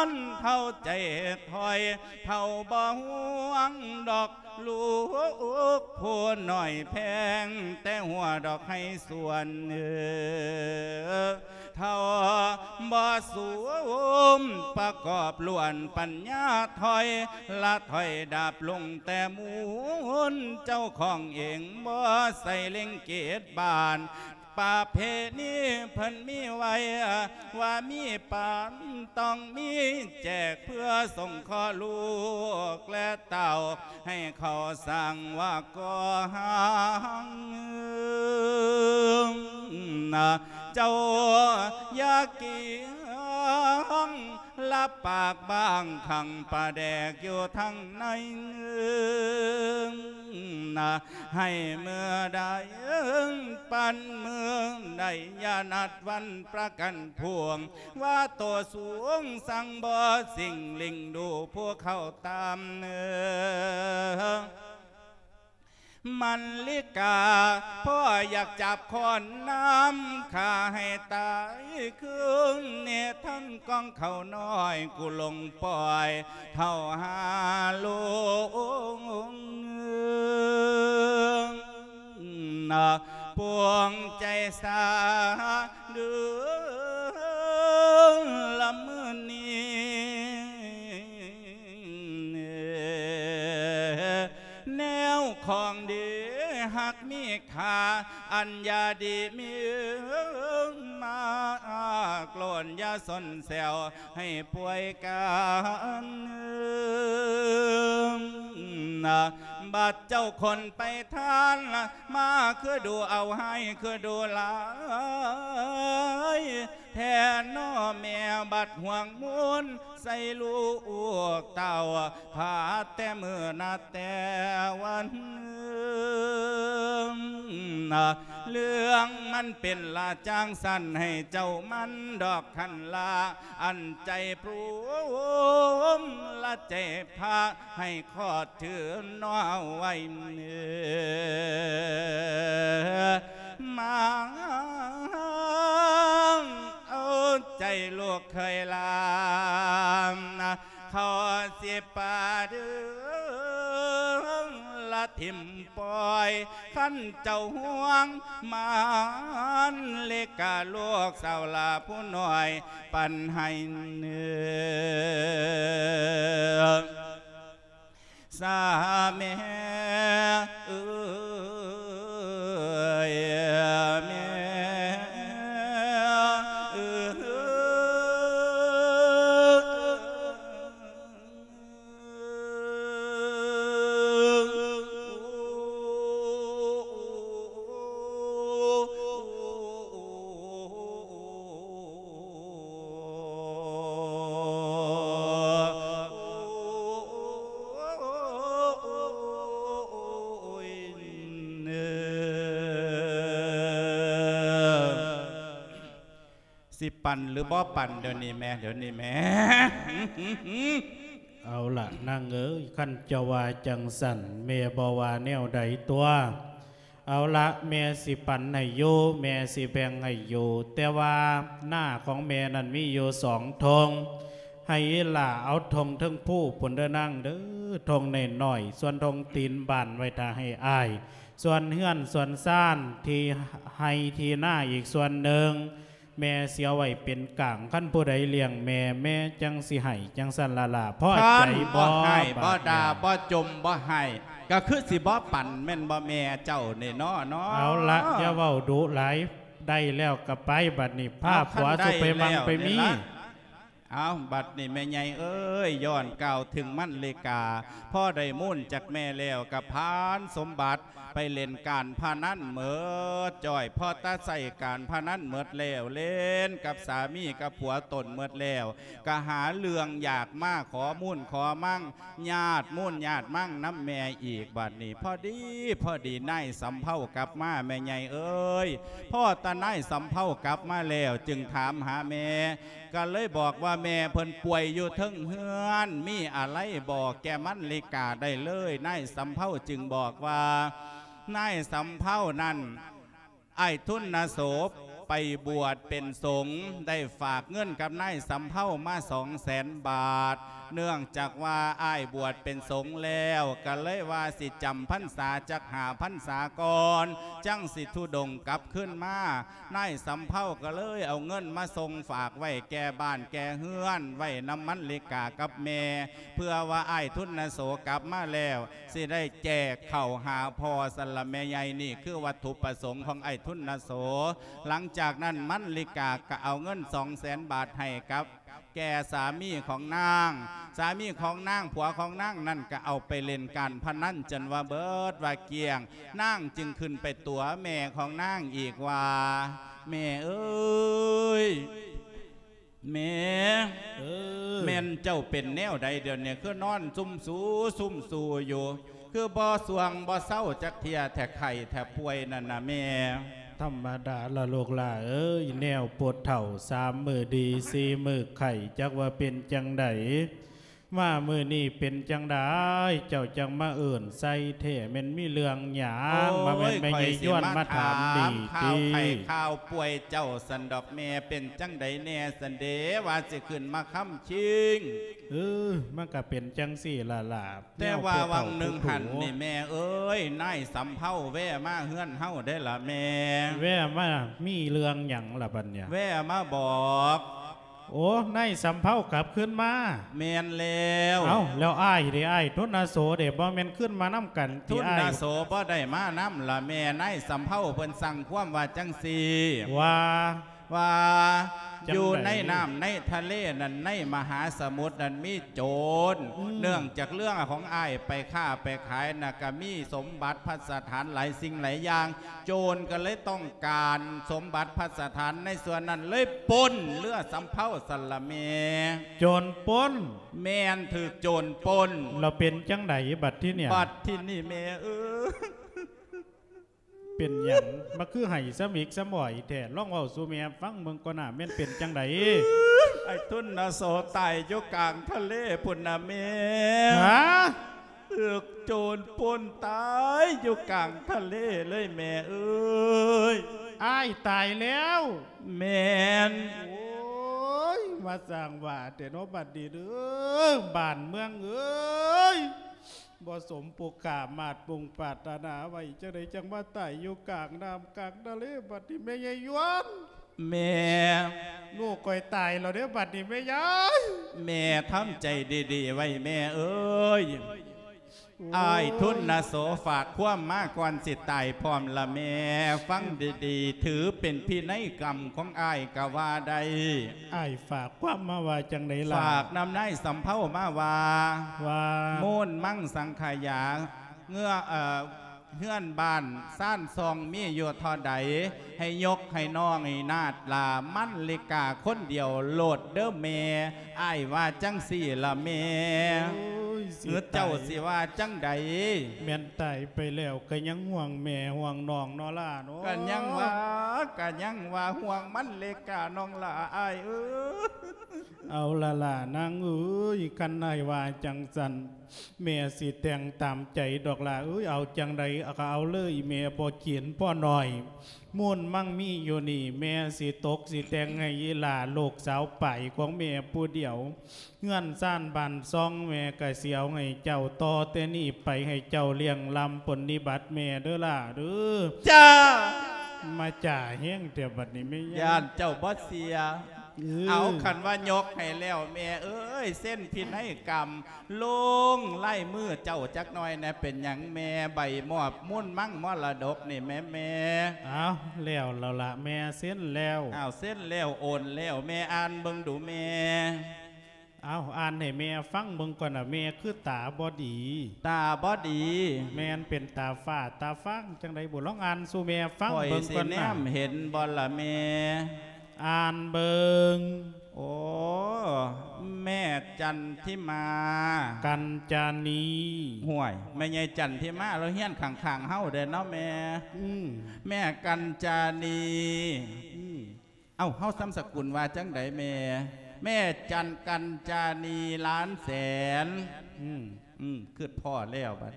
ນ ເຖົ້າໃຈຖອຍ ເຖົ້າບໍ່ຫວງດອກລູກຜູ້ນ້ອຍແພງ ແຕ່ຫົວດອກໄຮສວນ ເຖົ້າບໍ່ສຸມປະກອບລ້ວນປັນຍາ ຖອຍລະຖອຍດາບລົງແຕ່ມູນ ເຈົ້າຂອງເອງບໍ່ໃສ່ເລັ່ງເກດບານ ປະເພນີເພິ່ນມີໄວ້ ວ່າມີປານຕ້ອງມີແຈກ ເພື່ອສົງເຄາະລູກແລະເຕົ້າ ໃຫ້ເຂົາສ້າງວ່າກໍ່ຮ່າງ ເຈົ້າຢ່າກີງ ລະປາກບາງຂັງປາແດກຢູ່ທາງໃນ ໃຫ້ເມື່ອໃດປັນເມືອງໃດ ຢ່ານັດວັນປະກັນພວງ ວ່າໂຕສູງສັງບໍ່ສິ່ງ ລິງດູຜູ້ເຂົ້າຕາມເໜືອ ມັນລິກາ ພໍ່ຢາກຈັບຄ້ອນນ້ຳຂ້າໃຫ້ຕາຍຄືນ ເນທັງກອງເຂົ້ານ້ອຍ ກູຫຼົງປ່ອຍເຖົ້າຫາລົງ ປວງໃຈສາເດີ ລະມື້ນີ້ ແນວຂອງດີຮັກມີຄ່າ ອັນຢ່າດີມີມາ ໂກນຢ່າສົນແຊວໃຫ້ປ່ວຍກັນ ບັດເຈົ້າຄົນໄປທ່ານ ມາຄືດູເອົາຮ້າຍຄືດູຫຼາຍ ແທ້ນໍແມ່ ບັດຫ່ວງມູນໃສ່ລູກເຕົ້າ ພາແຕ່ມື້ນັດແຕ່ວັນ ເລື່ອງມັນເປັນລະຈັ່ງຊັ້ນ ໃຫ້ເຈົ້າມັນດອກຄັນລະ ອັນໃຈໂປມລະໃຈພະ ໃຫ້ຂອດຖືນອໄວ້ ມາເອົາໃຈລູກເຂີຍລາ ເຂົາຊິປາດຶງລະຖິ້ມປ່ອຍ ຄັນເຈົ້າຫ່ວງມານເລກາ ລູກສາວຫຼ້າຜູ້ນ້ອຍ ປັນໃຫ້ເໜືອ ສາແມ່ເອີຍ ແມ່ເອີຍ. ຊິປັນຫຼືບໍ່ປັນ ດຽວນີ້ແມ່ ດຽວນີ້ແມ່. ເອົາລະນາງເອີຍ ຄັນເຈົ້າວ່າຈັ່ງຊັ້ນ ແມ່ບໍ່ວ່າແນວໃດຕົວະ. ເອົາລະ ແມ່ຊິປັນໃຫ້ຢູ່ ແມ່ຊິແບ່ງໃຫ້ຢູ່ ແຕ່ວ່ານາຂອງແມ່ນັ້ນມີຢູ່ສອງທົ່ງ ໃຫ້ອີ່ຫຼ້າເອົາທົ່ງເທິງພູພຸ້ນເດີນາງເດີ ທົ່ງນ້ອຍໆ ສ່ວນທົ່ງຕີນບ້ານໄວ້ຖ້າໃຫ້ອ້າຍ ສ່ວນເຮືອນສ່ວນຊານ ທີ່ໄຮ່ທີ່ນາອີກສ່ວນໜຶ່ງ ແມ່ຊິເອົາໄວ້ເປັນກາງ ຄັນຜູ້ໃດລ້ຽງແມ່ ແມ່ຈັ່ງຊິໃຫ້ ຈັ່ງຊັ້ນລະລະ ພໍໃຈບໍ່? ຄັນບໍ່ໃຫ້ບໍ່ດ່າບໍ່ຈົ່ມບໍ່ໃຫ້ ກໍຄືຊິບໍ່ປັນແມ່ນບໍ່ແມ່ເຈົ້ານີ້ເນາະ ເນາະ? ເອົາລະ ຢ່າເວົ້າດຸຫຼາຍ ໄດ້ແລ້ວກໍໄປ ບັດນີ້ພາຜົວສູ່ໄປໝັ່ງໄປມີ. ເອົາ ບັດນີ້ແມ່ໃຫຍ່ເອີຍ ຍ້ອນກ່າວເຖິງມັນລິກາ ພໍໄດ້ມູນຈາກແມ່ແລ້ວກໍຜ່ານສົມບັດ ໄປຫຼິ້ນການພະນັນເໝິດຈ້ອຍ ພໍຕາໃຊ້ການພະນັນເໝິດແລ້ວ ຫຼິ້ນກັບສາມີກັບຜົວຕົນເໝິດແລ້ວ ກໍຫາເລື່ອງຢາກມາຂໍມູນຂໍມັງ ຍາດມູນຍາດມັງນຳແມ່ອີກ ບັດນີ້ພໍດີ ພໍດີນາຍສຳເພົາກັບມາ ແມ່ໃຫຍ່ເອີຍ. ພໍຕານາຍສຳເພົາກັບມາແລ້ວ ຈຶ່ງຖາມຫາແມ່ ກໍເລີຍບອກວ່າແມ່ເພິ່ນປ່ວຍຢູ່ເທິງເຮືອນ ມີອາໄລບອກແກ່ມັນລິກາໄດ້ເລີຍ. ນາຍສຳເພົາຈຶ່ງບອກວ່າ ນາຍສຳເພົານັ້ນ ອ້າຍທຸນນະໂສໄປບວດເປັນສົງ ໄດ້ຝາກເງິນກັບນາຍສຳເພົາມາສອງແສນບາດ ເນື່ອງຈາກວ່າອ້າຍບວດເປັນສົງແລ້ວ ກໍເລີຍວ່າຊິຈຳພັນສາຈັກຫ້າພັນສາກ່ອນ ຈັ່ງຊິທຸດົງກັບຄືນມາ. ນາຍສຳເພົາກໍເລີຍເອົາເງິນມາສົ່ງຝາກໄວ້ແກ່ບ້ານແກ່ເຮືອນ ໄວ້ນຳມັນລິກາກັບແມ່ ເພື່ອວ່າອ້າຍທຸນນະໂສກັບມາແລ້ວ ຊິໄດ້ແຈກເຂົ້າຫາພໍ່ຊັ້ນລະແມ່ໃຫຍ່. ນີ້ຄືວັດຖຸປະສົງຂອງອ້າຍທຸນນະໂສ. ຫຼັງຈາກນັ້ນມັນລິກາກໍເອົາເງິນສອງແສນບາດໃຫ້ກັບແກ່ສາມີຂອງນາງ. ສາມີຂອງນາງ ຜົວຂອງນາງນັ້ນກໍເອົາໄປຫຼິ້ນການພະນັນຈົນວ່າເບິດວ່າກ້ຽງ. ນາງຈຶ່ງຂຶ້ນໄປຕົວະແມ່ຂອງນາງອີກວ່າ ແມ່ເອີຍ ແມ່ ເອີ ແມ່ນເຈົ້າເປັນແນວໃດດຽວນີ້ ຄືນອນຊຸ່ມຊູຊຸ່ມຊູຢູ່ ຄືບໍ່ສ່ວງບໍ່ເຊົາຈັກເທື່ອແທ້ ໄຂ້ແທ້ປ່ວຍນັ້ນນະແມ່? ທຳມະດາລະລູກຫຼ້າເອີຍ ແນວຜູ້ເຖົ້າ ສາມມື້ດີ ສີ່ມື້ໄຂ້ ຈັກວ່າເປັນຈັ່ງໃດ ມາມື້ນີ້ເປັນຈັ່ງໃດ ເຈົ້າຈັ່ງມາເອີ້ນໃສ່ແທ້ ແມ່ນມີເລື່ອງຫຍັງ? ໂອ້ຍ ມາແມ່ນແມ່ໃຫຍ່ຍວນມາຖາມນີ້ຕິ ຂ້າວໄຂ້ຂ້າວປ່ວຍເຈົ້າຊັ້ນດອກແມ່ ເປັນຈັ່ງໃດແດ່ຊັ້ນເດ ວ່າຊິຂຶ້ນມາຄ້ຳຄິງ? ເອີ ມັນກະເປັນຈັ່ງຊີ້ລະຫຼ້າ ແຕ່ວ່າວັງໜຶ່ງຫັ້ນນີ້ແມ່ເອີຍ ນາຍສຳເພົາແວ່ມາເຮືອນເຮົາເດ້ລະແມ່. ແວ່ມາ ມີເລື່ອງຫຍັງລະບັດນີ້? ແວ່ມາບອກ ໂອ້ ນາຍສຳເພົາກັບຄືນມາ. ແມ່ນແລ້ວ. ເອົ້າ ແລ້ວອ້າຍເດ ອ້າຍທຸນນະໂສເດ ບໍ່ແມ່ນຄືນມານຳກັນຕິອ້າຍ? ທຸນນະໂສບໍ່ໄດ້ມານຳລະແມ່ ນາຍສຳເພົາເພິ່ນສັ່ງຄວາມວ່າຈັ່ງຊີ້ ວ່າ ວ່າ ຈັ່ງໃດ? ຢູ່ໃນນ້ຳໃນທະເລນັ້ນ ໃນມະຫາສະໝຸດນັ້ນມີໂຈນ ອືມ ເນື່ອງຈາກເຮືອຂອງອ້າຍໄປຄ້າໄປຂາຍນະ ກະມີສົມບັດພັດສະຖານຫຼາຍສິ່ງຫຼາຍຢ່າງ ໂຈນກໍເລີຍຕ້ອງການສົມບັດພັດສະຖານໃນສ່ວນນັ້ນ ເລີຍປົນເຮືອສຳເພົາຊັ້ນລະແມ່. ໂຈນປົນ? ແມ່ນ ຖືກໂຈນປົນ. ແລ້ວເປັນຈັ່ງໃດບັດທີນີ້? ບັດທີນີ້ແມ່ເອີຍ ເປັນຫຍັງ ມາຄືໄຫ້ສະໝິກສະໝອຍແທ້? ລອງເວົ້າສູ່ແມ່ຟັງເບິ່ງກ່ອນນາ ແມ່ນເປັນຈັ່ງໃດ? ອ້າຍທຸນນະໂສຕາຍຢູ່ກາງທະເລພຸ້ນນະແມ່. ຫາ? ຖືກໂຈນປົນຕາຍຢູ່ກາງທະເລເລີຍແມ່ເອີຍ. ອ້າຍຕາຍແລ້ວ? ແມ່ນ. ໂອ້ຍ ມາສ້າງວ່າແທ້ເນາະ ບັດນີ້ເດີ ບ້ານເມືອງເອີຍ ບໍ່ສົມປຸກກາມາດປຸງປາດຕະໜາໄວ້ ຈັ່ງໃດຈັ່ງມາຕາຍຢູ່ກາງນ້ຳກາງທະເລ ບັດນີ້ແມ່ໃຫຍ່ຍວນ. ແມ່ ລູກຂ້ອຍຕາຍແລ້ວເດ້ ບັດນີ້ແມ່ໃຫຍ່. ແມ່ທຳໃຈດີໆໄວ້ແມ່ເອີຍ. ໂອ້ຍ ອ້າຍທຸນນະໂສຝາກຄວາມມາກ່ອນຊິຕາຍພ້ອມລະແມ່. ຟັງດີໆ ຖືເປັນພິໄນກຳຂອງອ້າຍກະວ່າໄດ້. ອ້າຍຝາກຄວາມມາວ່າຈັ່ງໃດລະ? ຝາກນຳນາຍສຳເພົາມາວ່າ ວ່າ ມູນມັງສັງຂະຢາ ເງືອ ເອີ ເຮືອນບ້ານຊານຊ່ອງມີຢູ່ເທົ່າໃດ ໃຫ້ຍົກໃຫ້ນ້ອງໃຫ້ນາດຫຼ້າມັນລິກາຄົນດຽວໂລດເດີແມ່. ອ້າຍວ່າຈັ່ງຊີ້ລະແມ່. ໂອ້ຍ ເອີ ຊິຕາຍ ເຈົ້າຊິວ່າຈັ່ງໃດ? ແມ່ນຕາຍໄປແລ້ວກະຍັງຫ່ວງແມ່ຫ່ວງນ້ອງເນາະຫຼ້າເນາະ. ກະຍັງວ່າ ກະຍັງວ່າຫ່ວງມັນລິການ້ອງຫຼ້າອ້າຍເອີຍ. ເອົາລະຫຼ້ານາງເອີຍ ຄັນອ້າຍວ່າຈັ່ງຊັ້ນ ແມ່ຊິແຕ່ງຕາມໃຈດອກຫຼ້າເອີຍ. ເອົາຈັ່ງໃດກະເອົາເລີຍ ແມ່ບໍ່ກີນພໍໜ້ອຍ. ມູນມັງມີຢູ່ນີ້ ແມ່ຊິຕົກຊິແຕ່ງໃຫ້ອີ່ຫຼ້າລູກສາວປາຍຂອງແມ່ຜູ້ດຽວ. ເຮືອນຊານບ້ານຊ່ອງແມ່ກະຊິເອົາໃຫ້ເຈົ້າ ຕໍ່ແຕ່ນີ້ໄປໃຫ້ເຈົ້າລ້ຽງລ້ຳປົນນິບັດແມ່ເດີຫຼ້າເດີ. ຈ້າ. ມາຈ້າແຮງແທ້ບັດນີ້ແມ່ໃຫຍ່ ຢ້ານເຈົ້າບໍ່ເຊື່ອ. ເອີ ເອົາ ຄັນວ່າຍົກໃຫ້ແລ້ວ ແມ່ເອີຍ ເຊັນພິໄນກຳ ລົງລາຍມືເຈົ້າຈັກໜ່ອຍແດ່. ເປັນຫຍັງແມ່ ໃບມອບມູນມັງມໍລະດົກນີ້ແມ່ ແມ່? ອ້າວ ແລ້ວແລ້ວລະແມ່ ເຊັນແລ້ວ. ອ້າວ ເຊັນແລ້ວ ໂອນແລ້ວ ແມ່ອ່ານເບິ່ງດູແມ່. ອ້າວ ອ່ານໃຫ້ແມ່ຟັງເບິ່ງກ່ອນນະ ແມ່ຄືຕາບໍ່ດີ. ຕາບໍ່ດີ? ແມ່ນ ເປັນຕາຟ້າຕາຟາງຈັ່ງໃດບຸ? ລອງອ່ານສູ່ແມ່ຟັງເບິ່ງກ່ອນນະ. ຂ້ອຍຊິແນມເຫັນບໍ່ລະແມ່? ອ່ານເບິ່ງ. ໂອ້ ແມ່ຈັນທິມາ ກັນຈານີ. ຫ້ວຍ ແມ່ໃຫຍ່ຈັນທິມາລາວຮຽນຂ້າງໆເຮົາເດ້ເນາະແມ່. ອືມ ແມ່ກັນຈານີ. ອືມ ເອົ້າ ເຮົານາມສະກຸນວ່າຈັ່ງໃດແມ່? ແມ່ຈັນ ກັນຈານີ ລ້ານແສນ. ອືມ ອືມ ຄິດພໍ້ແລ້ວບັດ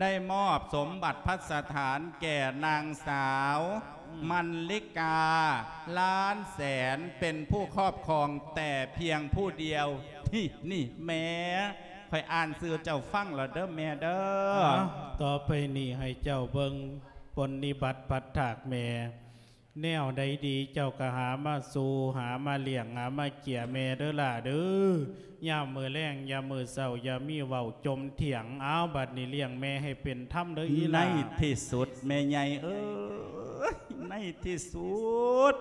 ໄດ້ມອບສົມບັດພັດສະຖານແກ່ນາງສາວ ອືມ ມັນລິກາ ລ້ານແສນ ເປັນຜູ້ຄອບຄອງແຕ່ພຽງຜູ້ດຽວ. ນີ້ ນີ້ແມ່ ຂ້ອຍອ່ານຊື່ເຈົ້າຟັງແລ້ວເດີແມ່ເດີ. ເອົ້າ ຕໍ່ໄປນີ້ໃຫ້ເຈົ້າເບິ່ງປົນນິບັດພັດຖາກແມ່. ແນວໃດດີເຈົ້າກໍຫາມາສູ່ ຫາມາລ້ຽງ ຫາມາເຈ້ຍແມ່ເດີຫຼ້າເດີ. ຍາມມື້ແລງ ຍາມມື້ເຊົ້າ ຢ່າມີເວົ້າຈົ່ມຖຽງ. ເອົາ ບັດນີ້ລ້ຽງແມ່ໃຫ້ເປັນທຳເດີອີຫຼ້າ. ໃນທີ່ສຸດແມ່ໃຫຍ່ເອີຍ ໃນທີ່ສຸດ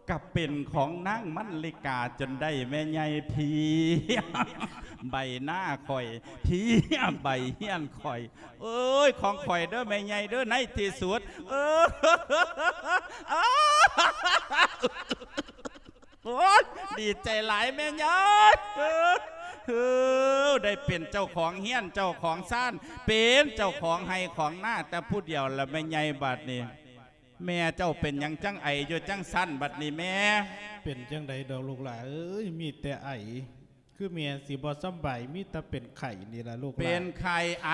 ກໍເປັນຂອງນາງມັນລິກາຈົນໄດ້ແມ່ໃຫຍ່. ພີ້ ໃບໜ້າຂ້ອຍ ພີ້ ໃບຮຽນຂ້ອຍ. ເອີຍ ຂອງຂ້ອຍເດີແມ່ໃຫຍ່ເດີ ໃນທີ່ສຸດ. ເອີ ໂອ້ຍ ດີໃຈຫຼາຍແມ່ໃຫຍ່. ເອີ ເອີ ໄດ້ເປັນເຈົ້າຂອງຮຽນ ເຈົ້າຂອງຊານ ເປັນເຈົ້າຂອງໄຮ່ຂອງນາແຕ່ຜູ້ດຽວລະແມ່ໃຫຍ່. ບາດນີ້ແມ່ເຈົ້າເປັນຫຍັງຈັ່ງໄອຢູ່ຈັ່ງຊັ້ນ ບາດນີ້ແມ່? ເປັນຈັ່ງໃດດອກລູກຫຼ້າເອີຍ ມີແຕ່ໄອ. ຄືແມ່ຊິບໍ່ສຳບາຍ ມີແຕ່ເປັນໄຂ້ນີ້ລະລູກຫຼ້າ. ເປັນໄຂ້ໄອ?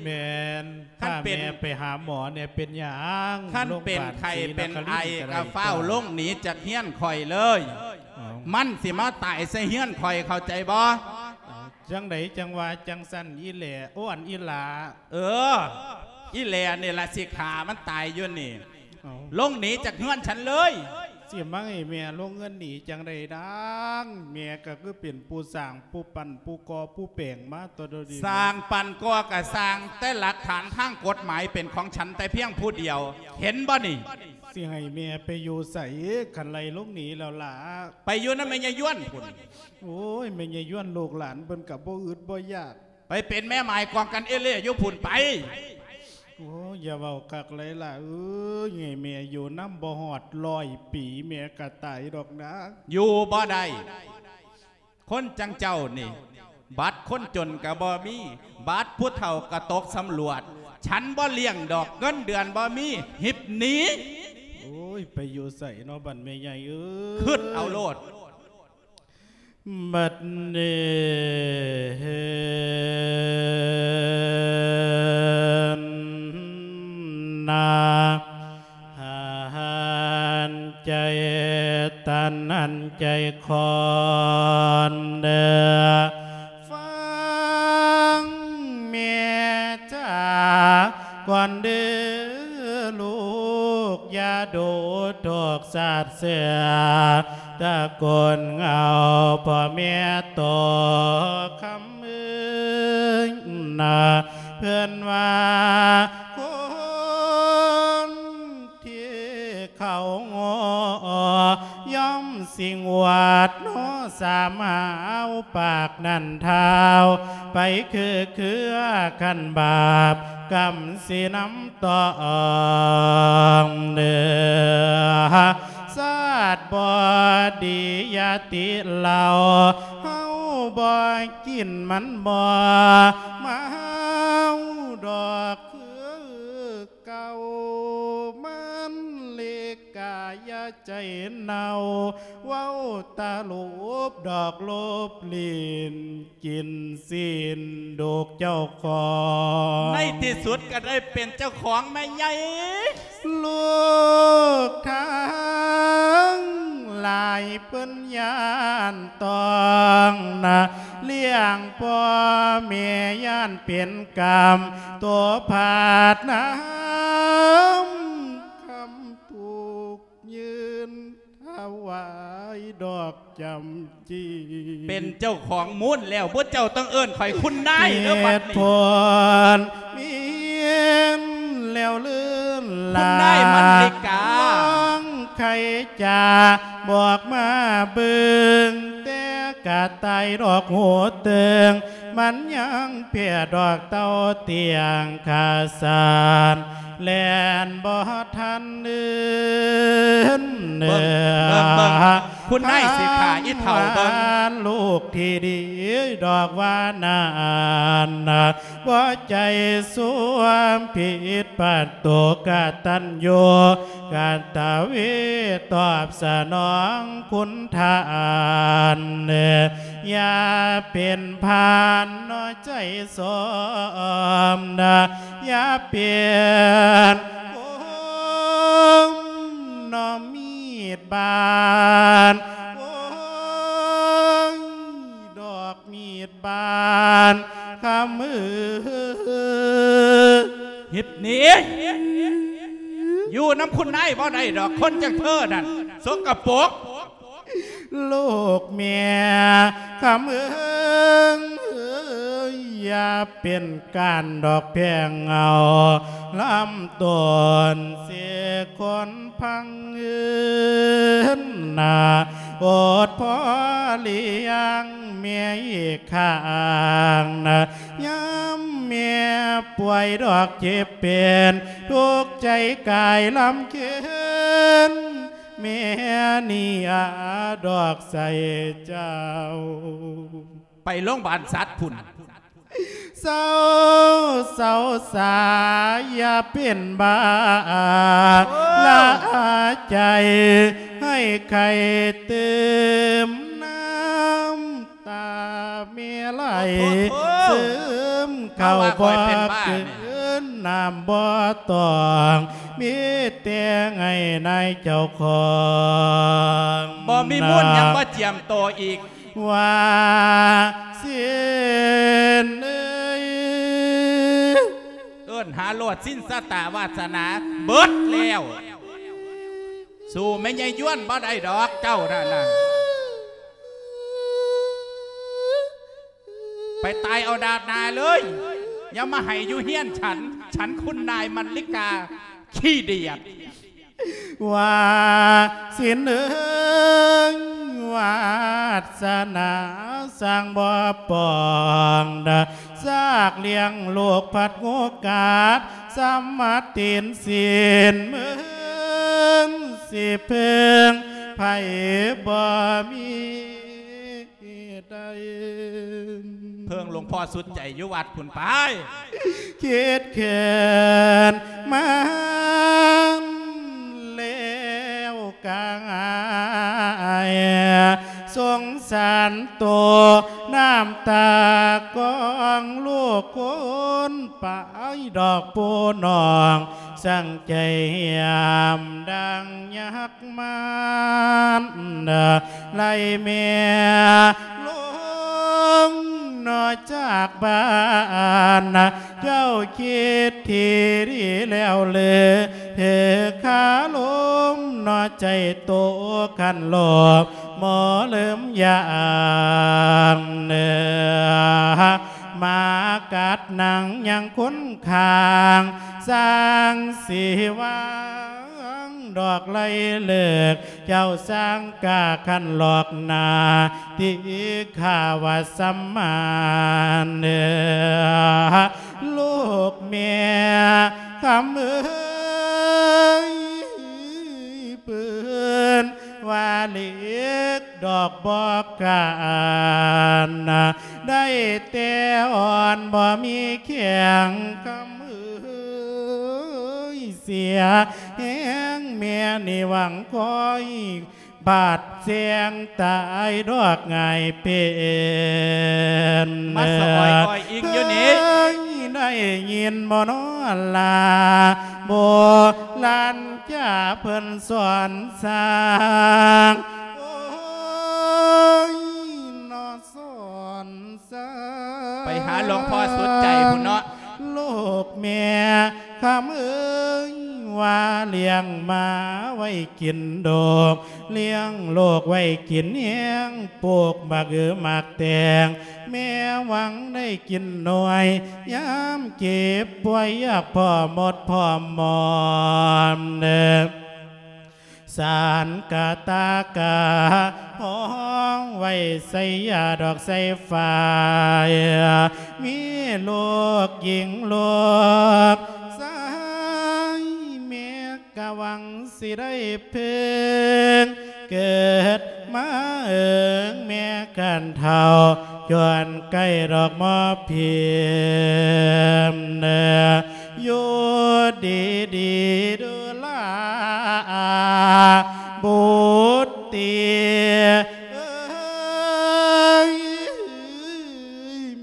ແມ່ນ. ຄັນເປັນ ພາແມ່ໄປຫາໝໍແດ່. ເປັນຫຍັງ? ຄັນເປັນໄຂ້ເປັນໄອກໍຟ້າວລົງໜີຈາກຮຽນຂ້ອຍເລີຍ. ມັນຊິມາຕາຍໃສ່ເຮືອນຂ້ອຍ ເຂົ້າໃຈບໍ່? ຈັ່ງໃດຈັ່ງວ່າຈັ່ງຊັ້ນອີແຫຼ? ໂອ້ ອັນອີຫຼ້າ. ເອີ ອີແຫຼນີ້ລະຊິຂ້າມັນຕາຍຢູ່ນີ້. ເອົ້າ ລົງໜີຈາກເຮືອນສັນເລີຍ. ຊິມາໃຫ້ແມ່ລົງເຮືອນໜີຈັ່ງໃດນາງ? ແມ່ກໍຄືເປັນຜູ້ສ້າງ ຜູ້ປັ້ນ ຜູ້ກໍ່ ຜູ້ແປງມາຕົວະດຽວນີ້. ສ້າງ ປັ້ນ ກໍ່ ກໍສ້າງ ແຕ່ຫຼັກຖານທາງກົດໝາຍເປັນຂອງສັນແຕ່ພຽງຜູ້ດຽວ ເຫັນບໍ່ນີ້? ຊິໃຫ້ແມ່ໄປຢູ່ໃສ ຄັນໄລ່ລົງໜີແລ້ວລະ? ໄປຢູ່ນຳແມ່ຍາຍວນພຸ້ນ. ໂອ້ຍ ແມ່ຍາຍວນ ລູກຫຼານເພິ່ນກໍບໍ່ອຶດບໍ່ຢາກ. ໄປເປັນແມ່ໝາຍກອງກັນເອເລ່ຢູ່ພຸ້ນໄປ. ໂອ້ຍ ຢ່າເວົ້າຄັກຫຼາຍຫຼ້າເອີຍ ໃຫ້ແມ່ຢູ່ນຳບໍ່ຮອດຮ້ອຍປີ ແມ່ກໍຕາຍດອກນາ. ຢູ່ບໍ່ໄດ້ ຄົນຈັ່ງເຈົ້ານີ້ ບັດຄົນຈົນກໍບໍ່ມີ ບັດຜູ້ເຖົ້າກໍຕົກສຳຫຼວດ. ສັນບໍ່ລ້ຽງດອກ ເງິນເດືອນບໍ່ມີ ຫິບໜີ. ໂອ້ຍ ໄປຢູ່ໃສເນາະບັດແມ່ໃຫຍ່ເອີຍ ຄຶດເອົາໂລດ. ບັດນີ້ນາ ຫັນໃຈຕັນຫັນໃຈຄອນເດີ ຟັງແມ່ຈາກ່ອນເດີລູກ ຢ່າດູທຸກສາດເສືອ ຕະໂກນເຫງົາພໍ່ແມ່ໂຕຄຳເອີຍນາ ເພິ່ນວ່າຄົນທີ່ເຂົາງໍ ຍ່ອມຊິງວດເນາະ ສາມຫາວປາກນັ້ນທ້າວ ໄປຄືເຄືອຄັນບາບ ກຳຊິນຳ ຕ້ອງເດີ ຊາດບໍ່ດີຢ່າຕິເຫຼົ້າ ເຮົາບໍ່ກິນມັນບໍ່ເມົາດອກຄືເກົ່າ ມັນເລກກາຢ່າໃຈເນົ່າ ເວົ້າຕະຫຼົບດອກຫຼົບຫຼິ້ນ ກິນຊີ້ນລູກເຈົ້າຂອງ ໃນທີ່ສຸດກໍໄດ້ເປັນເຈົ້າຂອງແມ່ໃຫຍ່. ລູກທັງຫຼາຍເພິ່ນຢ້ານຕ້ອງນະ ລ້ຽງພໍ່ແມ່ຢ້ານເປັນກຳ ໂຕພາດນຳຄຳ ວາຍດອກຈຳຈີ ເປັນເຈົ້າຂອງມູນແລ້ວ ພວກເຈົ້າຕ້ອງເອີ້ນຂ້ອຍຄຸນນາຍເດີບັດນີ້ ເຫດຜົນມີແລ້ວເລີນລາ ຄຸນນາຍມັນລິກາ ລອງໄຂຈາບອກມາເບິ່ງ ແຕ່ກະຕ່າຍດອກຫູເຕີງ ມັນຍັງເພຍດອກເຕົ້າຕຽງຂາສານ ແລ່ນບໍ່ທັນເດີນ ເບິ່ງ ເບິ່ງ ເບິ່ງ ຄຸນນາຍສິຂາອີເຖົ້າເບິ່ງ ລູກທີ່ດີດອກວ່ານັ້ນ ບໍ່ໃຈສ່ວມຜິດ ປະຕູກະຕັນຍູກະຕະເວ ຕອບສະໜອງຄຸນທ່ານ ຢ່າເປັນພານໜໍໃຈຊອມ ຢ່າເປັນຄົນໜໍມີດບານ ໂອ້ຍ ດອກມີດບານຄຳເອີຍ ເຮັດນີ້ ຢູ່ນຳຄຸນນາຍບໍ່ໄດ້ດອກ ຄົນຈັ່ງເທີນັ້ນ ສົກກະປົກ ລູກແມ່ຄຳເອີຍ ຢ່າເປັນການດອກແພງເອົາ ລຳຕົ້ນເສກຄົນພັງເອີນນາ ໂອດພໍລ້ຽງແມ່ອີກຂ້າງນາ ຍາມແມ່ປ່ວຍດອກເຈັບເປັນ ທຸກໃຈກາຍລຳເຄນ ແມ່ນີ້ອາດອກໃສ່ເຈົ້າ ໄປໂລງບານສັດພຸ້ນ ເຊົາ ເຊົາສາ ຢ່າເປັນບ້າ ໂອ້ ລະອາໃຈໃຫ້ໄຂ້ຕື່ມ ນ້ຳຕາແມ່ໄຫຼ ໂອ້ໂຫ ເສີມເຂົ້າ ເຮົາວ່າຂ້ອຍເປັນບ້າ ບໍ່ເກີນ ນ້ຳບໍ່ຕ້ອງ ມີແຕ່ໃຫ້ນາຍເຈົ້າຂອງ ບໍ່ມີມູນຫຍັງມາຈຽມໂຕອີກ ວ່າຊິນເອີຍ ເອີ້ນຫາໂລດ ສິນຊະຕາວາສະໜາເບິດແລ້ວ ສູ້ແມ່ໃຫຍ່ຢວນບໍ່ໄດ້ດອກ ເຈົ້ານັ້ນນະ ໄປຕາຍເອົາດາດໜ້າເລີຍ ຢ່າມາໃຫ້ຢູ່ເຮືອນສັນ ສັນຄຸນນາຍມັນລິກາຂີ້ດຽດ ວ່າສິນເອີຍ ວາສະໜາສ້າງບໍ່ປ່ອງ ຊາກລ້ຽງລູກພັດງູກັດ ສຳມາຕີນສີນເມີນ ຊິເພິ່ງໃຜບໍ່ມີ ເພິ່ງຫຼວງພໍ່ສຸດໃຈຢູ່ວັດພຸ້ນໄປ ຄິດເຂີນມາແລ້ວກາຍ ສົງສານໂຕ ນ້ຳຕາກອງລູກຄົນປາຍດອກຜູ້ນ້ອງ ສັງໃຈຫຽມດັ່ງຍາກ ມານໄລ່ແມ່ລົງເນາະຈາກບ້ານ ເຈົ້າຄິດທີ່ດີແລ້ວເລີ ເທີຄາລົມເນາະໃຈໂຕຄັນໂລບ ໝໍລືມຢ່າງເນີ ມາກັດໜັງຍັງຄົນຂ້າງ ສ້າງຊິວາງດອກໄລ່ເລີກ ເຈົ້າສ້າງກາຄັນຫຼອກໜ້າ ຕິຄາວະສຳມາເນີ ລູກແມ່ຄຳເອີຍ ເພິ່ນວ່າເຫຼັກ ດອກບໍ່ການ ໄດ້ແຕ່ອ່ອນບໍ່ມີແຂງ ຄຳເອີຍ ເສຍແຮງແມ່ນີ້ຫວັງຄອຍ ບາດແສງຕາຍດອກງ່າຍເປັນ ມາສະອອຍອ້ອຍອິງຢູ່ນີ້ ເຄີຍໄດ້ຍິນບໍ່ນໍລາ ໂບລານຈາເພິ່ນສອນສ້າງ ໂອ້ຍ ນອ ສອນສາ ໄປຫາຫຼວງພໍ່ສຸດໃຈພຸ້ນເນາະ ລູກແມ່ຄຳເອີຍ ວ່າລ້ຽງໝາໄວ້ກິນດົກ ລ້ຽງລູກໄວ້ກິນແຮງ ປູກໝາກເອໝາກແຕງ ແມ່ຫວັງໄດ້ກິນໜ່ວຍ ຍາມເຈັບປ່ວຍຢາກພໍໝົດພໍມອມເດີ. ສານກະຕາກະຫ້ອງໄວ້ໃສ່ຢາດອກໃສ່ຝາຍ ມີລູກຍິງລູກຊາຍ ແມ່ກະຫວັງຊິໄດ້ເພິ່ງ ເກີດມາເອີງແມ່ການເຖົ້າ ຈວນໃກ້ດອກໝໍພິມເດີ. ຢູ່ດີໆ ດູລາອາບຸດຕິເອີຍ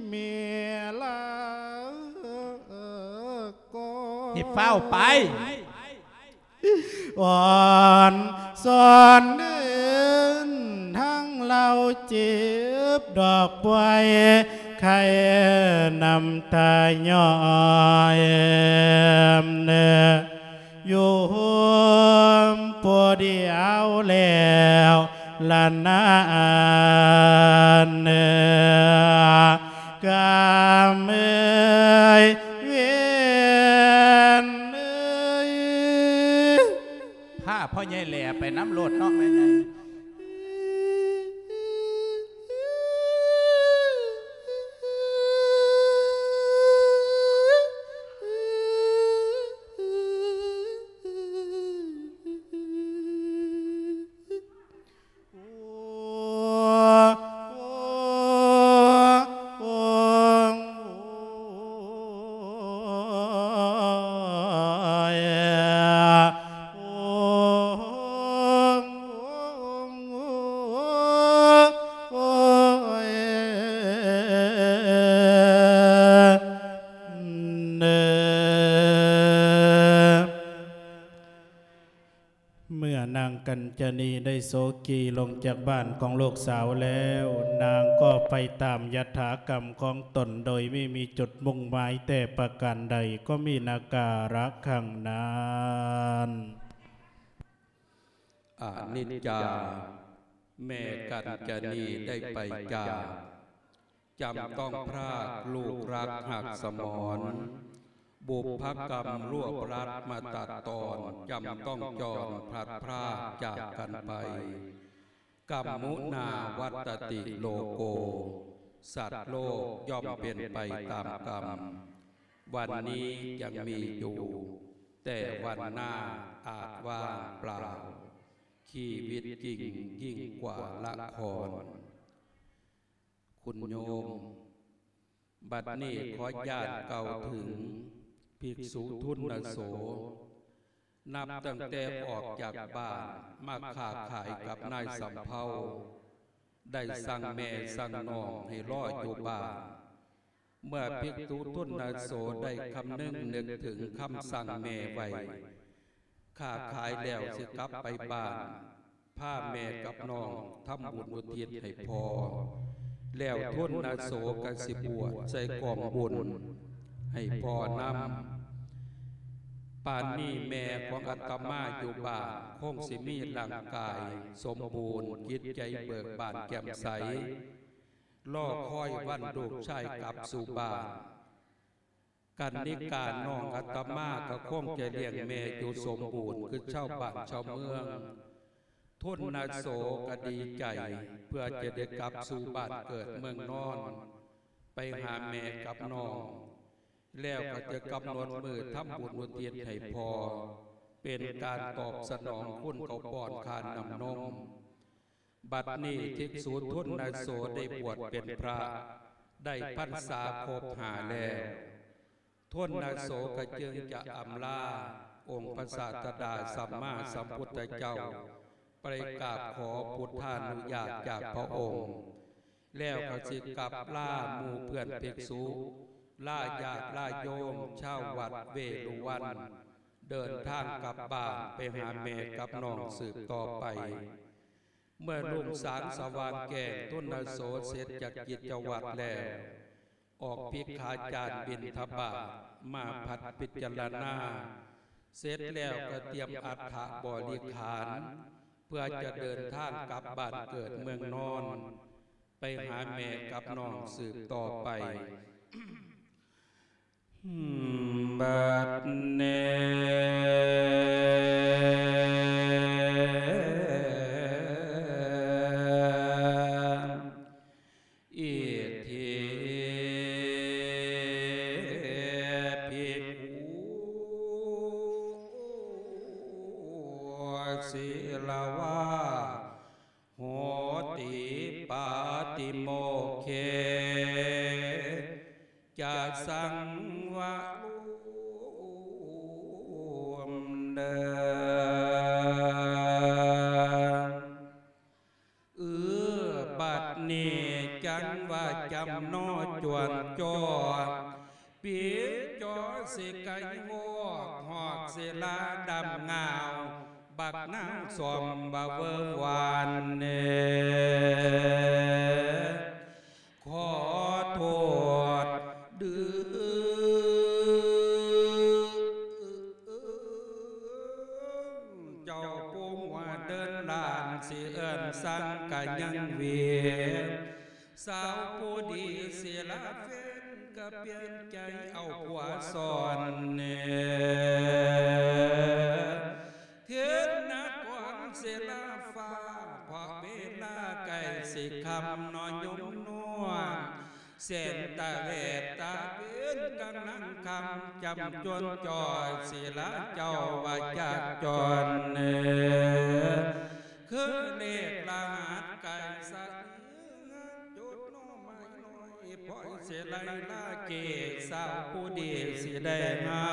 ແມ່ລາກໍ ໃຫ້ຟ້າວໄປ ອ່ອນສອນເດີນທາງລາວ ເຈັບດອກປ່ວຍໄຂ້ນ້ຳຕາຍ້ອຍ ຢູ່ໂຮມຜູ້ດຽວແລ້ວລະນາ ກຳເອີຍເວນເອີຍ. ພາພໍ່ໃຫຍ່ແຫຼໄປນຳໂລດເນາະແມ່ໃຫຍ່. ເມື່ອນາງກັນຈະນີໄດ້ໂສກີລົງຈາກບ້ານຂອງລູກສາວແລ້ວ, ນາງກໍໄປຕາມຍະຖາກຳຂອງຕົນໂດຍບໍ່ມີຈຸດມຸ່ງໝາຍແຕ່ປະການໃດ, ກໍມີນາກາລະຄັ້ງນັ້ນ. ອະນິດຈາ, ແມ່ກັນຈະນີໄດ້ໄປຈາກ, ຈຳຕ້ອງພຣາກລູກຮັກຫາກສະໝອນ, ບຸບພະກຳລວບລັດມາຕັດຕອນ, ຈຳຕ້ອງຈອນພລັດພຣາກຈາກກັນໄປ, ກຳມຸນາວັດຕະຕິໂລໂກ, ສັດໂລກຍ່ອມເປັນໄປຕາມກຳ, ວັນນີ້ຍັງມີຢູ່, ແຕ່ວັນໜ້າອາດວ່າງເປົ່າ, ຊີວິດຈິງຍິ່ງກວ່າລະຄອນ. ຄຸນໂຍມ, ບັດນີ້ຂໍອະນຸຍາດກ່າວເຖິງພິກສຸທຸນນະໂສ, ນັບຕັ້ງແຕ່ອອກຈາກບ້ານມາຄ້າຂາຍກັບນາຍສຳເພົາ, ໄດ້ສັ່ງແມ່ສັ່ງນ້ອງໃຫ້ລໍຢູ່ບ້ານ. ເມື່ອພິກສຸທຸນນະໂສໄດ້ຄຳນຶງນຶກເຖິງຄຳສັ່ງແມ່ໄວ້, ຄ້າຂາຍແລ້ວຊິກັບໄປບ້ານ, ພາແມ່ກັບນ້ອງທຳບຸນອຸທິດໃຫ້ພໍ່, ແລ້ວທຸນນະໂສກໍຊິບວດໃສ່ກອງບຸນໃຫ້ພໍ່ນຳ. ປານນີ້ແມ່ຂອງອາດຕະມາຢູ່ບ້ານຄົງຊິມີຮ່າງກາຍສົມບູນ, ຈິດໃຈເບີກບານແຈ່ມໃສ, ລໍຄອຍວັນລູກຊາຍກັບສູ່ບ້ານ. ກັນນິການ້ອງອາດຕະມາກໍຄົງຈະລ້ຽງແມ່ຢູ່ສົມບູນຄືຊາວບ້ານຊາວເມືອງ. ທຸນນະໂສກໍດີໃຈເພື່ອຈະໄດ້ກັບສູ່ບ້ານເກີດເມືອງນອນ, ໄປຫາແມ່ກັບນ້ອງ, ແລ້ວກໍຈະກຳນົດມື້ທຳບຸນອຸທິດໃຫ້ພໍ່, ເປັນການຕອບສະໜອງຄຸນເຂົ້າປ້ອນຄ່ານ້ຳນົມ. ບັດນີ້ພິກສຸທຸນນະໂສໄດ້ບວດເປັນພຣະ, ໄດ້ພັນສາຄົບຫ້າແລ້ວ. ທຸນນະໂສກໍຈຶ່ງຈະອຳລາອົງພະສາສະດາສຳມາສຳພຸດທະເຈົ້າ, ໄປກາບຂໍພຸດທານຸຍາດຈາກພະອົງ, ແລ້ວກໍຊິກັບລາໝູ່ເພື່ອນພິກສຸ, ລາຍາດລາໂຍມຊາວວັດເວລຸວັນ, ເດີນທາງກັບບ້ານໄປຫາແມ່ກັບນ້ອງສືບຕໍ່ໄປ. ເມື່ອລຸງສາງສະຫວ່າງແຈ້ງ, ທຸນນະໂສເສັດຈາກກິດຈະວັດແລ້ວ, ອອກພິກຂາຈານບິນທະບາດ, ມາພັດພິຈາລະນາ ເສັດແລ້ວກໍຕຽມອັດຖະບໍລິຂານ ເພື່ອຈະເດີນທາງກັບບ້ານເກີດເມືອງນອນ ໄປຫາແມ່ກັບນ້ອງສືບຕໍ່ໄປ. ບັດນີ້ ອິທິພິກຂຸ ສີລະວາ ໂຫຕິປາຕິໂມກເຂ ຈະສັງວະໂລມເດີ. ເອີ ບັດນີ້ຈັ່ງວ່າຈຳໜໍ່ຈວນຈໍ ປີຈໍຊິໄກວອກ ຮອກສິລາດຳງາວ ບັກນາງສອມວ່າເວີວານເນ ຂໍໂທດດື ເຈົ້າປູ່ວ່າເດີນຫຼານ ຊິເອີ້ນສັງກະຍັງເວ ສາວຜູ້ດີສິລາເຟນ ກະປ່ຽນໃຈເອົາຜົວສອນເນ ເທນນະກອນສິລາຟ້າ ເພາະເວລາໃກ້ຊິຄ່ຳ ນ້ອຍຍົມນົວ ເສັ້ນຕາເວດຕາເວັນກຳລັງຄ່ຳ ຈຳຈົນຈ່ອຍສິລາເຈົ້າວ່າຈາກຈອນເນີ ຄືເລກລະຫັດໄກ່ສະເໜືອ ຈຸດໜໍ່ໄມ້ນ້ອຍ ພໍຍສິໄລລາເກດ ສາວຜູ້ດີສິໄດ້ມາ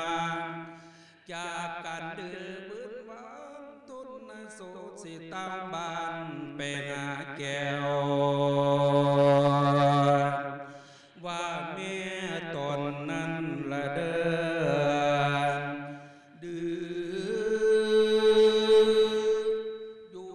ຈາກກັນດື້ບືນຫວານ ທຸນນະໂສດຊິຕາມບ້ານໄປຫາແກ້ວ ວ່າແມ່ຕົນນັ້ນລະເດີ ດື້ຢູ່.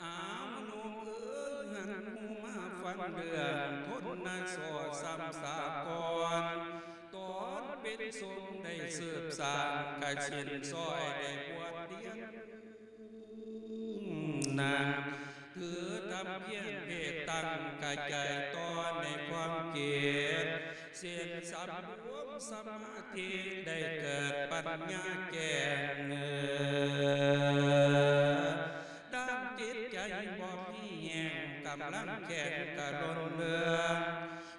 ອ້າວ ລູກເອີຍ ຫັນໝູ່ມາຟັງເລື່ອງ ທົນນະໂສດຊ້ຳສາກ່ອນ ຕອນເປັນສົງໄດ້ສືບສ້າງ ກະສິນຊ່ອຍໄດ້ບວດລຽນ ນາງຖືທຳພຽງເພດຕັ້ງກະໃຈຕໍ່ໃນຄວາມຄິດ ສິນສຳລວມສະມາທິໄດ້ເກີດປັນຍາແຈ້ງ ດ້ານຈິດໃຈບໍ່ມີແຮງ ກຳລັງແຂງກະຫຼົ່ນເຫຼືອງ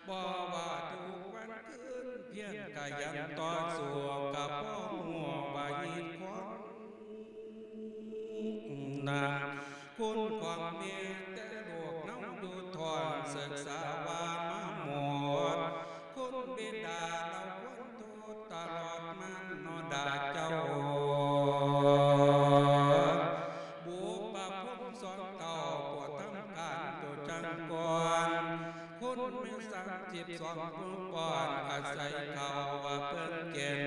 ບໍ່ວ່າທຸກວັນຄືນ ພຽງກະຍັງຕໍ່ສູ້ ກະພໍຮູ້ວ່າຮີດຄວາມ ນາງຄຸນຂອງແມ່ແຕ່ລູກເຮົາຢູ່ທ້ອງ ສຶກສາວ່າມາໝົດ ຄຸນບິດາລາວຄວນໂທດຕະຫຼອດມາເນາະດາເຈົ້າ ບຸບປະພົມສອງເຕົ້າ ໂປດທຳການໂຕຈັງກ່ອນ ຄົນແມ່ນສາມສິບສອງຜູ້ປ້ອນ ອາໄສເຂົ້າວ່າເພິ່ນເກັນ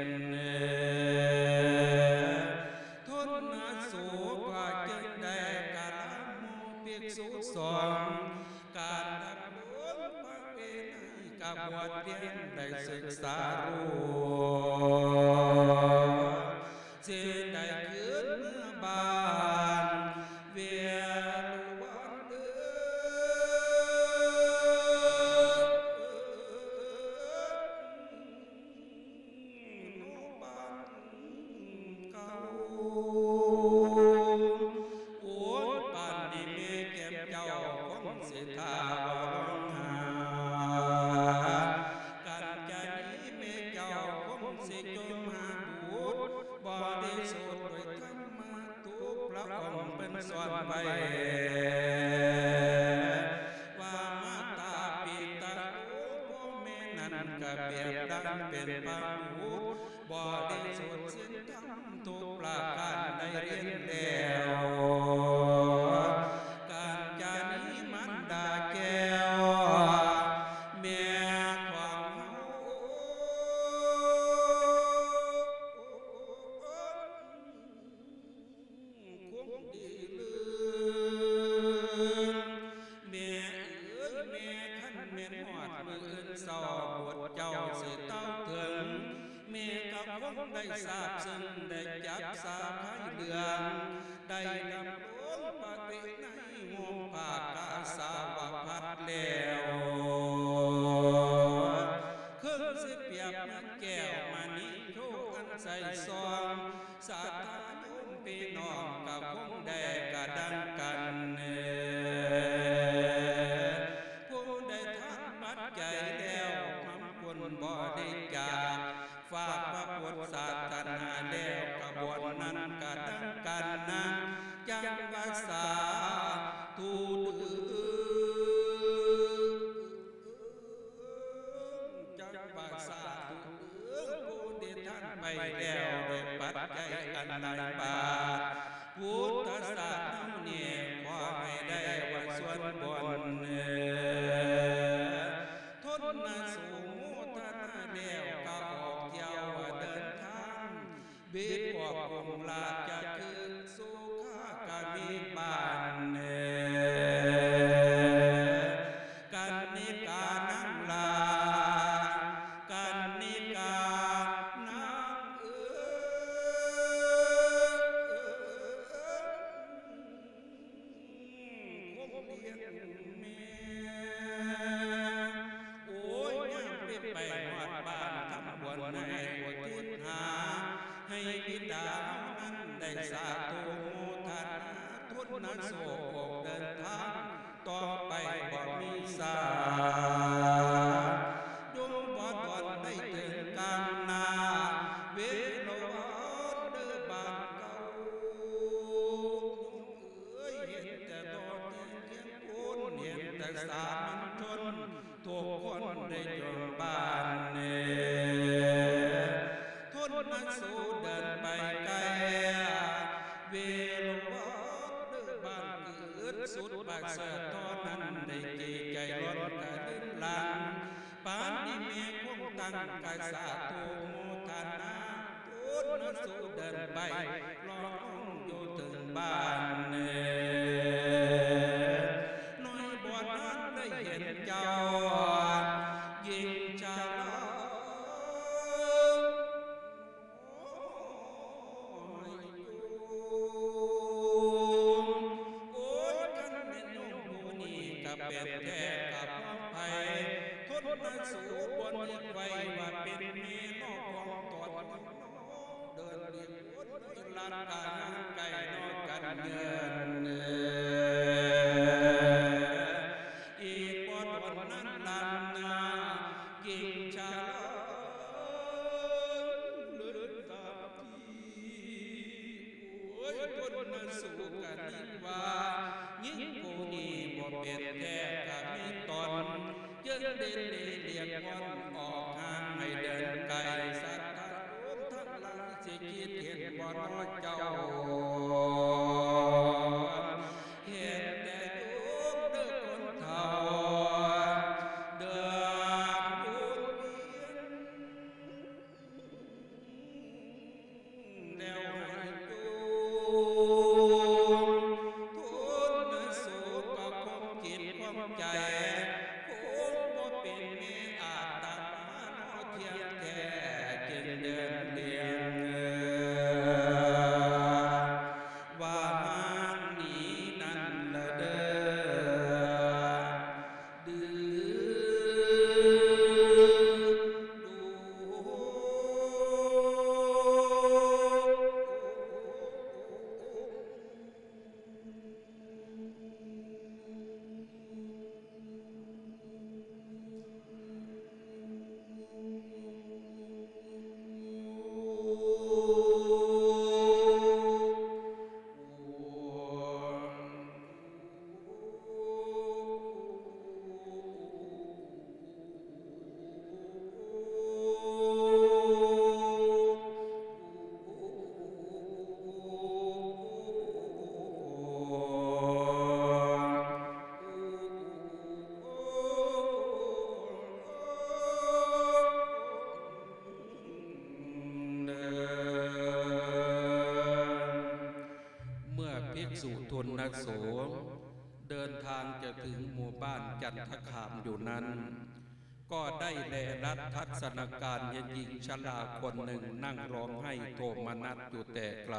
ທົນນະໂສກວ່າຈຶ່ງໄດ້ກະລາໝູ່ພິກສຸສອງ ການດຳລົງພະເວໄນກະບວດຮຽນໄດ້ສຶກສາຮູ້ ຊິໄດ້ຄືນເມືອບ້ານ ເວລຸວັນເອີຍ ນອກບ້ານເກົ່າ. ສອນໄວ້ ວ່າມາຕາປິຕາໂຕ ພໍ່ແມ່ນັ້ນກະແບບດັງເປັນພະບຸດ ບໍລິສຸດສິນທຳທຸກປະການໄດ້ຮຽນແລ້ວ ກັນຈານີມານດາແກ້ວ ແມ່ຂອງເຮົາ ຄົງດີເລີນ ແມ່ເອີຍແມ່ ຄັນແມ່ນຮອດມື້ອື່ນເຊົ້າ ບຸດເຈົ້າຊິເຕົ້າເຖິງ ແມ່ກໍຄົງໄດ້ຊາບເຊິ່ງ ໄດ້ຈັບສາໄພເຫຼືອງ ໄດ້ດຳລົງປະຕິໃນ ໂຮງພາກາສາວະພັດແລ້ວ ເຄິ່ງຊິປຽບເໝືອນແກ້ວມະນີໂທ ອັນໃສສ່ອງ ສາທາໂຍມພີ່ນ້ອງກໍຄົງໄດ້ກະດັງກັນ ຜູ້ໄດ້ທານປັດໄຈແລ້ວ ນຳຄົນບໍລິຈາກ ຝາກພະພຸດທະສາສະໜາແລ້ວ ຂະບວນນັ້ນກະດັງກັນນະ ຈັ່ງວ່າສາທຸເດີ້ ຈັ່ງວ່າສາທຸເດີ້ ຜູ້ທີ່ທ່ານໄປແລ້ວດ້ວຍປັດໄຈອັນຫຼາຍບາດ ພຸດທະສາສະໜານີ້ ຂໍໃຫ້ໄດ້ວ່າສ່ວນບຸນ ທົນນະ ໂສໂມທະນາແລ້ວ ກໍອອກທ່ຽວເດີນທາງ ບິດອອກກົງລາຊະຄຶ ສຸຂາກະມີບ້ານ ກັນນິການາງລາ ກັນນິການາງເອີຍ ຄົງລ້ຽງແມ່ ໂອ້ຍ ຍາມເປັນໄປຮອດບ້ານ ທຳບຸນໃຫ້ອຸທິດຫາ ໃຫ້ບິດາເຮົານັ້ນໄດ້ສາທຸໂມທະນາ ທົນນະໂສໂຄກເດີນທາງ ຕໍ່ໄປບໍ່ມີສາ ຍົມບໍ່ດອນໄດ້ເຖິງກາງໜ້າ ເວລະວັນເດີບ້ານເກົ່າ ເອີຍ ເຫັນແຕ່ໂຕແຕ່ເປັນຄົນ ເຫັນແຕ່ສາມັນຊົນ ທຸກຄົນໄດ້ຈົນບ້ານເນ ທົນນະ ໂສເດີນໄປໄກ ເວລະວັນເດີບ້ານເກີດ ສຸດປະເສີດທໍ່ນັ້ນ ໄດ້ຈີ່ໃຈລ້ອນກະລຶນຫຼັງ ປານນີ້ແມ່ຄົງຕັ້ງກະສາທຸໂມທະນາ ໂຕນະ ໂສເດີນໄປ ລອງຢູ່ເຖິງບ້ານ ໜ້ອຍບໍ່ທັນໄດ້ເຫັນເຈົ້າ ຍິງຊາລາ ໂອ້ຍ ຄັນແມ່ນໂຍມຜູ້ນີ້ກະແມ່ນແທ້ກະຂອງໃຜ ທົນນະ ໂສບໍ່ນຶກໄວ້ວ່າເປັນແມ່ນອກຂອງຕົນ ເດີນເລນວົນລັດການໄກນອກກັນເງິນ ອີກບໍ່ດົນນັ້ນລຳນາ ຍິງຊາລາ ເລີນຕາມທີ່ ໂອ້ຍ ຄົນນະ ໂສກະນຶກວ່າ ຍິງຜູ້ນີ້ບໍ່ເປັນແທ້ກະມີຕົນ ຈຶ່ງໄດ້ເລກວອນອອກຫ່າງໃຫ້ເດີນໄກ ສັດທາໂຍມທັງຫຼາຍ ຊິຄິດເຫັນບໍ່ເນາະເຈົ້າ ເຫັນແຕ່ໂຍມເດີຄົນເຖົ້າ ເດີນວົນວຽນ ແລ້ວໃຫ້ໂຍມ ໂທນະ ໂສກະຄວາມຈິດຄວາມໃຈ ຄົງບໍ່ເປັນແມ່ອາດຕະມາເນາະ ທ່ຽງແທ້ຈຶ່ງເດີນລຽນ ວ່າມານີ້ນັ້ນລະເດີ. ໂອ້ ທຸນນະໂສ ເດີນທາງຈະເຖິງໝູ່ບ້ານຈັນທະຄາມຢູ່ນັ້ນ ກໍໄດ້ແລລັດທັດສະນະການເຫັນຍິງຊະລາຄົນໜຶ່ງນັ່ງຮ້ອງໄຫ້ໂທມະນັດຢູ່ແຕ່ໄກ.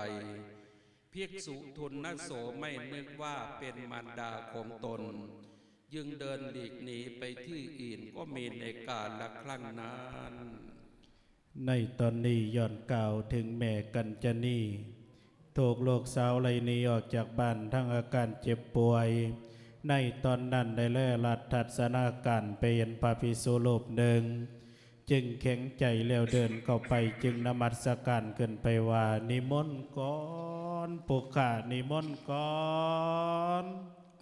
ພິກສຸທຸນນະໂສໄມ່ນຶກວ່າເປັນມານດາຂອງຕົນ ຈຶ່ງເດີນຫຼີກໜີໄປທີ່ອື່ນ ກໍມີໃນກາລະຄັ້ງນັ້ນ. ໃນຕອນນີ້ຍ້ອນກ່າວເຖິງແມ່ກັນຈະນີ ຖືກລູກສາວໄລ່ໜີອອກຈາກບ້ານທັງອາການເຈັບປ່ວຍ. ໃນຕອນນັ້ນໄດ້ແລລັດທັດສະນະການໄປເຫັນພະພິກສຸຮູບໜຶ່ງ ຈຶ່ງແຂງໃຈແລ້ວເດີນເຂົ້າໄປ ຈຶ່ງນະມັດສະການຂຶ້ນໄປວ່າ ນິມົນກ່ອນ ພວກຂ້ານິມົນກ່ອນ.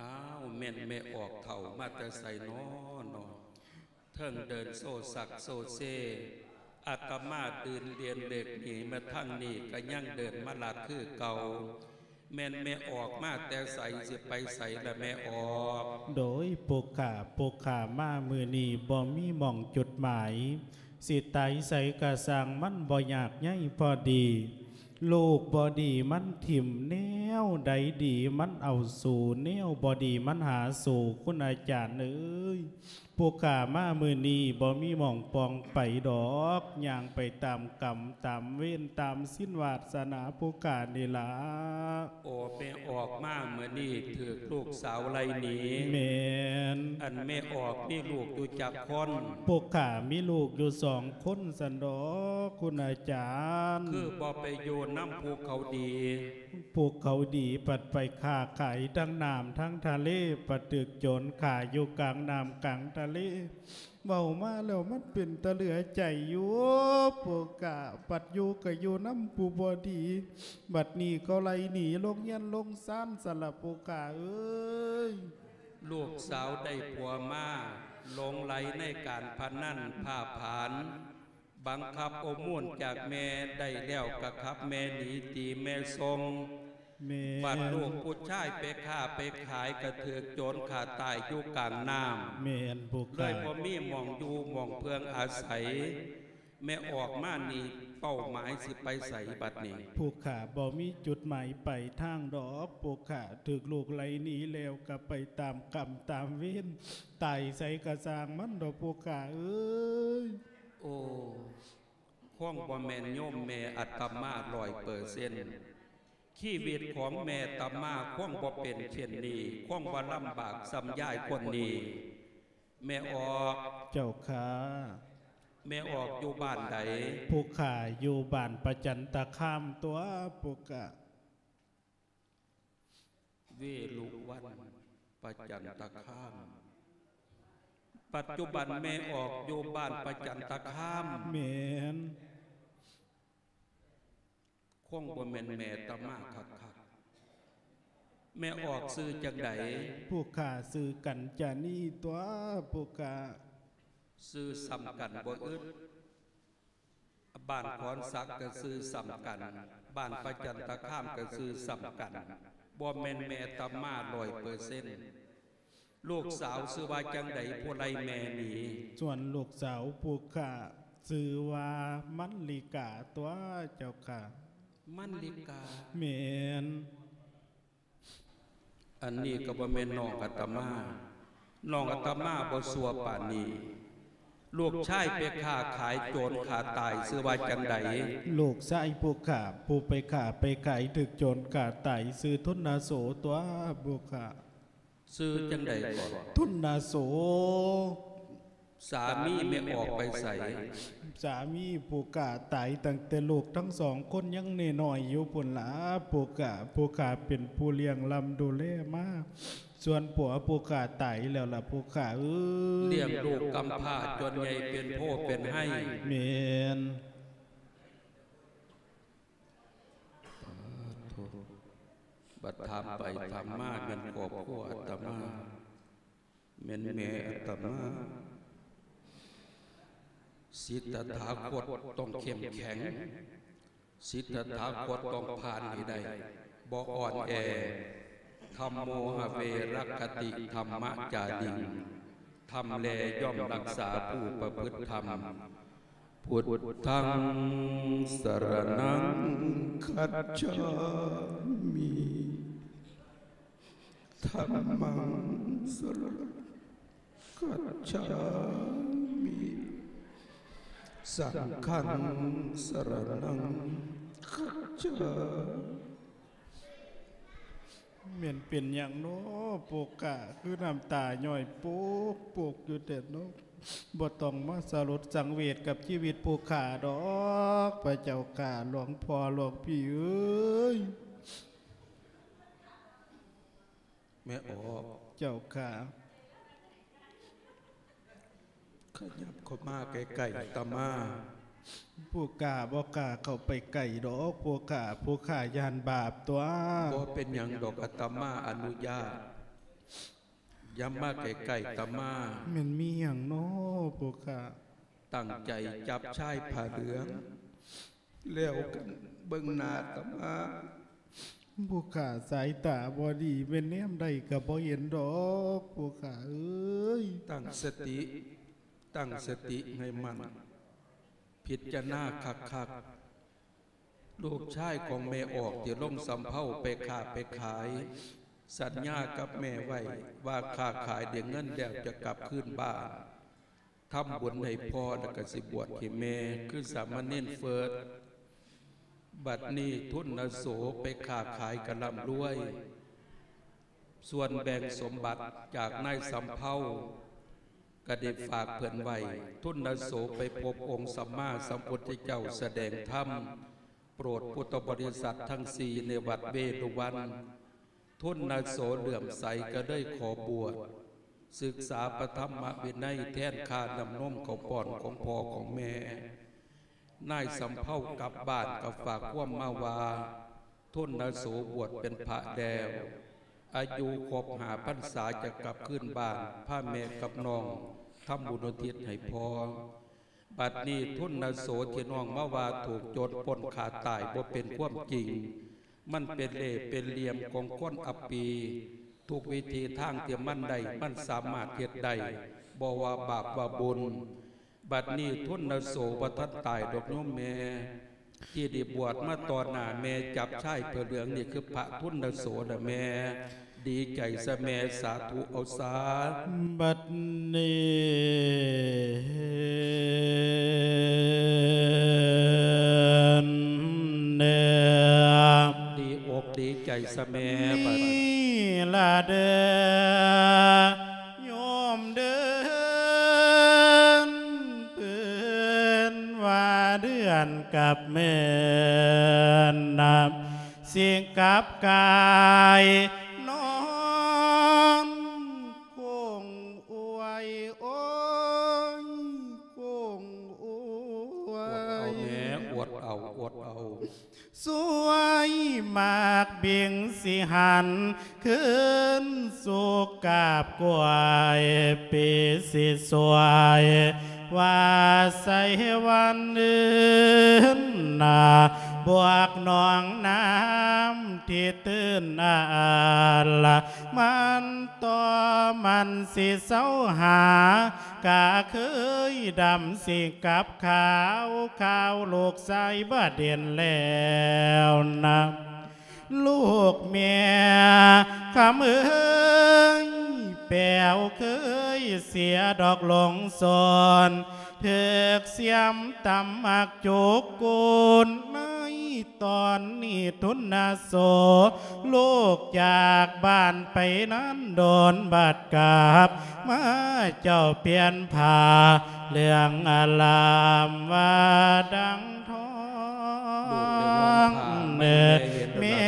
ອ້າວ ແມ່ນແມ່ອອກເຖົ້າມາແຕ່ໃສນໍເນາະ? ເທິງເດີນໂຊຊັກໂຊເຊ ອາດຕະມາດື່ນລຽນເລກໜີມາທາງນີ້ ກະຍັງເດີນມາລັດຄືເກົ່າ. ແມ່ນແມ່ອອກມາແຕ່ໃສ ຊິໄປໃສລະແມ່ອອກ? ໂດຍ ພວກຂ້າ ພວກຂ້າມາມື້ນີ້ບໍ່ມີໝ່ອງຈຸດໝາຍ ຊິຕາຍໃສກະຊ່າງ ມັນບໍ່ຍາກໃຍພໍດີ. ລູກບໍ່ດີມັນຖິ້ມ ແນວໃດດີມັນເອົາສູ່ ແນວບໍ່ດີມັນຫາສູ່ ຄຸນອາຈານເອີຍ. ພວກຂ້າມາມື້ນີ້ບໍ່ມີໝ່ອງປ່ອງໄປດອກ ຍ່າງໄປຕາມກຳຕາມເວນຕາມສິນວາດສະໜາພວກຂ້ານີ້ລະ. ໂອ ແມ່ອອກມາມື້ນີ້ຖືກລູກສາວໄລ່ໜີ. ແມ່ນ. ອັນແມ່ອອກມີລູກຢູ່ຈັກຄົນ? ພວກຂ້າມີລູກຢູ່ສອງຄົນຊັ້ນດອກ ຄຸນອາຈານ. ຄືບໍ່ໄປຢູ່ນຳພວກເຂົາດີ? ພວກເຂົາດີພັດໄປຄ້າຂາຍທາງນ້ຳທາງທະເລ ພັດຖືກໂຈນຂ້າຢູ່ກາງນ້ຳກາງທະເລ. ເວົ້າມາແລ້ວມັນເປັນຕາເຫຼືອໃຈຢູ່ ພວກຂ້າ ບັດຢູ່ກະຢູ່ນຳຜູ້ບໍ່ດີ ບັດນີ້ເຂົາໄລ່ໜີລົງເຮືອນລົງຊານຊັ້ນລະ ພວກຂ້າເອີຍ. ລູກສາວໄດ້ຜົວມາ ຫຼົງໄຫຼໃນການພະນັນ ພ້າຜານ ບັງຄັບອົບອຸ່ນຈາກແມ່ໄດ້ແລ້ວ ກະຂັບແມ່ໜີຕີແມ່ຊົງ. ແມ່ນ. ບັດລູກຜູ້ຊາຍໄປຄ້າໄປຂາຍ ກະຖືກໂຈນຂ້າຕາຍຢູ່ກາງນ້ຳ. ແມ່ນ ພວກຂ້າ. ເລີຍບໍ່ມີໝ່ອງຢູ່ໝ່ອງເພິ່ງອາໄສ. ແມ່ອອກມານີ້ເປົ້າໝາຍຊິໄປໃສບັດນີ້? ພວກຂ້າບໍ່ມີຈຸດໝາຍປາຍທາງດອກ ພວກຂ້າ. ຖືກລູກໄລ່ໜີແລ້ວ ກະໄປຕາມກຳຕາມເວນ ຕາຍໃສກະຊ່າງມັນດອກ ພວກຂ້າເອີຍ. ໂອ້ ຄົງບໍ່ແມ່ນໂຍມແມ່ອາດຕະມາຮ້ອຍເປີເຊັນ. ຊີວິດຂອງແມ່ອາດຕະມາຄົງບໍ່ເປັນເຊັ່ນນີ້ ຄົງບໍ່ລຳບາກສ່ຳຍາຍຄົນນີ້. ແມ່ອອກ. ເຈົ້າຂ້າ. ແມ່ອອກຢູ່ບ້ານໃດ? ພວກຂ້າຢູ່ບ້ານປະຈັນຕະຄາມຕົວະ ພວກຂ້າ. ເວລຸວັນ ປະຈັນຕະຄາມ. ປັດຈຸບັນແມ່ອອກຢູ່ບ້ານປະຈັນຕະຄາມ. ແມ່ນ. ຄົງບໍ່ແມ່ນແມ່ອາດຕະມາຄັກໆ. ແມ່ອອກຊື່ຈັ່ງໃດ? ພວກຂ້າຊື່ກັນຈານີຕົວະ ພວກຂ້າ. ຊື່ສ່ຳກັນບໍ່ອຶດ. ບ້ານຄອນສັກກະຊື່ສ່ຳກັນ, ບ້ານປະຈັນຕະຄາມກະຊື່ສ່ຳກັນ, ບໍ່ແມ່ນແມ່ອາດຕະມາຮ້ອຍເປີເຊັນ. ລູກສາວຊື່ວ່າຈັ່ງໃດ ຜູ້ໄລ່ແມ່ໜີ? ສ່ວນລູກສາວພວກຂ້າຊື່ວ່າມັນລິກາຕົວະ ເຈົ້າຂ້າ. ມັນລິກາ? ແມ່ນ. ອັນນີ້ກະບໍ່ແມ່ນນ້ອງອາດຕະມາ. ນ້ອງອາດຕະມາບໍ່ຊົ່ວປານນີ້. ລູກຊາຍໄປຄ້າຂາຍໂຈນຂ້າຕາຍຊື່ວ່າຈັ່ງໃດ? ລູກຊາຍພວກຂ້າ ຜູ້ໄປຄ້າໄປຂາຍຖືກໂຈນຂ້າຕາຍຊື່ທຸນນະໂສຕົວະ ພວກຂ້າ. ຊື່ຈັ່ງໃດເກາະ? ທຸນນະໂສ. ສາມີແມ່ອອກໄປໃສ? ສາມີພວກຂ້າຕາຍຕັ້ງແຕ່ລູກທັງສອງຄົນຍັງນ້ອຍໆຢູ່ພຸ້ນລະ ພວກຂ້າ. ພວກຂ້າເປັນຜູ້ລ້ຽງລ້ຳດູແລມາ. ສ່ວນຜົວພວກຂ້າຕາຍແລ້ວລະ ພວກຂ້າເອີຍ. ລ້ຽງລູກກຳພ້າຈົນໃຫຍ່ເປັນໂພເປັນໄຮ. ແມ່ນ. ປາດໂທ ບັດຖາມໄປຖາມມາແມ່ນຄອບຄົວອາດຕະມາ ແມ່ນແມ່ອາດຕະມາ. ສິດຖະຖາຄົດຕ້ອງເຂັ້ມແຂງ. ສິດຖະຖາຄົດຕ້ອງຜ່ານໃຫ້ໄດ້ ບໍ່ອ່ອນແອ. ທຳໂມຫະເວຣັກຂະຕິທຳມະຈາລິງ. ທຳແລຍ່ອມຮັກສາຜູ້ປະພຶດທຳ. ພຸດທັງສະຣະນັງຄັດສາມິ. ທຳມັງສະລະ ຄັດສາມິ ສັງຄັງສະລະນັງຄັດສາ ແມ່ນເປັນຫຍັງເນາະ ພວກຂ້າ ຄືນ້ຳຕາຍ້ອຍໂປກໆຢູ່ແທ້ເນາະ? ບໍ່ຕ້ອງມາສະຫຼົດສັງເວດກັບຊີວິດພວກຂ້າດອກ ພະເຈົ້າຂ້າ ຫຼວງພໍ່ ຫຼວງພີ່ເອີຍ. ແມ່ອອກ ເຈົ້າຂ້າ ຂະຫຍັບເຂົ້າມາໃກ້ໆອາດຕະມາ. ພວກຂ້າບໍ່ກ້າເຂົ້າໄປໃກ້ດອກ ພວກຂ້າ ພວກຂ້າຢ້ານບາບຕົວະ. ບໍ່ເປັນຫຍັງດອກ ອາດຕະມາອະນຸຍາດ. ຢ່າມາໃກ້ໆອາດຕະມາ. ແມ່ນມີຫຍັງນໍພວກຂ້າ? ຕັ້ງໃຈຈັບຊາຍຜ້າເຫຼືອງ ແລ້ວກັນເບິ່ງໜ້າອາດຕະມາ. ພວກຂ້າສາຍຕາບໍ່ດີ ແມ່ນແນມໃດກໍບໍ່ເຫັນດອກ ພວກຂ້າເອີຍ. ຕັ້ງສະຕິ ຕັ້ງສະຕິໃຫ້ໝັ້ນ ພິຈາລະນາຄັກໆ. ລູກຊາຍຂອງແມ່ອອກທີ່ລົງສຳເພົາໄປຄ້າໄປຂາຍ ສັນຍາກັບແມ່ໄວ້ວ່າຄ້າຂາຍໄດ້ເງິນແລ້ວຈະກັບຄືນບ້ານ. ທຳບຸນໃຫ້ພໍ່ ແລ້ວກໍຊິບວດໃຫ້ແມ່ ຄືສາມະເນນເຟີດ. ບັດນີ້ທຸນນະໂສໄປຄ້າຂາຍກໍລ່ຳລວຍ. ສ່ວນແບ່ງສົມບັດຈາກນາຍສຳເພົາກໍໄດ້ຝາກເພິ່ນໄວ້. ທຸນນະໂສໄປພົບອົງສຳມາສຳພຸດທະເຈົ້າສະແດງທຳໂປດພຸດທະບໍລິສັດທັງສີ່ໃນວັດເວລຸວັນ. ທຸນນະໂສເຫຼື້ອມໃສກໍເລີຍຂໍບວດ ສຶກສາພະທຳມະວິໄນແທນຄ່ານ້ຳນົມເຂົ້າປ້ອນຂອງພໍ່ຂອງແມ່. ນາຍສຳເພົາກັບບ້ານກໍຝາກຄວາມມາວ່າ ທຸນນະໂສບວດເປັນພະແລ້ວ ອາຍຸຄົບຫ້າພັນສາຈະກັບຄືນບ້ານ ພາແມ່ກັບນ້ອງທຳບຸນອຸທິດໃຫ້ພໍ່. ບັດນີ້ທຸນນະໂສທີ່ນ້ອງມາວ່າຖືກໂຈນປຸ້ນຂ້າຕາຍບໍ່ເປັນຄວາມຈິງ. ມັນເປັນເລ່ເປັນຫຼ່ຽມຂອງຄົນອັບປີ. ທຸກວິທີທາງທີ່ມັນໄດ້ ມັນສາມາດເຮັດໄດ້ ບໍ່ວ່າບາບວ່າບຸນ. ບັດນີ້ທຸນນະໂສບໍ່ທັນຕາຍດອກໂຍມແມ່ ທີ່ໄດ້ບວດມາຕໍ່ໜ້າແມ່ ຈັບຊາຍຜ້າເຫຼືອງນີ້ຄືພະທຸນນະໂສນະແມ່. ດີໃຈຊະແມ່ ສາທຸເອົາຊາ. ບັດນີ້ແນ່ ດີອົກດີໃຈຊະແມ່ ນີ້ລະເດີ ໂຍມເດີ ເພິ່ນວ່າເດືອນກັບແມ່ນນະ ຊິກັບກາຍນອນ ຄົງອວຍ ໂອ້ຍ ຄົງອວຍ ອົດເອົາແມ່ ອົດເອົາ ອົດເອົາ. ສວຍໝາກບິງຊິຫັນ ຄືນສຸກກາບກວຍ ປີຊິສວຍວ່າໃສວັນອື່ນນາ ບວກໜອງນ້ຳທີ່ຕື້ນອາລະ ມັນຕໍ່ມັນຊິເຊົາຫາ ກະເຄີຍດຳຊິກັບຂາວ ຂາວລູກຊາຍບາດເດນແລ້ວນະ. ລູກແມ່ຄຳເອີຍ ແປວເຄີຍເສຍດອກຫຼົງສອນ ຖືກສຽມຕຳໝາກຈຸກກູນໃນ ຕອນນີ້ທຸນນະໂສ ລູກຈາກບ້ານໄປນານດົນ ບາດກັບມາເຈົ້າປ່ຽນຜ້າເຫຼືອງອາລາມວ່າດັ່ງທອງ. ແມ່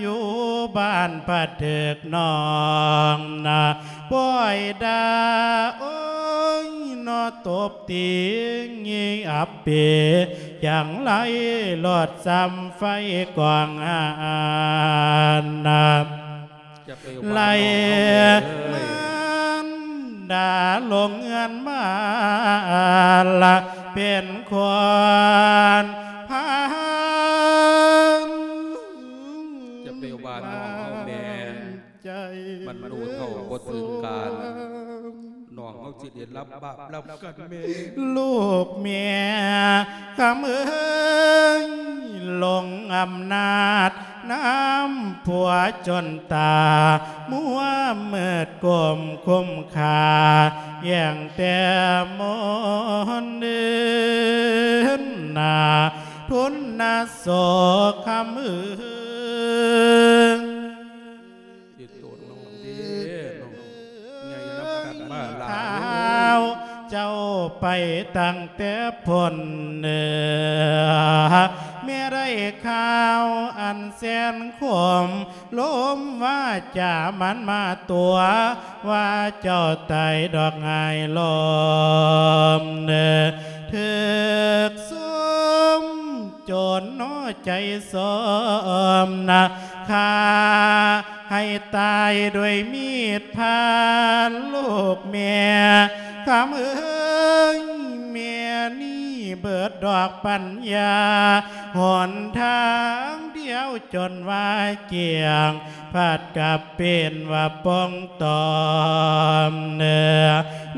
ຢູ່ບ້ານພັດຖືກນ້ອງນະ ປ່ອຍດ່າ ໂອ້ຍ ເນາະ ຕົບຕີງີ່ອັບປີ ຈັ່ງໄຫຼຫຼອດຊຳໄຟກອງຫານນະ ໄຫຼມານດ່າລົງເຮືອນມາລະ ເປັນຄົນພານ ຢ່າໄປວ່ານ້ອງເຮົາແມ່ ໃຈ ມັນຮູ້ເທົ່າບໍ່ເຖິງການ ນ້ອງ ເຮົາຊິໄດ້ຮັບບາບນຳກັນແມ່. ລູກແມ່ຄຳເອີຍ ຫຼົງອຳນາດນຳຜົວຈົນຕາ ມົວມືດກົ້ມຄຸ້ມຄ່າ ແຍ່ງແຕ່ມົນເດີນໜ້າ ທົນນະໂສກຄຳເອີຍ. ເຮັດໂຕນ້ອງເດ້ ນ້ອງໃຫຍ່ນຳກັນມາຫຼາຍ ເຈົ້າໄປຕັ້ງແຕ່ພົ້ນເໜືອ ແມ່ໄດ້ຂ່າວອັນແສນຂົມ ລົມວາຈາມັນມາຕົວະ ວ່າເຈົ້າຕາຍດອກຫາຍລົມເໜືອ ຖືກສົມ ໂຈນໜໍໃຈສົມນະ ຂ້າໃຫ້ຕາຍດ້ວຍມີດພານ ລູກແມ່ຄຳເອີຍ ແມ່ນີ້ເບີດດອກປັນຍາ ຫົນທາງດຽວຈົນວ່າກ້ຽງ ພັດກັບເປັນວ່າປ່ອງຕອມເໜືອ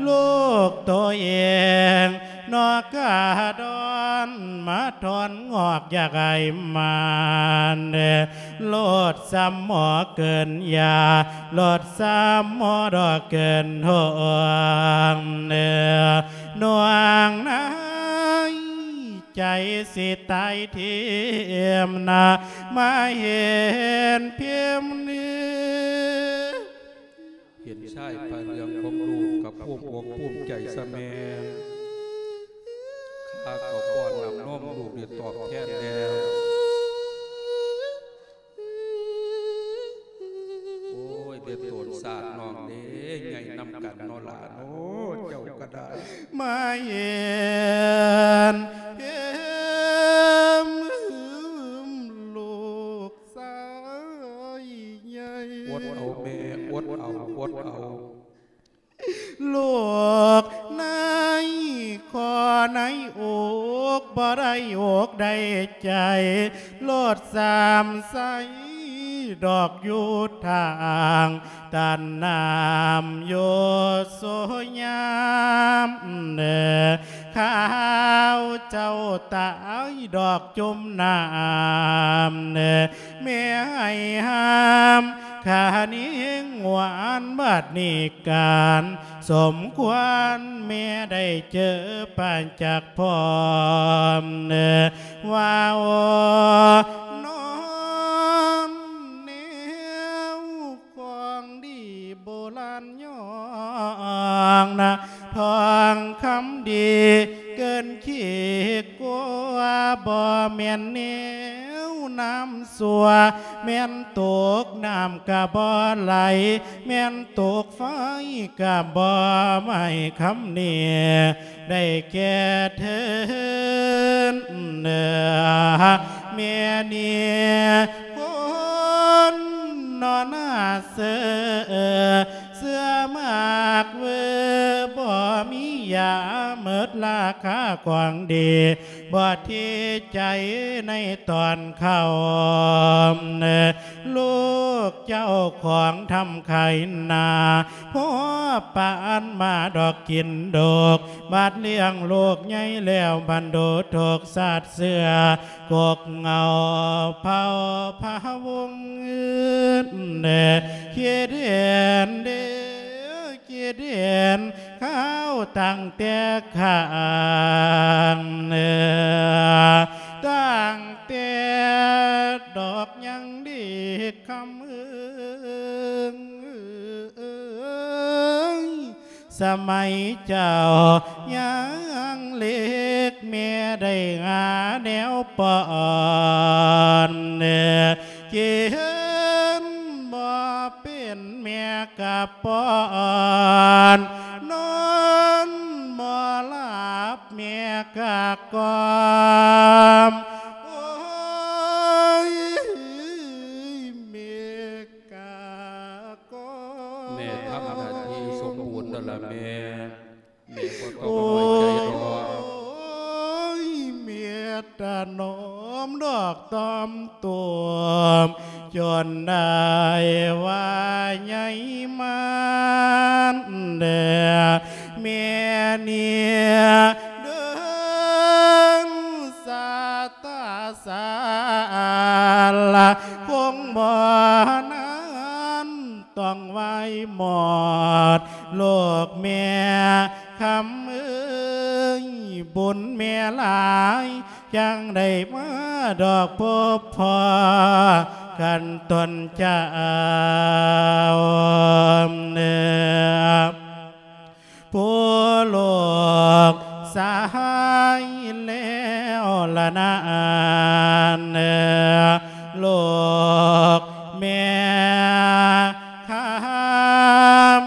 ລູກໂຕເອງ ນອກກະດອນມາຖອນງອກຢາກໃຫ້ມານ ໂລດຊ້ຳໝໍເກີນຢາ ໂລດຊ້ຳໝໍດອກເກີນໂຮງເໜືອ ໜ່ວງໃນໃຈຊິຕາຍຖິ້ມນະ ມາເຫັນພິມເໜືອ ເຫັນຊາຍຜ້າເຫຼືອງຂອງລູກກໍພູມອົກພູມໃຈຊະແມ່ ຂ້າກໍປ້ອນນ້ຳນົມລູກໄດ້ຕອບແທນແລ້ວ. ໂອ້ຍ ເບັດໂຕນສາດນ້ອງເດ້ ໃຫຍ່ນຳກັນເນາະຫຼ້າເນາະ ເຈົ້າກໍໄດ້ ມາເຫັນເຫັນລູກ ຊາຍໃຫຍ່ ອົດເອົາແມ່ ອົດເອົາ ອົດເອົາ ລູກໃນຄໍໃນອົກ ບໍ່ໄດ້ອົກໄດ້ໃຈ ໂລດສາມໃສດອກຢູ່ທາງ ຕ້ານນ້ຳຢູ່ໂສຍາມເນີ ຂ້າເຈົ້າຕາຍດອກຈົມນ້ຳເນີ ແມ່ໃຫ້ຫ້າມ ຂ້ານີ້ຫວານບັດນີ້ການສົມຄວນ ແມ່ໄດ້ເຈີປານຈັກພ້ອມເນີ ວ່າໂອນອນແນວ ຂອງດີໂບລານຍ້ອງນະ ທອງຄຳດີເກີນຂີດກວ່າ ບໍ່ແມ່ນແນວນ້ຳຊົ່ວ ແມ່ນຕົກນ້ຳກະບໍ່ໄຫຼ ແມ່ນຕົກໄຟກະບໍ່ໄໝ້ ຄຳນີ້ ໄດ້ແກ່ເທີນເໜືອ ແມ່ນີ້ຄົນນອນໜ້າເສືອ ເສືອໝາກເວີ ບໍ່ມີຢາເໝິດລາຄາຂອງດີ ບໍ່ທີ່ໃຈໃນຕອນຄ່ຳເນີ ລູກເຈົ້າຂອງທຳໄຄນາ ພໍປານມາດອກກິນດົກ ບາດລ້ຽງລູກໃຫຍ່ແລ້ວ ບັນດູທຸກຊາດເຊື້ອ ກົກເຫງົາເຜົ່າພະວົງອື່ນເດີ ຄິດເຫັນເດີ ຄິດເຫັນຂ່າວຕັ້ງແຕ່ຂ້າງເໜືອ ຕັ້ງແຕ່ດອກຍັງເດັກ ຄຳເອີຍ ສະໄໝເຈົ້າຍັງເລັກ ແມ່ໄດ້ຫາແນວປ້ອນ ກິນບໍ່ເປັນແມ່ກະປ້ອນ ນອນບໍ່ຫຼັບແມ່ກະກ່ອມ ໂອ້ຍ ແມ່ ກະກໍ ແມ່ທຳໜ້າທີ່ສົມບູນແລ້ວລະແມ່ ແມ່ບໍ່ຕ້ອງນ້ອຍໃຈດອກ ໂອ້ຍ ແມ່ຕະໜອມດອກຕອມຕົວມ ຈົນໄດ້ວ່າໃຫຍ່ມານເດີ ແມ່ນີ້ເດີງສາຕາສາລ ຄົງບໍ່ນານ ຕ້ອງໄຫວ້ໝົດໂລກແມ່ຄຳເອີຍ ບຸນແມ່ຫຼາຍ ຈັ່ງໄດ້ມາດອກພົບພໍ້ກັນຕົນເຈົ້າ ຜູ້ລູກຊາຍແລ້ວລະນາ ອັນໂລກແມ່ຄຳ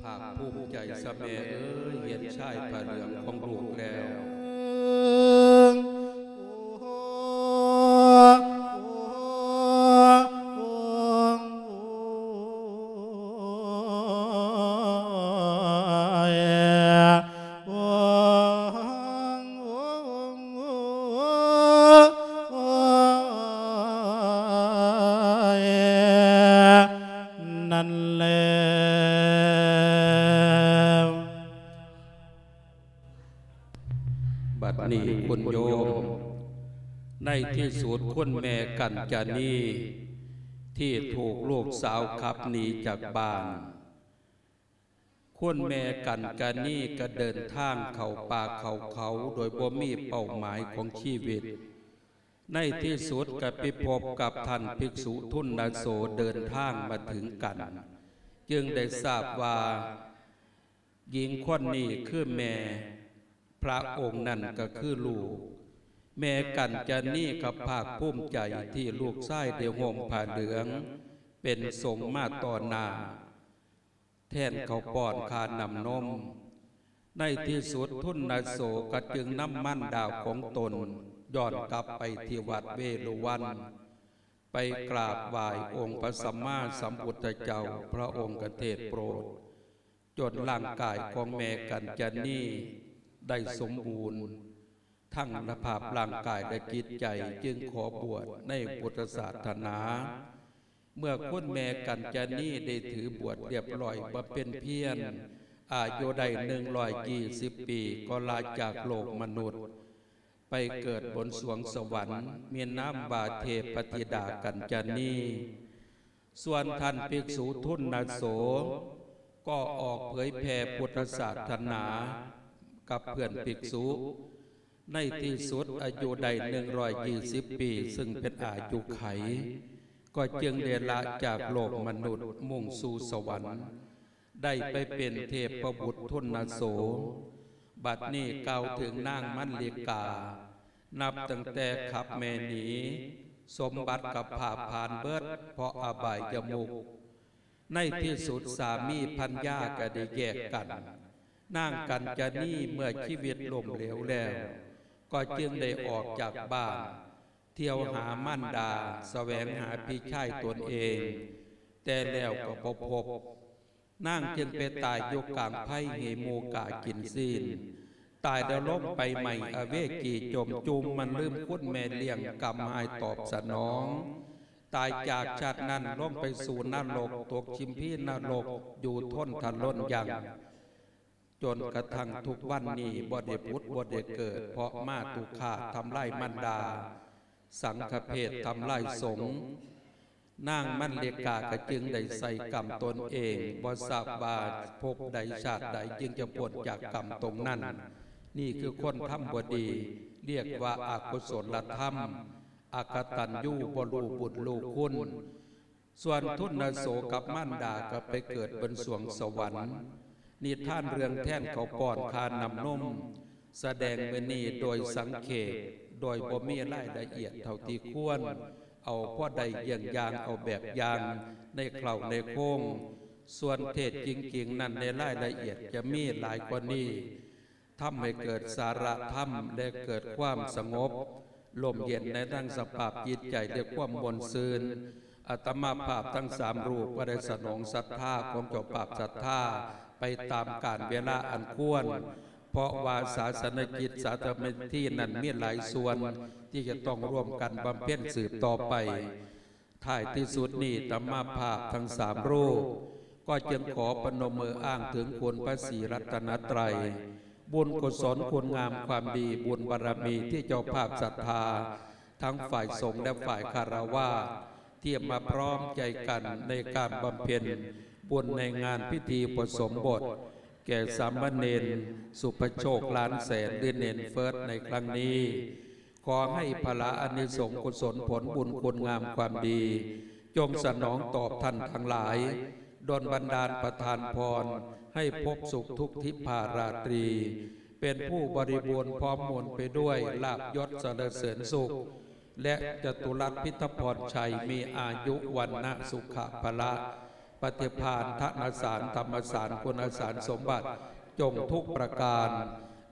ພາກພູມໃຈຊະແມ່ເອີຍ ເຫັນຊາຍຜ້າເຫຼືອງຂອງລູກແລ້ວ. ນັ້ນແຫຼະ ບັດນີ້ຄຸນໂຍມ ໃນທີ່ສຸດຄຸນແມ່ກັນຈານີ ທີ່ຖືກລູກສາວຂັບໜີຈາກບ້ານ ຄຸນແມ່ກັນຈານີກໍເດີນທາງເຂົ້າປ່າເຂົ້າເຂົາ ໂດຍບໍ່ມີເປົ້າໝາຍຂອງຊີວິດ. ໃນທີ່ສຸດກໍໄປພົບກັບທ່ານພິກສຸທຸນນະໂສເດີນທາງມາເຖິງກັນ ຈຶ່ງໄດ້ຊາບວ່າ ຍິງຄົນນີ້ຄືແມ່, ພະອົງນັ້ນກໍຄືລູກ. ແມ່ກັນຈານີກໍພາກພູມໃຈທີ່ລູກຊາຍໄດ້ຫົ່ມຜ້າເຫຼືອງເປັນສົງມາຕໍ່ໜ້າ ແທນເຂົ້າປ້ອນຄ່ານ້ຳນົມ. ໃນທີ່ສຸດທຸນນະໂສກໍຈຶ່ງນຳມານດາຂອງຕົນຍ້ອນກັບໄປທີ່ວັດເວລຸວັນ ໄປກາບໄຫວ້ອົງພະສຳມາສຳພຸດທະເຈົ້າ, ພະອົງກໍເທດໂປດ ຈົນຮ່າງກາຍຂອງແມ່ກັນຈານີໄດ້ສົມບູນ ທັງສະພາບຮ່າງກາຍ ແລະ ຈິດໃຈ, ຈຶ່ງຂໍບວດໃນພຸດທະສາສະໜາ. ເມື່ອຄຸນແມ່ກັນຈານີໄດ້ຖືບວດລຽບຮ້ອຍ ບຳເພັນພຽນ ອາຍຸໄດ້ໜຶ່ງຮ້ອຍຊາວປີ ກໍລາຈາກໂລກມະນຸດ ໄປເກີດບົນສວງສະຫວັນ ມີນາມວ່າເທບພະທິດາກັນຈານີ. ສ່ວນທ່ານພິກສຸທຸນນະໂສ ກໍອອກເຜີຍແຜ່ພຸດທະສາສະໜາກັບເພື່ອນພິກສຸ. ໃນທີ່ສຸດອາຍຸໄດ້ໜຶ່ງຮ້ອຍຊາວປີ ຊຶ່ງເປັນອາຍຸໄຂ ກໍຈຶ່ງໄດ້ລະຈາກໂລກມະນຸດ ມຸ່ງສູ່ສະຫວັນ ໄດ້ໄປເປັນເທບພະບຸດທຸນນະໂສ. ບັດນີ້ກ່າວເຖິງນາງມັນລິກາ ນັບຕັ້ງແຕ່ຂັບແມ່ໜີ ສົມບັດກໍພາບຜ່ານເບິດ ເພາະອະບາຍຍະມຸກ. ໃນທີ່ສຸດສາມີພັນຍາກໍໄດ້ແຍກກັນ. ນາງກັນຈານີເມື່ອຊີວິດລົ້ມເຫຼວແລ້ວ ກໍຈຶ່ງໄດ້ອອກຈາກບ້ານ ທ່ຽວຫາມານດາ, ສະແຫວງຫາພີ່ຊາຍຕົນເອງ, ແຕ່ແລ້ວກໍບໍ່ພົບ. ນາງຈຶ່ງໄປຕາຍຢູ່ກາງໄພ ໃຫ້ໝູກາກິນຊີ້ນ, ຕາຍແລ້ວລົງໄປໄໝ້ອະເວຈີຈົມຈຸ່ມ, ມັນລືມຄຸນແມ່ລ້ຽງກຳຫາຍຕອບສະໜອງ. ຕາຍຈາກຊາດນັ້ນລົງໄປສູ່ນະລົກ, ຕົກຊິມພີນະລົກ ຢູ່ທົນທະລົນຍັງ. ຈົນກະທັ່ງທຸກວັນນີ້ບໍ່ໄດ້ຜຸດບໍ່ໄດ້ເກີດ ເພາະມາຕຸຄາດທຳລາຍມານດາ, ສັງຄະເພດທຳລາຍສົງ. ນາງມັນລິກາກໍຈຶ່ງໄດ້ໃສ່ກຳຕົນເອງ, ບໍ່ຊາບວ່າພົບໃດຊາດໃດຈຶ່ງຈະພົ້ນຈາກກຳຕົງນັ້ນ. ນີ້ຄືຄົນທຳບໍ່ດີ, ລຽກວ່າອະກຸສົນລະທຳ, ອະກະຕັນຍູ, ບໍ່ຮູ້ບຸນຮູ້ຄຸນ. ສ່ວນທຸນນະໂສກັບມານດາກໍໄປເກີດບົນສວງສະຫວັນ. ນິທານເລື່ອງແທນເຂົ້າປ້ອນຄ່ານ້ຳນົມ ສະແດງມື້ນີ້ໂດຍສັງເຂບ, ໂດຍບໍ່ມີລາຍລະອຽດເທົ່າທີ່ຄວນ, ເອົາພໍໄດ້ເຢ້ຽງຢ່າງ, ເອົາແບບຢ່າງໃນເຄົ້າໃນໂຄງ. ສ່ວນເທດຈິງໆນັ້ນ ໃນລາຍລະອຽດຈະມີຫຼາຍກວ່ານີ້. ທຳໃຫ້ເກີດສາລະທຳ ແລະ ເກີດຄວາມສະຫງົບ ລົມເຢັນໃນທັງສະພາບຈິດໃຈ ແລະ ຄວາມມ່ວນຊື່ນ. ອາດຕະມາພາບທັງສາມຮູບກໍໄດ້ສະໜອງສັດທາຂອງເຈົ້າພາບສັດທາໄປຕາມການເວລາອັນຄວນ, ເພາະວ່າສາສະນະກິດສາທາລະນະພິທີນັ້ນມີຫຼາຍສ່ວນທີ່ຈະຕ້ອງຮ່ວມກັນບຳເພັນສືບຕໍ່ໄປ. ທ້າຍທີ່ສຸດນີ້ ອາດຕະມາພາບທັງສາມຮູບ ກໍຈຶ່ງຂໍປະນົມມືອ້າງເຖິງຄຸນພະສີລັດຕະນະໄຕ, ບຸນກຸສົນຄຸນງາມຄວາມດີ, ບຸນບາລະມີທີ່ເຈົ້າພາບສັດທາ ທັງຝ່າຍສົງ ແລະ ຝ່າຍຄາລະວາດ ທີ່ມາພ້ອມໃຈກັນໃນການບຳເພັນບຸນໃນງານພິທີອຸປະສົມບົດ ແກ່ສາມະເນນ ສຸພະໂຊກ ລ້ານແສນ ຫຼື ເນນເຟີດ ໃນຄັ້ງນີ້. ຂໍໃຫ້ພະລາອານິສົງກຸສົນຜົນບຸນຄຸນງາມຄວາມດີ ຈົ່ງສະໜອງຕອບທ່ານທັງຫຼາຍ, ດົນບັນດານປະທານພອນໃຫ້ພົບສຸກທຸກທິພາລາຕຣີ, ເປັນຜູ້ບໍລິບູນພ້ອມມົນໄປດ້ວຍລາບຍົດສະເຫຼີມເສີນສຸກ ແລະ ຈະຕຸລັດພິທະພອນໄຊ ມີອາຍຸວັນນະສຸຂະພະລະ ປະຕິພານທະນະສານ ທຳມະສານ ຄຸນນະສານສົມບັດ ຈົ່ງທຸກປະການ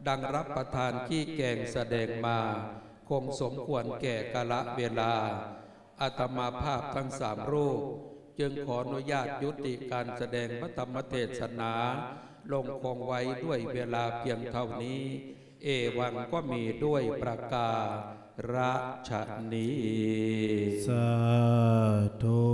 ດັ່ງຮັບປະທານຊີ້ແຈງສະແດງມາ ຄົງສົມຄວນແກ່ກາລະເວລາ. ອາດຕະມາພາບທັງສາມຮູບ ຈຶ່ງຂໍອະນຸຍາດຍຸຕິການສະແດງພະທຳມະເທດສະໜາລົງຄົງໄວ້ດ້ວຍເວລາພຽງເທົ່ານີ້. ເອວັງ ກໍມີດ້ວຍປະກາລະຊະນີ້. ສາທຸ.